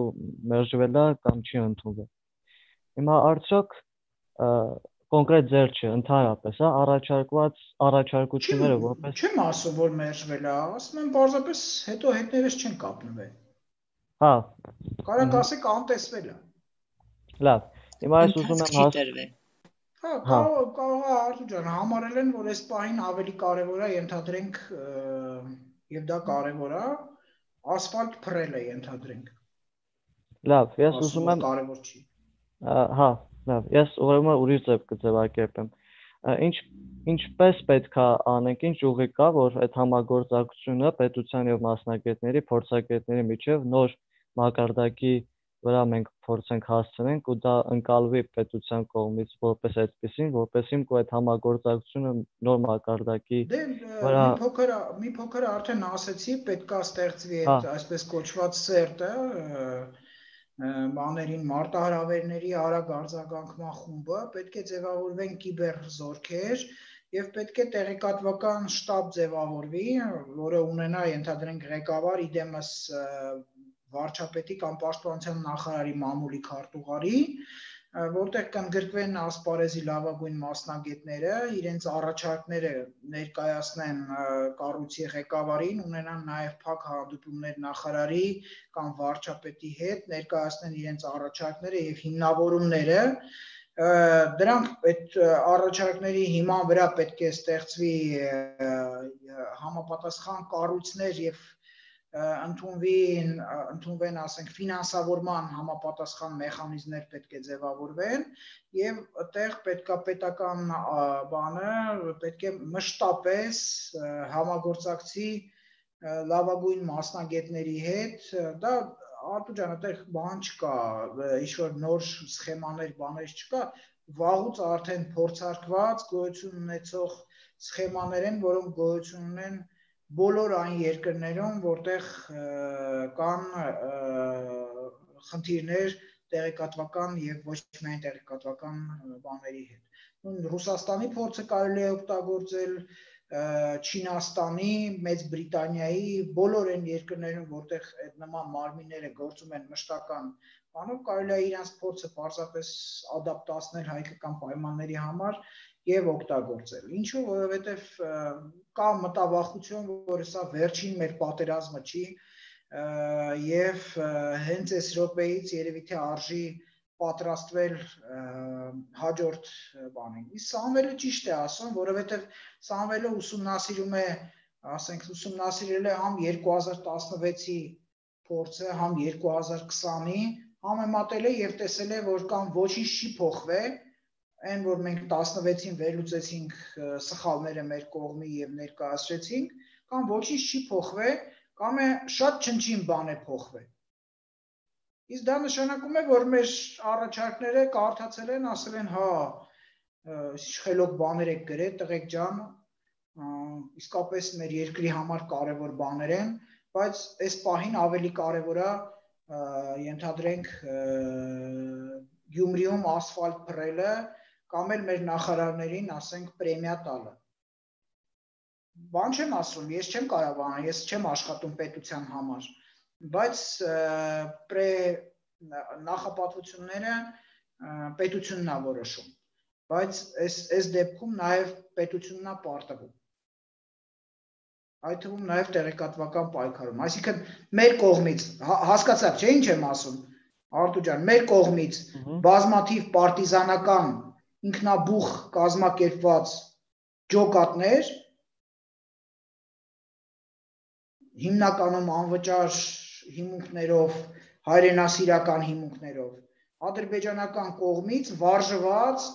մերժվել է կամ չի ընդունվել։ Հիմա արդյոք կոնկրետ ձեր չէ, ընդհանրապես, առաջարկված առաջարկությունները որպես Չեմ ասում, որ մերժվել է, ասում եմ պարզապես հետո հետներս չեն կապնվել։ Հա։ Կարակ ասեք անտեսվել է։ Լավ։ Հիմա ես ուզում եմ Հա, կարող է Արտուր ջան, համարել են, որ այս պահին ավելի կարևոր է ենթադրենք եւ դա կարևոր է, ասֆալտ փռելը ենթադրենք։ Լավ, ես ուզում եմ կարևոր չի։ Հա, լավ, ես ուրեմն ուրիշ ձև կձևակերպեմ։ Ինչպես պետք է անենք, ինչ ուղի կա, որ այդ համագործակցությունը պետության եւ մասնագետների, փորձագետների միջև նոր մակարդակի վրա մենք փորձենք հասցնենք ու դա ընկալվի պետության կողմից որպես այդպեսին, որպեսզի այդ համագործակցությունը նոր մակարդակի վրա մի փոքր արդեն ասեցի, պետք է ստեղծվի այդ այսպես կոչված սերտը, բաներին մարտահրավերների արագ արձագանքման խումբը, պետք է ձևավորվեն կիբեր զորքեր եւ պետք է տեղեկատվական շտաբ ձևավորվի, որը ունենա ենթադրենք ղեկավար իդեմս վարչապետի կամ պաշտպանության նախարարի մամուլի քարտուղարի, որտեղ կընդգրկվեն ասպարեզի լավագույն մասնագետները, իրենց առաջարկները ներկայացնեն կառույցի ղեկավարին, ունենան նաև փակ հանդիպումներ նախարարի կամ վարչապետի հետ, ներկայացնեն իրենց առաջարկները եւ հիմնավորումները, դրանք այդ առաջարկների հիման վրա պետք է ստեղծվի համապատասխան կառույցներ եւ ընդունվեն, ասենք, ֆինանսավորման համապատասխան մեխանիզմներ պետք է ձևավորվեն եւ այդտեղ պետքա բանը պետք է մշտապես համագործակցի լավագույն մասնագետների հետ, դա Արտուր ջան, այդտեղ բան չկա, ինչ-որ նոր սխեմաներ, բաներ չկա, վաղուց արդեն փորձարկված գոյություն ունեցող սխեմաներ են, որոնք գոյություն ունեն բոլոր այն երկրներում, որտեղ կան խնդիրներ տեղեկատվական եւ ոչ միայն տեղեկատվական բաների հետ։ Ռուսաստանի փորձը կարելի է օգտագործել, Չինաստանի, Մեծ Բրիտանիայի, բոլոր այն երկրներում, որտեղ այդ նման մարմինները գործում են մշտական բանով, կարելի է իրենց փորձը պարզապես ադապտացնել հայկական պայմանների համար եւ օգտագործել։ Ինչու, որովհետեւ կա մտավախություն, որ սա վերջին մեր պատերազմը չի եւ հենց այս րոպեից երևի թե արժի պատրաստվել հաջորդ բանին։ Իսկ Սամվելը ճիշտ է ասում, որովհետեւ Սամվելը ուսումնասիրում է, ասենք, ուսումնասիրել է համ 2016-ի փորձը, համ 2020-ի, համեմատել է եւ տեսել է, որ կամ ոչինչ չի փոխվել, այն որ մենք 16-ին վերլուծեցինք սխալները մեր կողմի եւ ներկայացրեցինք, կամ ոչինչ չի փոխվել, կամ է շատ չնչին բան է փոխվել։ Իսկ դա նշանակում է, որ մեր առաջարկները կարդացել են, ասել են, հա, խելոք բաներ եք գրել, տղեկ ջան, իսկապես մեր երկրի համար կարևոր բաներ են, բայց այս պահին ավելի կարևոր է, ենթադրենք, Գյումրիում ասֆալտ փռելը, կամ էլ մեր նախարարներին, ասենք, պրեմիա տալը։ Բան չեմ ասում, ես չեմ կարողանում, ես չեմ աշխատում պետության համար, բայց նախապատվությունները պետությունն է որոշում, բայց այս դեպքում նաև պետությունն է պարտվում։ Այդ թվում նաև տեղեկատվական պայքարում, այսինքն մեր կողմից, հասկացաք, չէ՞ ինչ եմ ասում, Արտուր ջան, մեր կողմից բազմաթիվ պարտիզանական ինքնաբուխ կազմակերպված ջոկատներ, հիմնականում անվճար հիմունքներով, հայրենասիրական հիմունքներով, ադրբեջանական կողմից վարժված,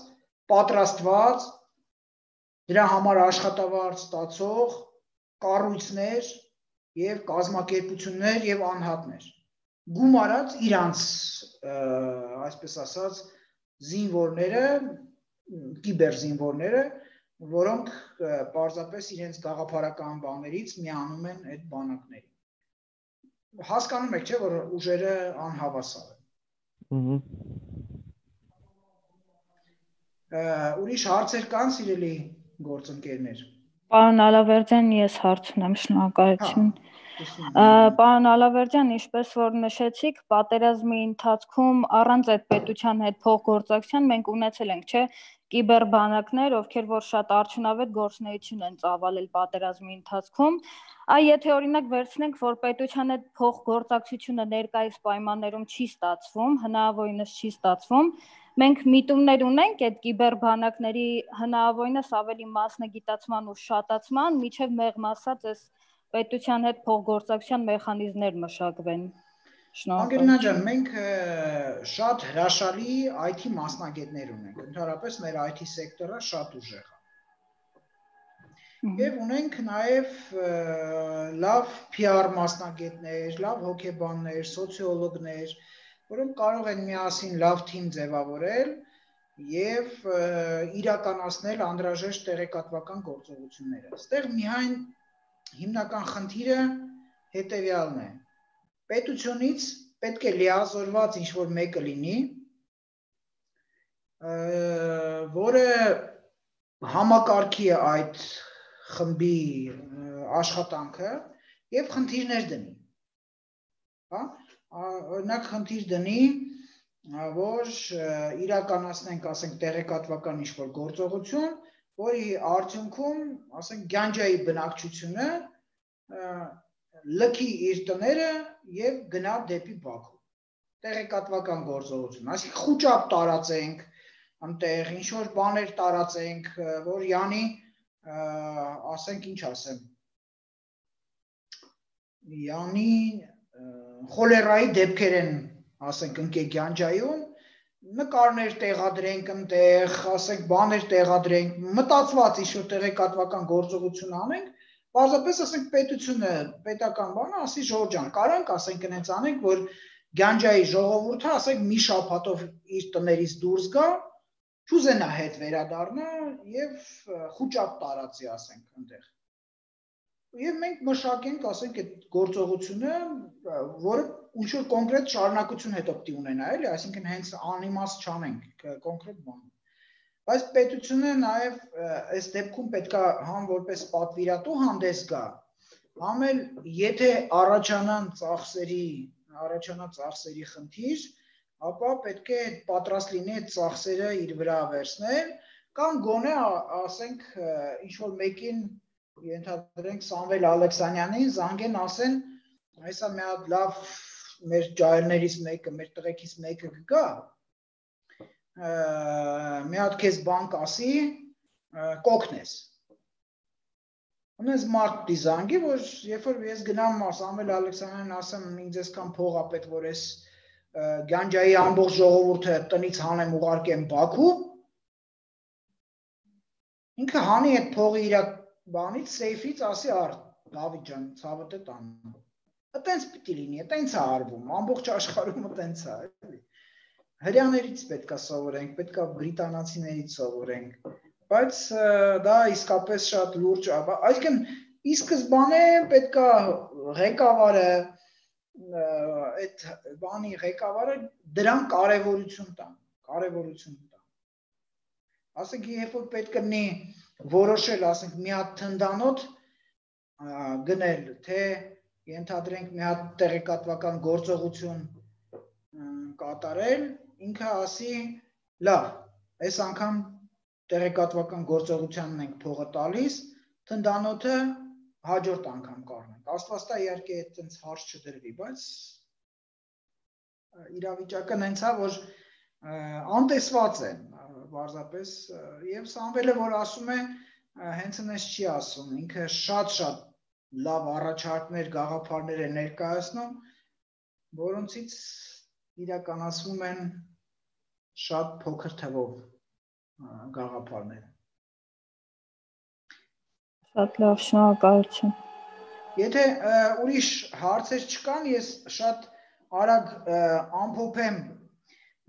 պատրաստված, դրա համար աշխատավարձ ստացող կառույցներ, եւ կազմակերպություններ եւ անհատներ գումարած իրանց այսպես ասած զինվորները կիբերզինվորները որոնք պարզապես իրենց գաղափարական բաներից միանում են այդ բանակներին հասկանում եք չէ որ ուժերը անհավասար են ուրիշ հարցեր կան սիրելի գործընկերներ Պարոն Ալավերդյան ես հարց ունեմ շնորհակալություն Պարոն Ալավերդյան, ինչպես որ նշեցիք, պատերազմի ընթացքում առանց այդ պետության հետ փոխգործակցության մենք ունեցել ենք, չէ, կիբերբանակներ, ովքեր որ շատ արդյունավետ գործունեություն են ծավալել պատերազմի ընթացքում, եթե օրինակ վերցնենք, որ պետության հետ փոխգործակցությունը ներկայիս պայմաններում չի ստացվում, հնարավորինս չի ստացվում, մենք միտումներ ունենք այդ կիբերբանակների հնարավորինս ավելի մասնագիտացման ու շատացման, միջև մեղմ ասած այս պետության հետ փոխգործակցության մեխանիզմներ մշակվեն։ Անգելինա ջան, մենք շատ հրաշալի IT մասնագետներ ունենք, ընդհանրապես մեր IT սեկտորը շատ ուժեղ է։ Եվ ունենք նաև լավ PR մասնագետներ, լավ հոգեբաններ, սոցիոլոգներ, որոնք կարող են միասին լավ թիմ ձևավորել եւ իրականացնել անհրաժեշտ տեղեկատվական գործողությունները։ Այստեղ միայն հիմնական խնդիրը հետևյալն է։ Պետությունից պետք է լիազորված ինչ-որ մեկը լինի, որը համակարգի է այդ խմբի աշխատանքը եւ խնդիրներ դնի։ Հա? Օրինակ խնդիր դնի, որ իրականացնենք, ասենք, տեղեկատվական ինչ-որ գործողություն, որի արդյունքում, ասենք, Գանջայի բնակչությունը լքի իր տները եւ գնա դեպի Բաքու։ Տեղեկատվական գործողություն, այսինքն խուճապ տարածենք, այնտեղ ինչ որ բաներ տարածենք, որ յանի, ասենք, ինչ ասեմ, յանի խոլերայի դեպքեր են, ասենք, ընկե Գանջայում, նկարներ տեղադրենք այնտեղ, ասենք, բաներ տեղադրենք, մտածված ինչ-որ տեղեկատվական գործողություն անենք, պարզապես ասենք պետությունը, պետական բանը, ասի Ժողովուրդ ջան, կարանք ասենք այնց անենք, որ Գանջայի ժողովուրդը, ասենք, մի շաբաթով իր տներից դուրս գա, չուզենա հետ վերադառնա եւ խուճապ տարածի, ասենք, այնտեղ։ Եվ մենք մշակենք, ասենք, այդ գործողությունը, որը ինչ-որ կոնկրետ շարունակություն հետո պիտի ունենա, էլի, այսինքն հենց անիմաստ չանենք կոնկրետ բան։ Բայց պետությունը նաև այս դեպքում պետք է համ որպես պատվիրատու հանդես գա, համ էլ եթե առաջանան ծախսերի խնդիր, ապա պետք է պատրաստ լինի այդ ծախսերը իր վրա վերցնել, կամ գոնե ասենք ինչ-որ մեկին ենթադրենք Սամվել Ալեքսանյանին զանգեն ասեն, այսա մի հատ լավ մեր ջահելներից մեկը, մեր տղեկից մեկը կգա, մի հատ քեզ բան կասի, կօգնես։ Ունես մարդ դիզանգի, որ երբ որ ես գնամ Սամվել Ալեքսանյանին ասեմ, ինձ այսքան փող ա պետք, որ ես Գանջայի ամբողջ ժողովուրդը տնից հանեմ ուղարկեմ Բաքու, ինքը հանի այդ փողի իր բանից, սեյֆից ասի առ, Դավիթ ջան, ցավդ է տանում։ Այտենց պիտի լինի, այտենց է արվում, ամբողջ աշխարհում այտենց է, էլի։ Հրյաներից պետք է սովորենք, պետք է բրիտանացիներից սովորենք, բայց դա իսկապես շատ լուրջ է, այսինքն ի սկզբանե պետք է ղեկավարը, այդ բանի ղեկավարը դրան կարևորություն տան, ասենք երբ որ պետք է լինի որոշել, ասենք մի հատ թնդանոթ գնել, թե ենթադրենք մի հատ տեղեկատվական գործողություն կատարել, ինքը ասի, լավ, այս անգամ տեղեկատվական գործողությանն ենք փողը տալիս, թնդանոթը հաջորդ անգամ կառնենք։ Աստվածտա իհարկե այդպես հարց չդրվի, բայց իրավիճակը հենց է, որ անտեսված են, պարզապես, եւ Սամվելը, որ ասում է, հենց այնպես չի ասում, ինքը շատ լավ առաջարկներ, գաղափարներ է ներկայացնում, որոնցից իրականացվում են շատ փոքր թվով գաղափարներ։ Շատ լավ, շնորհակալություն։ Եթե ուրիշ հարցեր չկան, ես շատ արագ ամփոփեմ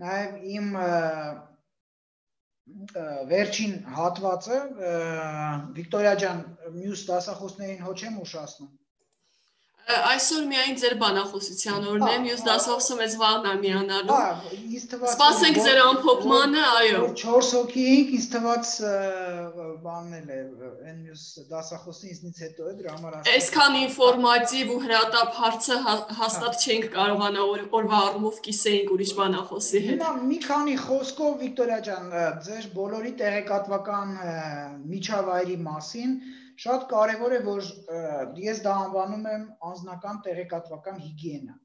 նաև իմ վերջին հատվածը, Վիկտորիա ջան, մյուս դասախոսներին հո չեմ ուշացնում։ Այսօր միայն ձեր բանախոսության օրն է, մյուս դասախոսը մեզ վաղն է միանալու։ Սպասենք ձեր ամփոփմանը, այո։ 4 հոգի էինք, ինձ թվաց բանն է, այն մյուս դասախոսին ինձնից հետո է, դրա համար ասում։ Այսքան ինֆորմատիվ ու հրատապ հարցը հաստատ չենք կարողանա օրվա առումով կիսեինք ուրիշ բանախոսի հետ։ Հիմա մի քանի խոսքով Վիկտորիա ջան, ձեր բոլորի տեղեկատվական միջավայրի մասին շատ կարևոր է, որ ես դա անվանում եմ անձնական տեղեկատվական հիգիենա։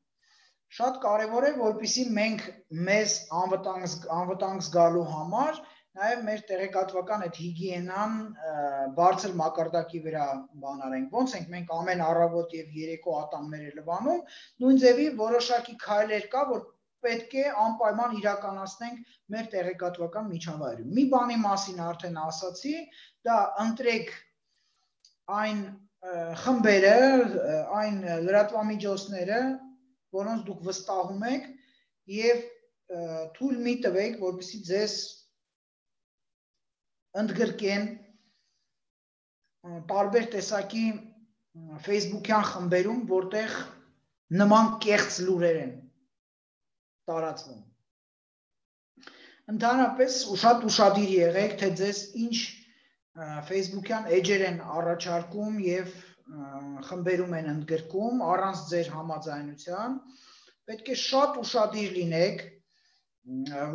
Շատ կարևոր է, որպեսզի մենք մեզ անվտանգ զգալու համար նաև մեր տեղեկատվական այդ հիգիենան բարձր մակարդակի վրա բանարենք։ Ոնց ենք մենք ամեն առավոտ եւ երեկո ատամները լվանում, նույն ձևի որոշակի քայլեր կա, որ պետք է անպայման իրականացնենք մեր տեղեկատվական միջավայրում։ Մի բանի մասին արդեն ասացի, դա ընտրեք այն խմբերը, այն լրատվամիջոցները, որոնց դուք վստահում եք եւ թույլ մի տվեք, որպեսզի ձեզ ընդգրկեն տարբեր տեսակի Facebook-յան խմբերում, որտեղ նման կեղծ լուրեր են տարածվում։ Ընդհանրապես շատ ուշադիր եղեք, թե ձեզ ինչ Facebook-յան էջեր են առաջարկում եւ խմբերում են ընդգրկում առանց ձեր համաձայնության, պետք է շատ ուշադիր լինեք,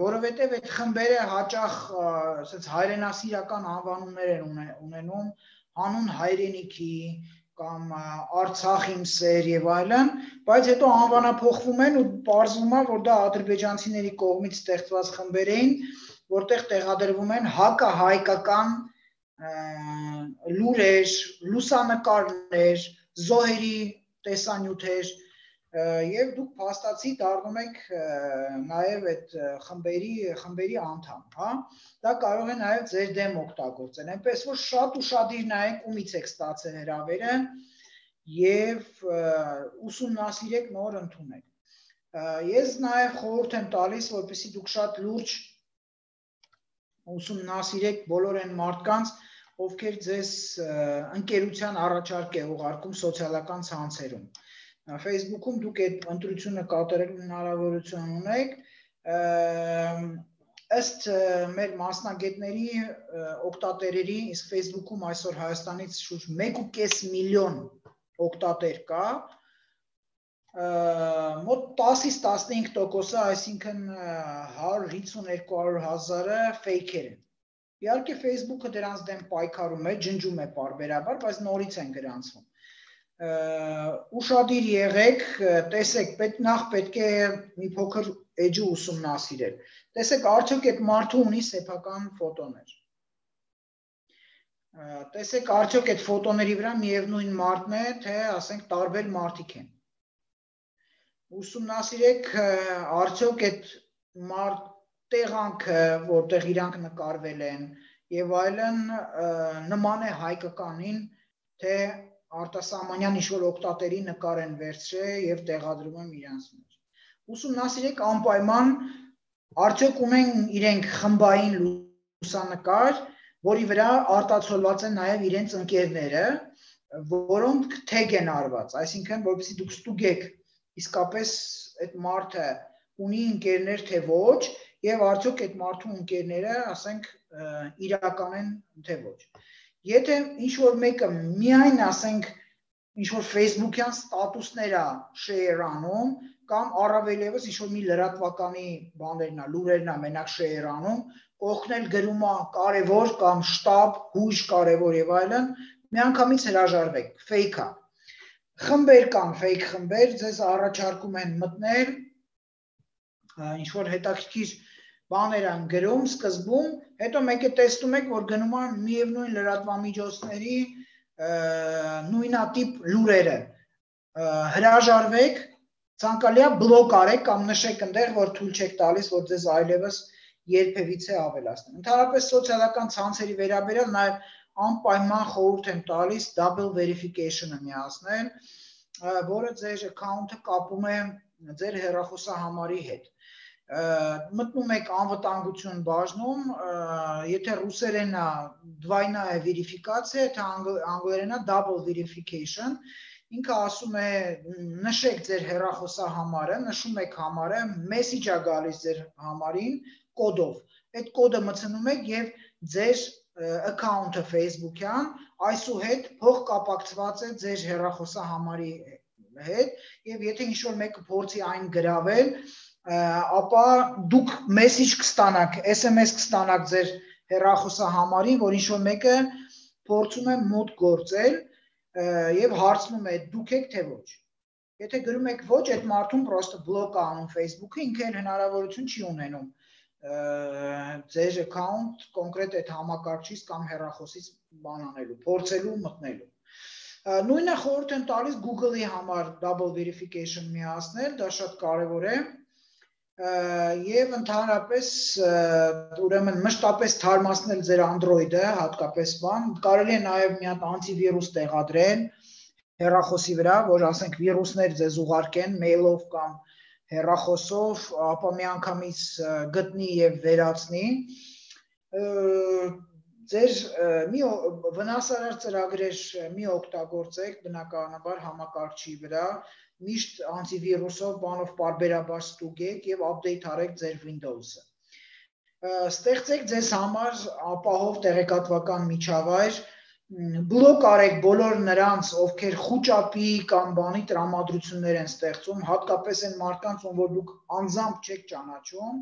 որովհետեւ այդ խմբերը հաճախ ասած հայրենասիրական անվանումներ են ունենում, հանուն հայրենիքի կամ Արցախ իմ սեր եւ այլն, բայց հետո անվանափոխվում են ու պարզվում է, որ դա ադրբեջանցիների կողմից ստեղծված խմբեր էին, որտեղ տեղադրվում են հակահայկական լուրեր, լուսանկարներ, զոհերի տեսանյութեր եւ դուք փաստացի դառնում եք նաեւ այդ խմբերի անդամ, հա? Դա կարող է նաեւ ձեր դեմ օգտագործել, այնպես որ շատ ուշադիր նայեք ումից եք ստացել հրավերը եւ ուսումնասիրեք, նոր ընդունեք։ Ես նաեւ խորհուրդ եմ տալիս, որպեսզի դուք շատ լուրջ ուսումնասիրեք բոլոր այն մարդկանց, ովքեր ձեզ ընկերության առաջարկ է ուղարկում սոցիալական ցանցերում։ Facebook-ում դուք այդ ընտրությունը կատարելու հնարավորություն ունեք, ըստ մեր մասնագետների օգտատերերի, իսկ Facebook-ում այսօր Հայաստանից շուրջ 1.5 միլիոն օգտատեր կա, մոտ 10-ից 15%-ը, այսինքն 150-200 հազարը ֆեյքեր են։ Իհարկե Facebook-ը դրանց դեմ պայքարում է, ջնջում է պարբերաբար, բայց նորից են գրանցվում։ Ուշադիր եղեք, տեսեք, նախ պետք է մի փոքր էջը ուսումնասիրել։ Տեսեք, արդյոք այդ մարդը ունի սեփական ֆոտոներ։ Տեսեք, արդյոք այդ ֆոտոների վրա միևնույն մարդն է, թե ասենք տարբեր մարդիկ են։ Ուսումնասիրեք, արդյոք այդ տեղանքը, որտեղ իրանք նկարվել են եւ այլն, նման է հայկականին, թե արտասահմանյան ինչ-որ օգտատերի նկար են վերցրել եւ տեղադրում են իրանց մեջ։ Ուսումնասիրեք անպայման, արդյոք ունեն իրենք խմբային լուսանկար, որի վրա արտացոլված են նաեւ իրենց ընկերները, որոնք թեգ են արված, այսինքն որպեսզի դուք ստուգեք իսկապես այդ մարդը ունի ընկերներ թե ոչ, եւ արդյոք այդ մարդու ընկերները, ասենք, իրական են թե ոչ։ Եթե ինչ-որ մեկը միայն, ասենք, ինչ-որ Facebook-յան ստատուսներ է share անում, կամ առավել եւս ինչ-որ մի լրատվականի բաներն է, լուրերն է մենակ share անում, կողքնել գրում է կարևոր կամ շտաբ, հույժ կարևոր եւ այլն, միանգամից հրաժարվեք, fake է։ Խմբեր կան, fake խմբեր, ձեզ առաջարկում են մտնել, ինչ-որ հետաքրքիր բաներ են գրում սկզբում, հետո մեկ է տեսնում եք, որ գնում են միևնույն լրատվամիջոցների նույնատիպ լուրերը։ Հրաժարվեք, ցանկալի է բլոկ արեք կամ նշեք այնտեղ, որ թույլ չեք տալիս, որ ձեզ այլևս երբևիցե ավելացնեն։ Ընդհանրապես սոցիալական ցանցերի վերաբերյալ նաև անպայման խորհուրդ եմ տալիս double verification-ը միացնել, որը ձեր account-ը կապում է ձեր հեռախոսահամարի հետ։ Մտնում եք անվտանգություն բաժնում, եթե ռուսերենն է двойная верификация, եթե անգլերենն է double verification, ինքը ասում է նշեք ձեր հեռախոսահամարը, նշում եք համարը, message է գալիս ձեր համարին կոդով։ Այդ կոդը մտցնում եք եւ ձեր account-ը Facebook-յան այսուհետ փոխկապակցված է ձեր հեռախոսահամարի հետ եւ եթե ինչ-որ մեկը փորձի այն գրավել, ապա դուք message կստանաք, SMS կստանաք ձեր հեռախոսահամարին, որ ինչ-որ մեկը փորձում է մոտ գործել եւ հարցնում է դուք եք թե ոչ։ Եթե գրում եք ոչ, այդ մարդուն պրոստը բլոկ է անում Facebook-ը, ինքը հնարավորություն չի ունենում ձեր account կոնկրետ այդ համակարգչից կամ հեռախոսից բան անելու, փորձելու մտնելու։ Նույնը խորհուրդ եմ տալիս Google-ի համար double verification միացնել, դա շատ կարևոր է։ Եվ ընդհանրապես ուրեմն մշտապես թարմացնել ձեր Android-ը, հատկապես բան, կարելի է նաև մի հատ անտիվիրուս տեղադրել հեռախոսի վրա, որ ասենք վիրուսներ ձեզ ուղարկեն mail-ով կամ հեռախոսով, ապա միանգամից գտնի եւ վերացնի։ Ձեր մի վնասարար ծրագրեր մի օգտագործեք բնականաբար համակարգչի վրա, միշտ անտիվիրուսով բանով պարբերաբար ստուգեք եւ update արեք ձեր Windows-ը։ Ստեղծեք ձեզ համար ապահով տեղեկատվական միջավայր, բլոկ արեք բոլոր նրանց, ովքեր խուճապի կամ բանի տրամադրություններ են ստեղծում, հատկապես այն մարդկանց, ում որ դուք անձամբ չեք ճանաչում,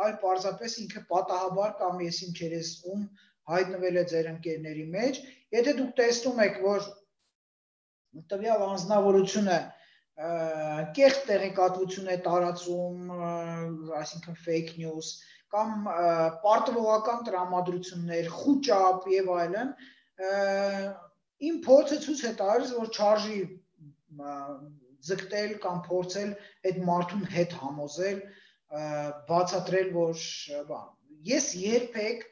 այլ պարզապես ինքը պատահաբար կամ եսիմ չերես ում հայտնվել է ձեր ընկերների մեջ, եթե դուք տեսնում եք, որ տվյալ անձնավորությունը կեղծ տեղեկատվություն է տարածում, այսինքն fake news, կամ պարտվողական տրամադրություններ, խուճապ եւ այլն, իմ փորձը ցույց է տալիս, որ չարժի ձգտել կամ փորձել այդ մարդուն հետ համոզել, բացատրել, որ ես երբեք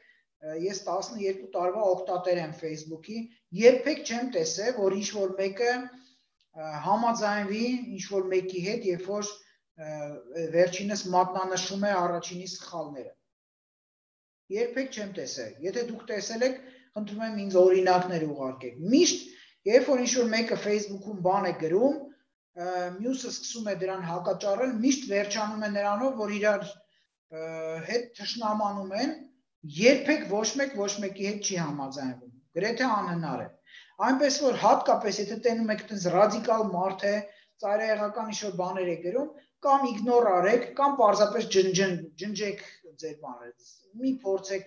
ես 12 տարվա օգտատեր եմ Facebook-ի, երբեք չեմ տեսել, որ ինչ-որ մեկը համաձայնվի ինչ-որ մեկի հետ, երբ որ վերջինս մատնանշում է առաջինի սխալները։ Երբեք չեմ տեսել։ Եթե դուք տեսել եք, խնդրում եմ ինձ օրինակներ ուղարկեք։ Միշտ, երբ որ ինչ-որ մեկը Facebook-ում բան է գրում, մյուսը սկսում է դրան հակաճառել, միշտ վերջանում է նրանով, որ իրար հետ թշնամանում են, երբեք ոչ մեկի հետ չի համաձայնվում, գրեթե անհնար է։ Այնպես որ հատկապես եթե տենում եք այդպես ռադիկալ մարդ է, ծայրահեղական ինչ-որ բաներ է գրում, կամ իգնոր արեք, կամ պարզապես ջնջեք ձեր բաները։ Մի փորձեք